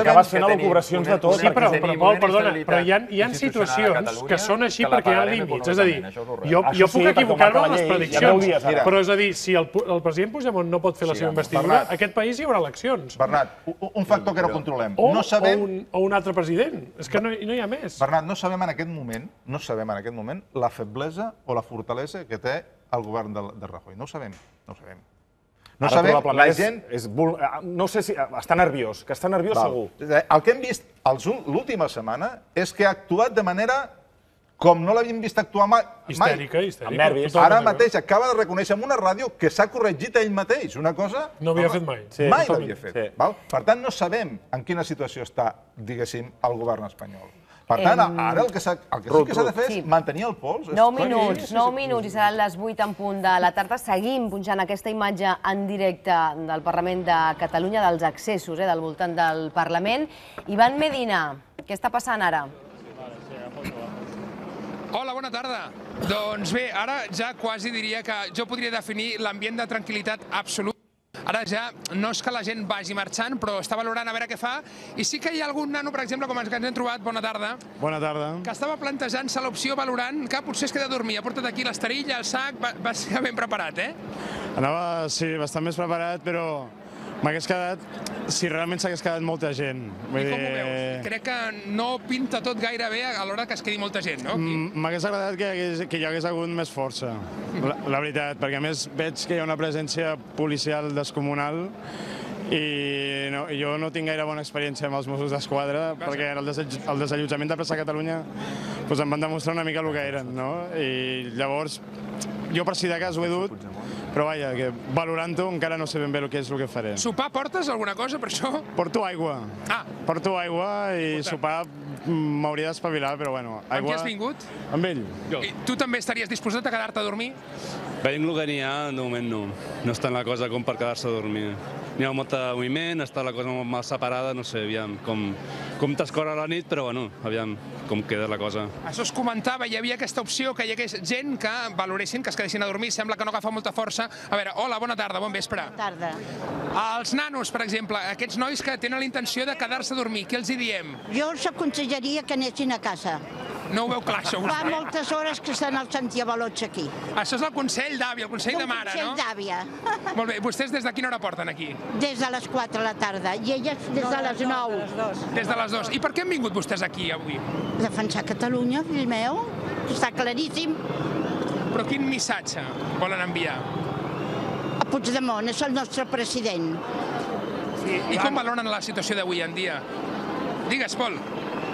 Acabes fent elucubracions de tot. Sí, però, Pol, perdona, però hi ha situacions que són així perquè hi ha límits. És a dir, jo puc equivocar-me amb les prediccions, però és a dir, si el president Puigdemont no pot fer la seva investidura, a aquest país hi haurà eleccions. Bernat, un factor que no controlem. O un altre president. És que no hi ha més. Bernat, no sabem en aquest moment la feblesa o la fortalesa que té el govern de Rajoy. No ho sabem. No sabem, la gent... No sé si... Està nerviós, que està nerviós segur. El que hem vist l'última setmana és que ha actuat de manera com no l'havíem vist actuar mai. Histèrica. Ara mateix acaba de reconèixer en una ràdio que s'ha corregit ell mateix. Una cosa... No havia fet mai. Mai l'havia fet. Per tant, no sabem en quina situació està, diguéssim, el govern espanyol. Per tant, ara el que sí que s'ha de fer és mantenir el pols. 9 minuts i seran les 8 en punt de la tarda. Seguim punxant aquesta imatge en directe del Parlament de Catalunya, dels accessos del voltant del Parlament. Ivan Medina, què està passant ara? Hola, bona tarda. Doncs bé, ara ja quasi diria que jo podria definir l'ambient de tranquil·litat absolut. Ara ja no és que la gent vagi marxant, però està valorant a veure què fa. I sí que hi ha algun nano, per exemple, com els que ens hem trobat, bona tarda, que estava plantejant-se l'opció valorant que potser es queda a dormir. Ha portat aquí l'esterilla, el sac, va ser ben preparat, Anava, sí, bastant més preparat, però m'hagués quedat, si realment s'hagués quedat molta gent. I com ho veus? Crec que no pinta tot gaire bé a l'hora que es quedi molta gent, no? M'hagués agradat que hi hagués hagut més força, la veritat, perquè a més veig que hi ha una presència policial descomunal i jo no tinc gaire bona experiència amb els Mossos d'Esquadra, perquè el desallotjament de Plaça Catalunya em van demostrar una mica el que eren, no? I llavors, jo per si de cas ho he dut, però vaja, que valorant-ho encara no sé ben bé què és el que faré. Sopar portes alguna cosa per això? Porto aigua. Porto aigua i sopar m'hauria d'espavilar, però bueno. Amb qui has vingut? Amb ell. I tu també estaries disposat a quedar-te a dormir? Veiem el que n'hi ha, de moment no. No està la cosa com per quedar-se a dormir. N'hi ha molt de moviment, està la cosa molt mal separada, no sé, aviam, com t'escorre la nit, però bueno, aviam com queda la cosa. Això es comentava, hi havia aquesta opció que hi hagués gent que valoressin, que es quedessin a dormir, sembla que no agafa molta força. A veure, hola, bona tarda, bon vespre. Bona tarda. Els nanos, per exemple, aquests nois que tenen la intenció de quedar-se a dormir, què els hi diem? Jo els aconsellaria que anessin a casa. No ho veu clar, això, vostè? Fa moltes hores que estan els antiavalots aquí. Això és el consell d'àvia, el consell de mare, no? El consell d'àvia. Molt bé, vostès des de quina hora porten aquí? Des de les 4 de la tarda, i elles des de les 9. Des de les 2. I per què han vingut vostès aquí avui? Defensar Catalunya, fill meu, està claríssim. Però quin missatge volen enviar? A Puigdemont, és el nostre president. I com valoren la situació d'avui en dia? Digues, Pol.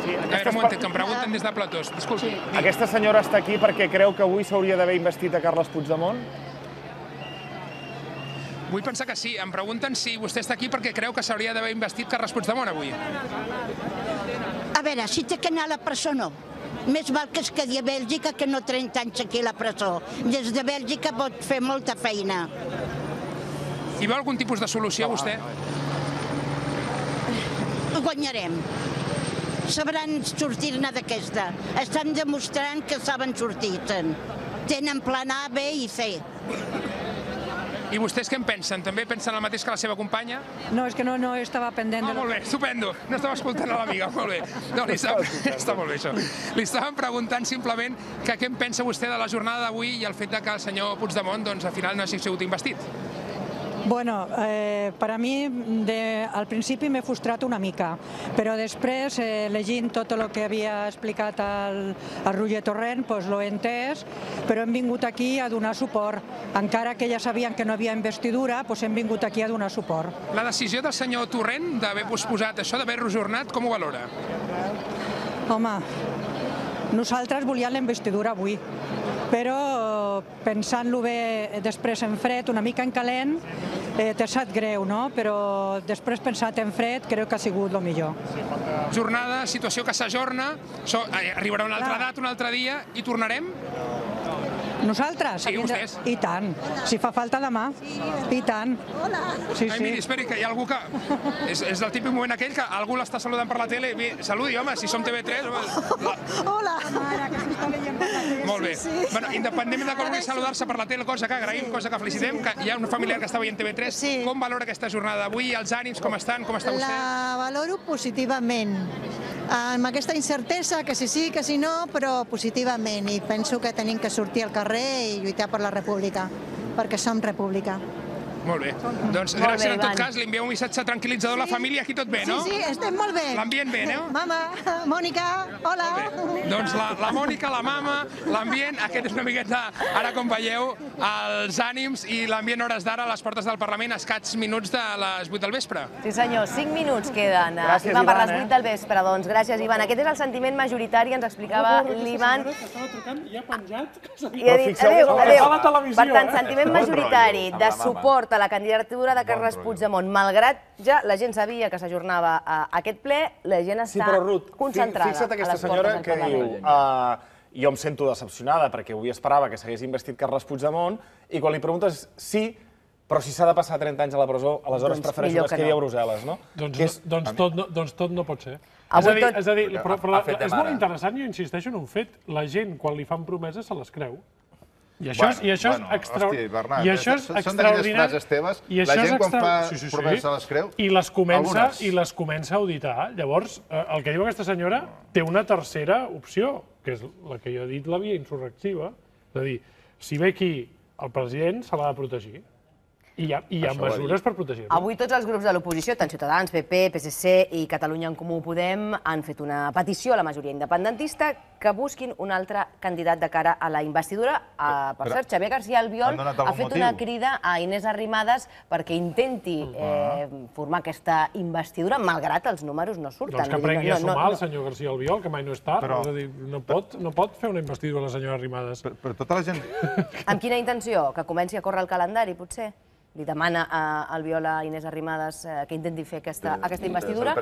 A veure, un moment, que em pregunten des de Platós. Disculpi. Aquesta senyora està aquí perquè creu que avui s'hauria d'haver investit a Carles Puigdemont? Vull pensar que sí. Em pregunten si vostè està aquí perquè creu que s'hauria d'haver investit Carles Puigdemont avui. A veure, si té que anar a la presó, no. Més val que es quedi a Bèlgica que no 30 anys aquí a la presó. Des de Bèlgica pot fer molta feina. I veu algun tipus de solució, vostè? Ho guanyarem. Sabran sortir-ne d'aquesta. Estan demostrant que saben sortir-se'n. Tenen plan A, B i C. I vostès què en pensen? També pensen el mateix que la seva companya? No, és que no estava pendent. Molt bé, estupendo. No estava escoltant a l'amiga, molt bé. No, està molt bé, això. Li estàvem preguntant simplement que què en pensa vostè de la jornada d'avui i el fet que el senyor Puigdemont, doncs, al final no hagi sigut investit. Bueno, per a mi al principi m'he frustrat una mica, però després, llegint tot el que havia explicat el Roger Torrent, l'ho he entès, però hem vingut aquí a donar suport. Encara que ja sabien que no havia investidura, hem vingut aquí a donar suport. La decisió del senyor Torrent d'haver posposat això, d'haver-lo ajornat, com ho valora? Home, nosaltres volíem la investidura avui, però pensant-lo bé després en fred, una mica en calent, t'ha sap greu, no? Però després pensat en fred crec que ha sigut el millor. Jornada, situació que s'ajorna, arribarà una altra data, un altre dia, i tornarem? Nosaltres? Sí, vostès. I tant. Si fa falta demà. I tant. Sí, Ai, miri, esperi, que hi ha algú que... És el típic moment aquell que algú l'està saludant per la tele. Saludi, home, si som TV3... Hola! Molt bé. Bueno, independentment de que vulgui saludar-se per la tele, cosa que agraïm, cosa que felicitem, que hi ha un familiar que està veient TV3. Com valora aquesta jornada d'avui? Els ànims, com estan? Com està vostè? La valoro positivament. Amb aquesta incertesa, que si sí, que si no, però positivament. I penso que tenim que sortir al carrer i lluitar per la república, perquè som república. Molt bé. Doncs gràcies en tot cas, li envieu un missatge tranquil·litzador a la família, aquí tot bé, no? Sí, estem molt bé. L'ambient bé, no? Mama, Mònica, hola. Doncs la Mònica, la mama, l'ambient, aquest és una miqueta, ara com veieu, els ànims i l'ambient hores d'ara a les portes del Parlament, a escats minuts de les 8 del vespre. Sí senyor, 5 minuts queden. Gràcies, Ivan, per les Ivan, 8 del vespre, doncs gràcies, Ivan. Aquest és el sentiment majoritari, ens explicava l'Ivan. Estava trucant i ha penjat. I ha dit, adéu. Per tant, sentiment majoritari de suport a la candidatura de Carles Puigdemont. Malgrat ja la gent sabia que s'ajornava aquest ple, la gent està concentrada. Fixa't aquesta senyora que diu... Jo em sento decepcionada perquè avui esperava que s'hagués investit Carles Puigdemont i quan li preguntes sí, però si s'ha de passar 30 anys a la presó, aleshores prefereixo que es quedi a Brussel·les, no? Doncs tot no pot ser. És a dir, però és molt interessant, jo insisteixo en un fet. La gent, quan li fan promeses, se les creu. I això és extraordinari. Són d'aquelles frases teves, la gent quan fa promeses se les creu? I les comença a auditar. Llavors, el que diu aquesta senyora té una tercera opció, que és la que jo he dit, la via insurrectiva. És a dir, si ve aquí el president, se l'ha de protegir. I hi ha mesures per protegir-lo. Avui tots els grups de l'oposició, tant Ciutadans, PP, PSC i Catalunya en Comú Podem, han fet una petició a la majoria independentista que busquin un altre candidat de cara a la investidura. Per cert, Xavier García Albiol ha fet una crida a Inés Arrimadas perquè intenti formar aquesta investidura, malgrat els números no surten. Doncs que aprengui a sumar el senyor García Albiol, que mai no és tard. És a dir, no pot fer una investidura la senyora Arrimadas. Però tota la gent... Amb quina intenció? Que comenci a córrer el calendari, potser? Li demana a Albiol a Inés Arrimadas que intenti fer aquesta investidura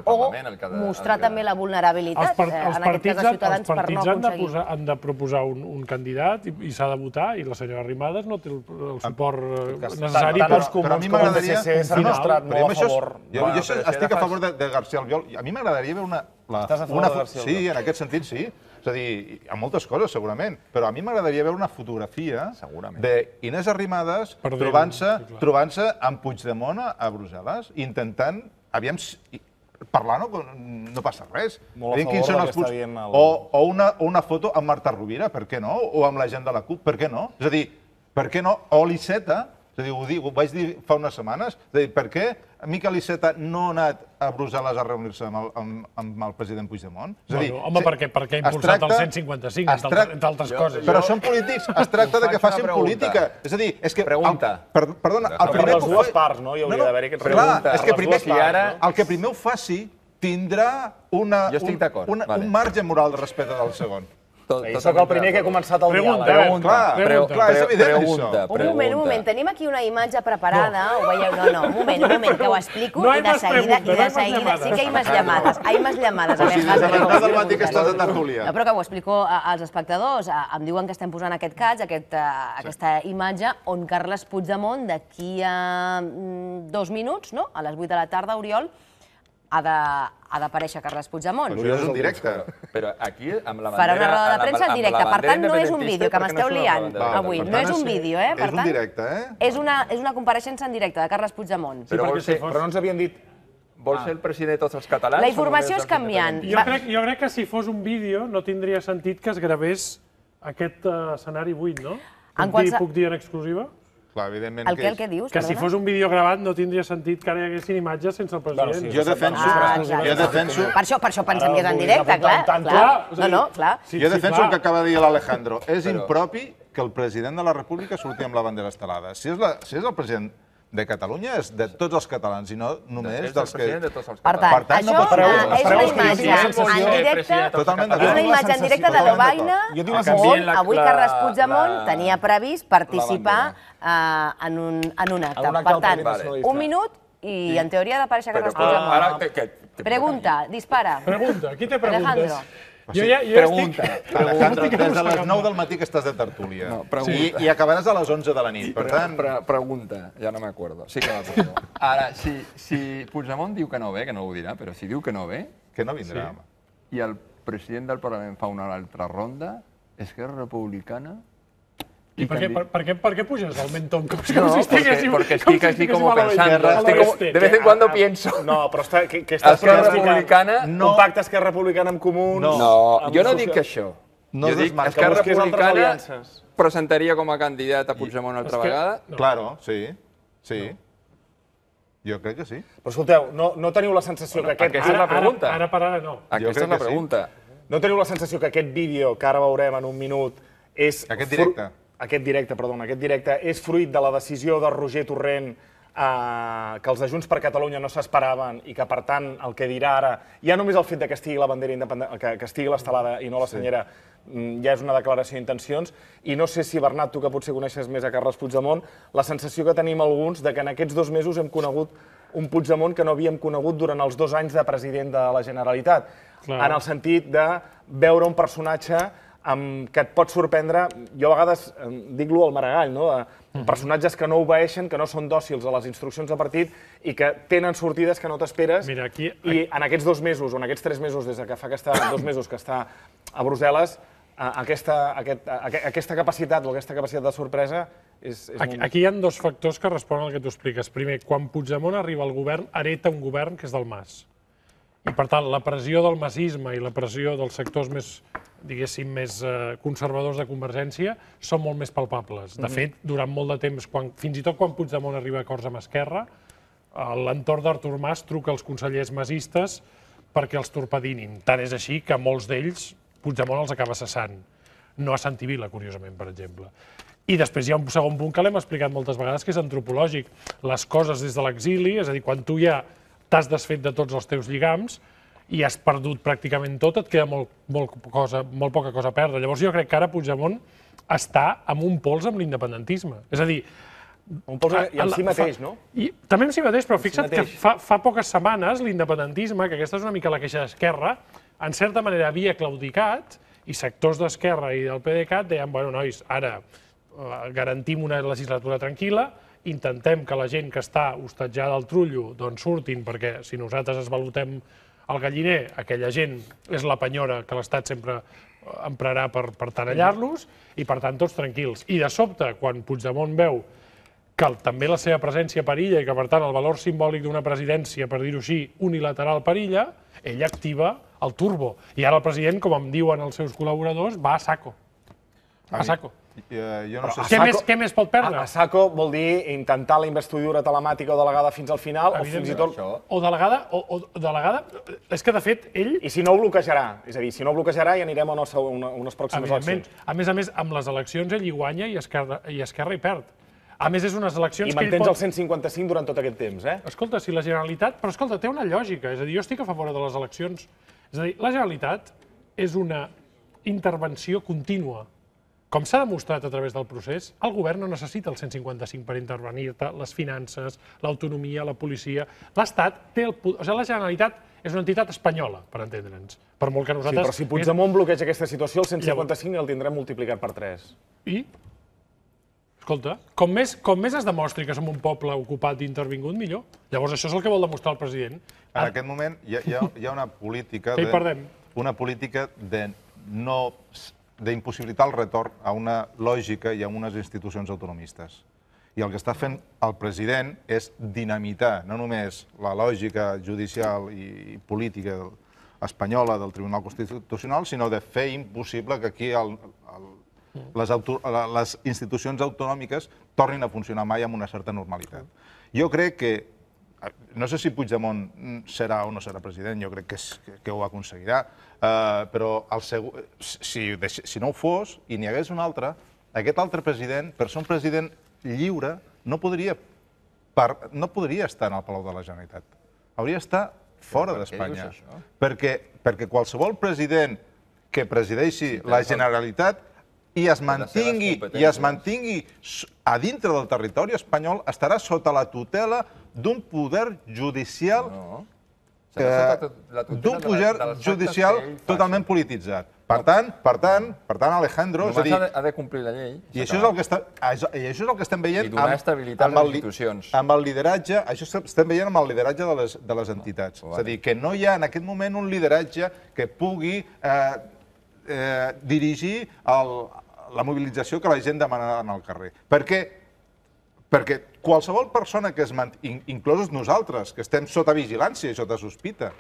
o mostrar també la vulnerabilitat, en aquest cas de Ciutadans, per no aconseguir. Els partits han de proposar un candidat i s'ha de votar i la senyora Arrimadas no té el suport necessari per... Però a mi m'agradaria... s'ha demostrat no a favor... Jo estic a favor de García Albiol. A mi m'agradaria veure una... Estàs a favor de García Albiol? Sí, en aquest sentit sí. És a dir, hi ha moltes coses, segurament, però a mi m'agradaria veure una fotografia d'Inés Arrimadas trobant-se amb Puigdemont a Brussel·les, intentant, aviam, parlar no passa res. Molt a favor del que està dient el... O una foto amb Marta Rovira, per què no? O amb la gent de la CUP, per què no? És a dir, per què no? O l'Iceta, és a dir, ho vaig dir fa unes setmanes, és a dir, per què Miquel Iceta no ha anat a Brussel·les a reunir-se amb el president Puigdemont? Home, perquè ha impulsat el 155, entre altres coses. Però són polítics, es tracta de que facin política. És a dir, és que... Pregunta. Perdona, el primer... Per les dues parts, no? Hi hauria d'haver aquests preguntes. És que el que primer ho faci tindrà un marge moral de respecte del segon. Jo soc el primer que he començat el diàleg. Clar, és evident això. Un moment, tenim aquí una imatge preparada, ho veieu? No, un moment, que ho explico i de seguida, sí que hi ha imatges llamades. Hi ha imatges llamades. O sigui, des de les 10 del matí que estàs de tertúlia. Però que ho explico als espectadors. Em diuen que estem posant aquest catch, aquesta imatge, on Carles Puigdemont, d'aquí a 2 minuts, a les 8 de la tarda, Oriol, ha d'aparèixer Carles Puigdemont. Però és un directe. Però aquí, amb la bandera... Farà una roda de premsa en directe. Per tant, no és un vídeo, que m'esteu liant avui. No és un vídeo, per tant... És un directe, És una compareixença en directe de Carles Puigdemont. Però no ens havien dit... Vol ser el president de tots els catalans? La informació és canviant. Jo crec que si fos un vídeo no tindria sentit que es gravés aquest escenari buit, no? Puc dir en exclusiva? El que dius? Que si fos un vídeo gravat no tindria sentit que ara hi haguessin imatges sense el president. Jo defenso... Per això pensem que és en directe, clar. Jo defenso el que acaba de dir l'Alejandro. És impropi que el president de la República surti amb la bandera estelada. Si és el president de Catalunya, és de tots els catalans, i no només dels que... Per tant, això és una imatge en directe de l'Obaina, on avui Carles Puigdemont tenia previst participar en un acte. Per tant, 1 minut i en teoria ha d'aparèixer Carles Puigdemont. Pregunta, dispara. Pregunta, qui té preguntes? Pregunta. Des de les 9 del matí que estàs de tertúlia. I acabaràs a les 11 de la nit. Per tant... Pregunta, ja no m'acuerdo. Sí que m'acuerdo. Ara, si Puigdemont diu que no ve, que no ho dirà, però si diu que no ve... Que no vindrà, home. I el president del Parlament fa una altra ronda, Esquerra Republicana... I per què puges al mentón? No, porque estoy así como pensando. De vez en cuando pienso. No, però que estàs Republicana... Un pacte Esquerra Republicana amb Comuns... No, jo no dic això. Jo dic que Esquerra Republicana presentaria com a candidat a Puigdemont altra vegada. Claro, sí. Sí. Jo crec que sí. Però escolteu, no teniu la sensació que aquest... Aquesta és la pregunta. Ara per ara no. Aquesta és la pregunta. No teniu la sensació que aquest vídeo, que ara veurem en un minut, és... Aquest directe. Aquest directe és fruit de la decisió de Roger Torrent que els de Junts per Catalunya no s'esperaven i que, per tant, el que dirà ara, ja només el fet que estigui la bandera independent, que estigui l'estelada i no la senyera, ja és una declaració d'intencions. I no sé si, Bernat, tu que potser coneixes més a Carles Puigdemont, la sensació que tenim alguns de que en aquests 2 mesos hem conegut un Puigdemont que no havíem conegut durant els 2 anys de president de la Generalitat. En el sentit de veure un personatge que et pot sorprendre, jo a vegades dic-lo al Maragall, personatges que no obeeixen, que no són dòcils a les instruccions de partit i que tenen sortides que no t'esperes. I en aquests 2 mesos, o en aquests 3 mesos, des que fa 2 mesos que està a Brussel·les, aquesta capacitat o aquesta capacitat de sorpresa és molt... Aquí hi ha 2 factors que responen al que tu expliques. Primer, quan Puigdemont arriba al govern, hereta un govern que és del Mas. I, per tant, la pressió del massisme i la pressió dels sectors més, diguéssim, més conservadors de Convergència són molt més palpables. De fet, durant molt de temps, fins i tot quan Puigdemont arriba a acords amb Esquerra, l'entorn d'Artur Mas truca als consellers masistes perquè els torpedinin. Tant és així que molts d'ells Puigdemont els acaba cessant. No a Santi Vila, curiosament, per exemple. I després hi ha un segon punt que l'hem explicat moltes vegades, que és antropològic. Les coses des de l'exili, és a dir, quan tu ja t'has desfet de tots els teus lligams i has perdut pràcticament tot, et queda molt poca cosa a perdre. Llavors jo crec que ara Puigdemont està amb un pols amb l'independentisme. És a dir... Un pols i en si mateix, no? També en si mateix, però fixa't que fa poques setmanes l'independentisme, que aquesta és una mica la queixa d'Esquerra, en certa manera havia claudicat i sectors d'Esquerra i del PDeCAT deien, bueno, nois, ara garantim una legislatura tranquil·la, intentem que la gent que està hostatjada al trullo doncs surtin, perquè si nosaltres esvalutem el galliner, aquella gent és la penyora que l'Estat sempre emprarà per tenallar-los i, per tant, tots tranquils. I de sobte, quan Puigdemont veu que també la seva presència perilla i que, per tant, el valor simbòlic d'una presidència, per dir-ho així, unilateral perilla, ell activa el turbo. I ara el president, com em diuen els seus col·laboradors, va a saco. A saco. Què més pot perdre? A saco vol dir intentar la investidura telemàtica o delegada fins al final, o fins i tot... O delegada... És que, de fet, ell... I si no ho bloquejarà. És a dir, si no ho bloquejarà ja anirem a unes pròximes eleccions. A més, amb les eleccions ell hi guanya i Esquerra hi perd. A més, és unes eleccions que ell pot... I mantens el 155 durant tot aquest temps, eh? Escolta, si la Generalitat... Però, escolta, té una lògica. És a dir, jo estic a favor de les eleccions. És a dir, la Generalitat és una intervenció contínua. Com s'ha demostrat a través del procés, el govern no necessita el 155 per intervenir-te, les finances, l'autonomia, la policia... L'Estat té el... O sigui, la Generalitat és una entitat espanyola, per entendre'ns. Per molt que nosaltres... Sí, però si Puigdemont bloqueja aquesta situació, el 155 el tindrem multiplicat per 3. I? Escolta, com més es demostri que som un poble ocupat i intervingut, millor. Llavors això és el que vol demostrar el president. En aquest moment hi ha una política... Que hi perdem. Una política d'impossibilitar el retorn a una lògica i a unes institucions autonomistes. I el que està fent el president és dinamitar no només la lògica judicial i política espanyola del Tribunal Constitucional, sinó de fer impossible que aquí les institucions autonòmiques tornin a funcionar mai amb una certa normalitat. Jo crec que, no sé si Puigdemont serà o no serà president, jo crec que ho aconseguirà, però si no ho fos i n'hi hagués un altre, aquest altre president, per ser un president lliure, no podria estar en el Palau de la Generalitat. Hauria d'estar fora d'Espanya. Perquè qualsevol president que presideixi la Generalitat i es mantingui a dintre del territori espanyol estarà sota la tutela d'un poder judicial d'un poder judicial totalment polititzat. Per tant, Alejandro... Només ha de complir la llei. I això és el que estem veient... I donar estabilitat a les institucions. Amb el lideratge, això estem veient amb el lideratge de les entitats. És a dir, que no hi ha en aquest moment un lideratge que pugui dirigir la mobilització que la gent demana al carrer. Perquè qualsevol persona que es mantingui, inclosos nosaltres, que estem sota vigilància i sota sospita,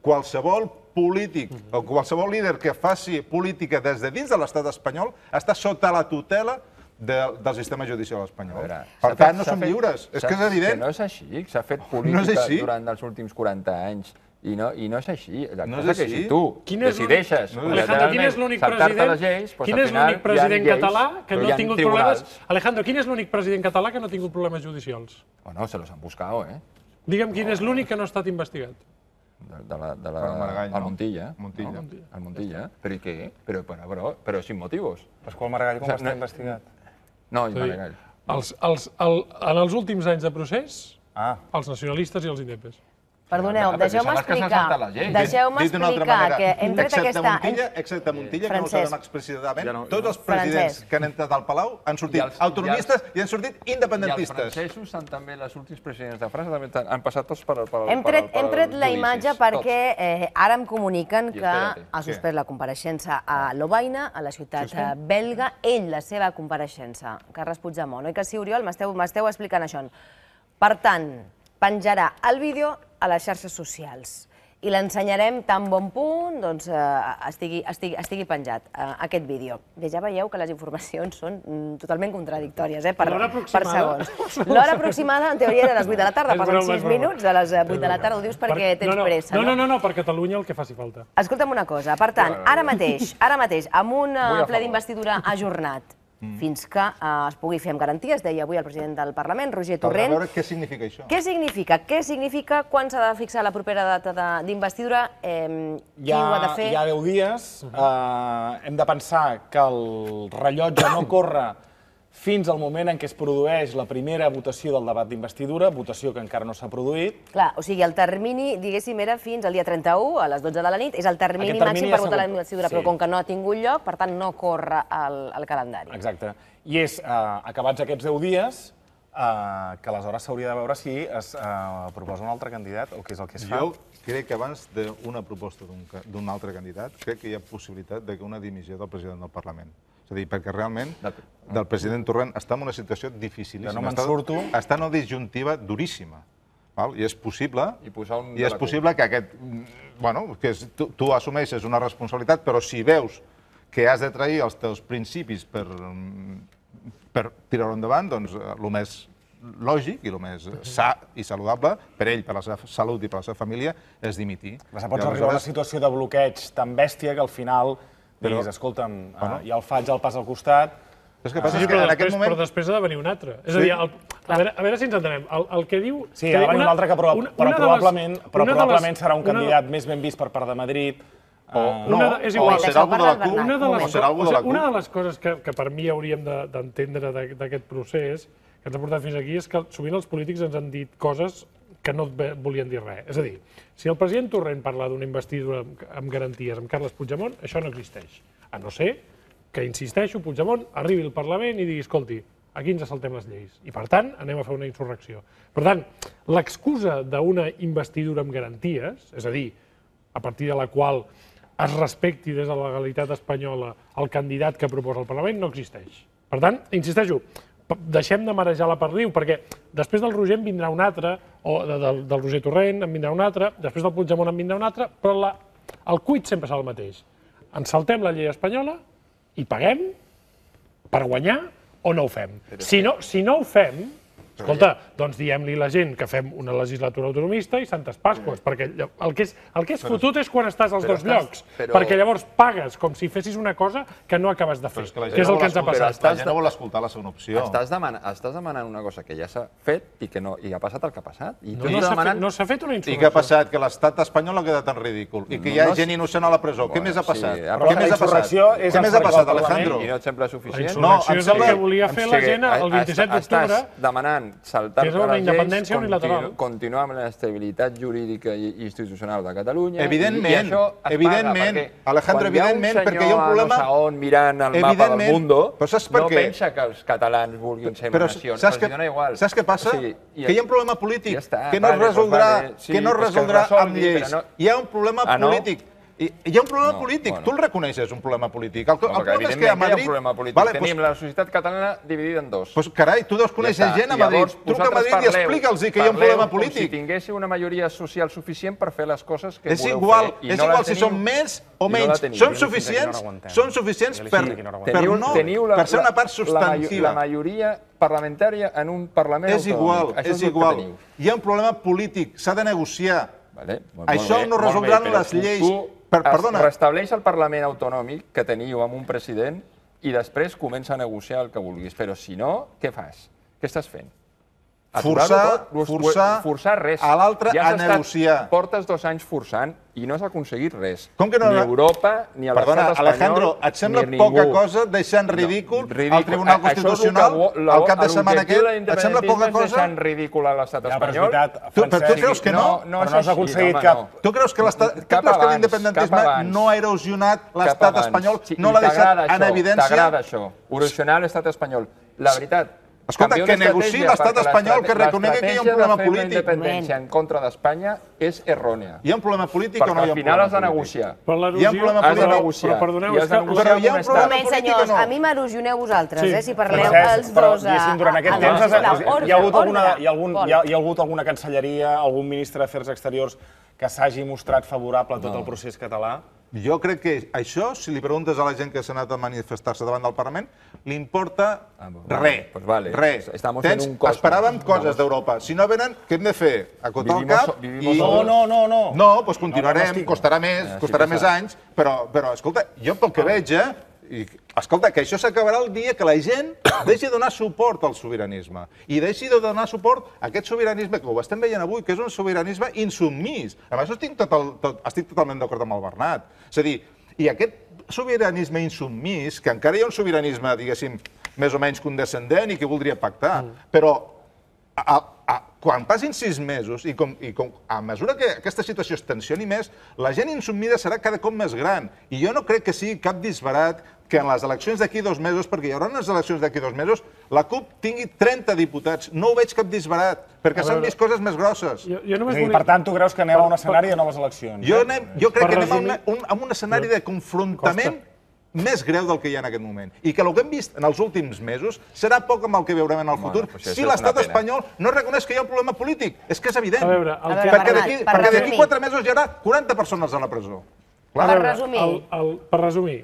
qualsevol polític o qualsevol líder que faci política des de dins de l'estat espanyol està sota la tutela del sistema judicial espanyol. Per tant, no som lliures. És que és evident. Que no és així. S'ha fet política durant els últims 40 anys. I no és així. La cosa que si tu decideixes saltar-te les lleis, quin és l'únic president català que no ha tingut problemes... Alejandro, quin és l'únic president català que no ha tingut problemes judicials? Bueno, se los han buscado, eh? Digue'm quin és l'únic que no ha estat investigat. El Montilla. El Montilla. Però i què? Però sin motivos. Pasqual Maragall com està investigat? No, i Maragall. En els últims anys de procés, els nacionalistes i els indepes. Perdoneu, deixeu-me explicar que hem tret aquesta... Excepte Montilla, que no ho sabem explícitament, tots els presidents que han entrat al Palau han sortit autonomistes i han sortit independentistes. I els francesos, també els últims presidents de França, també han passat tots per... Hem tret la imatge perquè ara em comuniquen que ha suspès la compareixença a Lovaina, a la ciutat belga, la seva compareixença, Carles Puigdemont. Oi que sí, Oriol? M'esteu explicant això. Per tant, penjarà el vídeo a les xarxes socials i l'ensenyarem tan bon punt estigui penjat, aquest vídeo. Ja veieu que les informacions són totalment contradictòries, per segons. L'hora aproximada, en teoria, era a les 8 de la tarda, passen 6 minuts de les 8 de la tarda, ho dius perquè tens pressa, no? No, per Catalunya el que faci falta. Escolta'm una cosa, per tant, ara mateix, amb un ple d'investidura ajornat, fins que es pugui fer amb garanties, deia avui el president del Parlament, Roger Torrent. Per veure què significa això. Què significa? Què significa? Quan s'ha de fixar la propera data d'investidura? Qui ho ha de fer? Hi ha 10 dies. Hem de pensar que el rellotge no corre fins al moment en què es produeix la primera votació del debat d'investidura, votació que encara no s'ha produït. Clar, o sigui, el termini, diguéssim, era fins al dia 31, a les 12 de la nit, és el termini màxim per votar la investidura, però com que no ha tingut lloc, per tant, no corre el calendari. Exacte. I és, acabats aquests 10 dies, que aleshores s'hauria de veure si es proposa un altre candidat o què és el que es fa. Jo crec que abans d'una proposta d'un altre candidat, crec que hi ha possibilitat d'una dimissió del president del Parlament. És a dir, perquè realment el president Torrent està en una situació dificilíssima. No me'n surto. Està en una disjuntiva duríssima. I és possible que aquest... que tu assumeixes una responsabilitat, però si veus que has de trair els teus principis per tirar-ho endavant, doncs el més lògic i el més sa i saludable per ell, per la seva salut i per la seva família, és dimitir. Pots arribar a una situació de bloqueig tan bèstia que al final diguis, escolta'm, ja el faig al pas al costat... Però després ha de venir un altre. És a dir, a veure si ens entenem. El que diu... Sí, ha de venir un altre que probablement serà un candidat més ben vist per part de Madrid. És igual, una de les coses que per mi hauríem d'entendre d'aquest procés que ens ha portat fins aquí és que sovint els polítics ens han dit coses que no volien dir res. És a dir, si el president Torrent parla d'una investidura amb garanties amb Carles Puigdemont, això no existeix. A no ser que, insisteixo, Puigdemont arribi al Parlament i digui, escolti, aquí ens saltem les lleis i, per tant, anem a fer una insurrecció. Per tant, l'excusa d'una investidura amb garanties, és a dir, a partir de la qual es respecti des de la legalitat espanyola el candidat que proposa el Parlament, no existeix. Per tant, insisteixo, deixem de marejar la perdiu, perquè després del Roger en vindrà un altre, o del Roger Torrent en vindrà un altre, després del Puigdemont en vindrà un altre, però el cuit sempre serà el mateix. Ens saltem la llei espanyola i paguem per guanyar o no ho fem. Si no ho fem, escolta, doncs diem-li a la gent que fem una legislatura autonomista i Santes Pasques, perquè el que és fotut és quan estàs als dos llocs, perquè llavors pagues com si fessis una cosa que no acabes de fer, que és el que ens ha passat. La gent no vol escoltar la segona opció. Estàs demanant una cosa que ja s'ha fet i ha passat el que ha passat. No s'ha fet una insurrecció. I què ha passat? Que l'estat espanyol ha quedat en ridícul i que hi ha gent innocent a la presó. Què més ha passat? Però la insurrecció és... Què més ha passat, Alejandro? I no et sembla suficient? La insurrecció és el que volia fer la gent el 27 d'octubre. Estàs demanant saltar-te una les independència lleis, unilateral. continuar amb l'estabilitat jurídica i institucional de Catalunya. Evidentment, I això es evidentment, paga, Alejandro, evidentment, perquè hi ha un problema... Quan hi ha un senyor a no sé on mirant el mapa del mundo, no pensa que els catalans vulguin ser una nació. Els dona igual. Saps què passa? Que hi ha un problema polític que no es resoldrà amb lleis. Hi ha un problema polític. Hi ha un problema polític, tu el reconeixes, un problema polític. El problema és que a Madrid... Hi ha un problema polític. Tenim la societat catalana dividida en dos. Doncs carai, tu deus conèixer gent a Madrid. Truca a Madrid i explica'ls que hi ha un problema polític. Com si tinguéssiu una majoria social suficient per fer les coses que voleu fer. És igual si som més o menys. Som suficients per ser una part substantiva. La majoria parlamentària en un Parlament autonòmic. És igual. Hi ha un problema polític, s'ha de negociar. Això no resoldran les lleis. Restableix el Parlament autonòmic que teniu amb un president i després comença a negociar el que vulguis. Però si no, què fas? Què estàs fent? Forçar res. A l'altre a negociar. Portes 2 anys forçant i no has aconseguit res. Com que no? Ni Europa, ni l'estat espanyol, Alejandro, et sembla poca cosa deixar en ridícul el Tribunal Constitucional el cap de setmana aquest? Et sembla poca cosa? Deixar en ridícul a l'estat espanyol? Però tu creus que no? No s'ha aconseguit cap. Tu creus que l'independentisme no ha erosionat l'estat espanyol? No l'ha deixat en evidència? T'agrada això, erosionar l'estat espanyol. La veritat, escolta, que negociï l'estat espanyol, que reconegui que hi ha un problema polític. L'estratègia de fer la independència en contra d'Espanya és errònia. Hi ha un problema polític o no hi ha un problema polític? Perquè al final has de negociar. Hi ha un problema polític. Has de negociar. Però hi ha un problema polític o no? A mi m'erosioneu vosaltres, si parleu els dos a... Durant aquest temps hi ha hagut alguna cancelleria, algun ministre d'Afers Exteriors que s'hagi mostrat favorable a tot el procés català? Jo crec que això, si li preguntes a la gent que s'ha anat a manifestar-se davant del Parlament, li importa res. Res. Esperàvem coses d'Europa. Si no venen, què hem de fer? Acotar el cap i... No. No, doncs continuarem, costarà més anys, però, escolta, jo pel que veig, escolta, que això s'acabarà el dia que la gent deixi de donar suport al sobiranisme i deixi de donar suport a aquest sobiranisme que ho estem veient avui, que és un sobiranisme insubmís. Amb això estic totalment d'acord amb el Bernat. És a dir, i aquest sobiranisme insubmís, que encara hi ha un sobiranisme, diguéssim, més o menys condescendent i que voldria pactar, però quan passin 6 mesos i a mesura que aquesta situació es tensioni més, la gent insubmida serà cada cop més gran. I jo no crec que sigui cap disbarat que en les eleccions d'aquí 2 mesos, perquè hi haurà unes eleccions d'aquí 2 mesos, la CUP tingui 30 diputats. No ho veig cap disbarat, perquè s'han vist coses més grosses. Per tant, tu creus que anem a un escenari de noves eleccions? Jo crec que anem a un escenari de confrontament més greu del que hi ha en aquest moment. I que el que hem vist en els últims mesos serà poc amb el que veurem en el futur si l'estat espanyol no reconeix que hi ha un problema polític. És que és evident. Perquè d'aquí 4 mesos hi haurà 40 persones a la presó. Per resumir,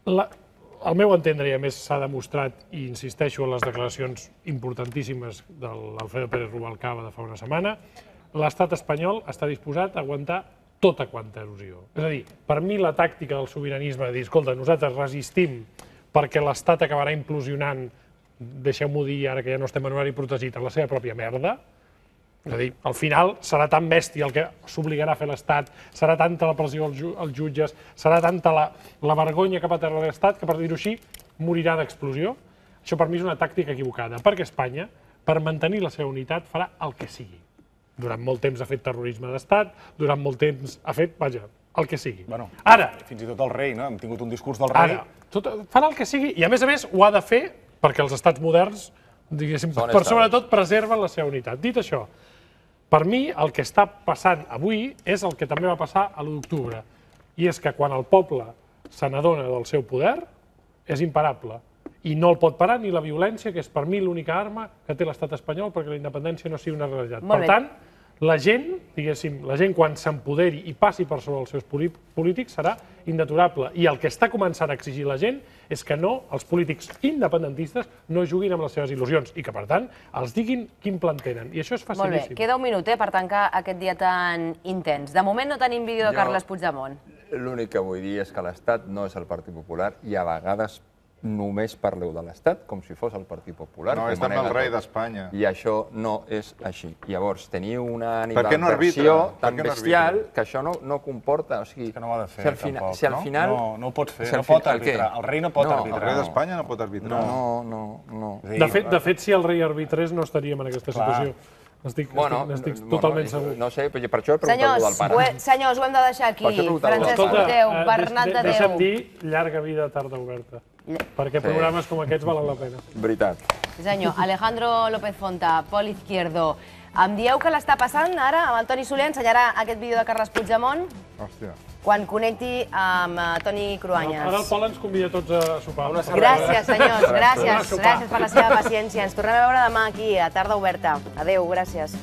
al meu entendre, i a més s'ha demostrat, i insisteixo en les declaracions importantíssimes de l'Alfredo Pérez Rubalcaba de fa una setmana, l'estat espanyol està disposat a aguantar tota quanta erosió. És a dir, per mi la tàctica del sobiranisme de dir, escolta, nosaltres resistim perquè l'estat acabarà implosionant, deixeu-m'ho dir ara que ja no estem en horari protegit, en la seva pròpia merda. És a dir, al final serà tan bèstia el que s'obligarà a fer l'Estat, serà tanta la pressió als jutges, serà tanta la vergonya cap a terra de l'Estat que, per dir-ho així, morirà d'explosió. Això per mi és una tàctica equivocada, perquè Espanya, per mantenir la seva unitat, farà el que sigui. Durant molt temps ha fet terrorisme d'estat, durant molt temps ha fet, vaja, el que sigui. Ara... Fins i tot el rei, no? Hem tingut un discurs del rei. Ara, fan el que sigui i, a més, ho ha de fer perquè els estats moderns, diguéssim, per sobretot preserven la seva unitat. Dit això, per mi, el que està passant avui és el que també va passar a l'1 d'octubre. I és que quan el poble se n'adona del seu poder, és imparable. I no el pot parar ni la violència, que és per mi l'única arma que té l'estat espanyol perquè la independència no sigui una realitat. Per tant, la gent, diguéssim, quan s'empoderi i passi per sobre els seus polítics serà indeturable. I el que està començant a exigir la gent és que no, els polítics independentistes no juguin amb les seves il·lusions i que, per tant, els diguin quin plan tenen. I això és facilíssim. Molt bé, queda un minut per tancar aquest dia tan intens. De moment no tenim vídeo de Carles Puigdemont. L'únic que vull dir és que l'Estat no és el Partit Popular i a vegades només parleu de l'Estat com si fos el Partit Popular. No, és també el rei d'Espanya. I això no és així. Llavors, teniu una animadversió tan bestial que això no comporta... Que no ho ha de fer, tampoc, no? No ho pot fer, no pot arbitrar. El rei no pot arbitrar. El rei d'Espanya no pot arbitrar. No. De fet, si el rei arbitrés no estaríem en aquesta situació. N'estic totalment segur. No sé, per això he preguntat del pare. Senyors, ho hem de deixar aquí. Francesc Porteu, Bernat de Déu. Deixa'm dir, llarga vida a Tarda Oberta. Perquè programes com aquests valen la pena. Veritat. Sí, senyor. Alejandro López Fonta, Pol Izquierdo. Em dieu que l'està passant ara amb el Toni Soler? Ensenyarà aquest vídeo de Carles Puigdemont? Hòstia. Quan connecti amb Toni Cruanyes. Ara el Pol ens convida tots a sopar. Gràcies, senyors. Gràcies per la seva paciència. Ens tornem a veure demà aquí, a Tarda Oberta. Adéu, gràcies.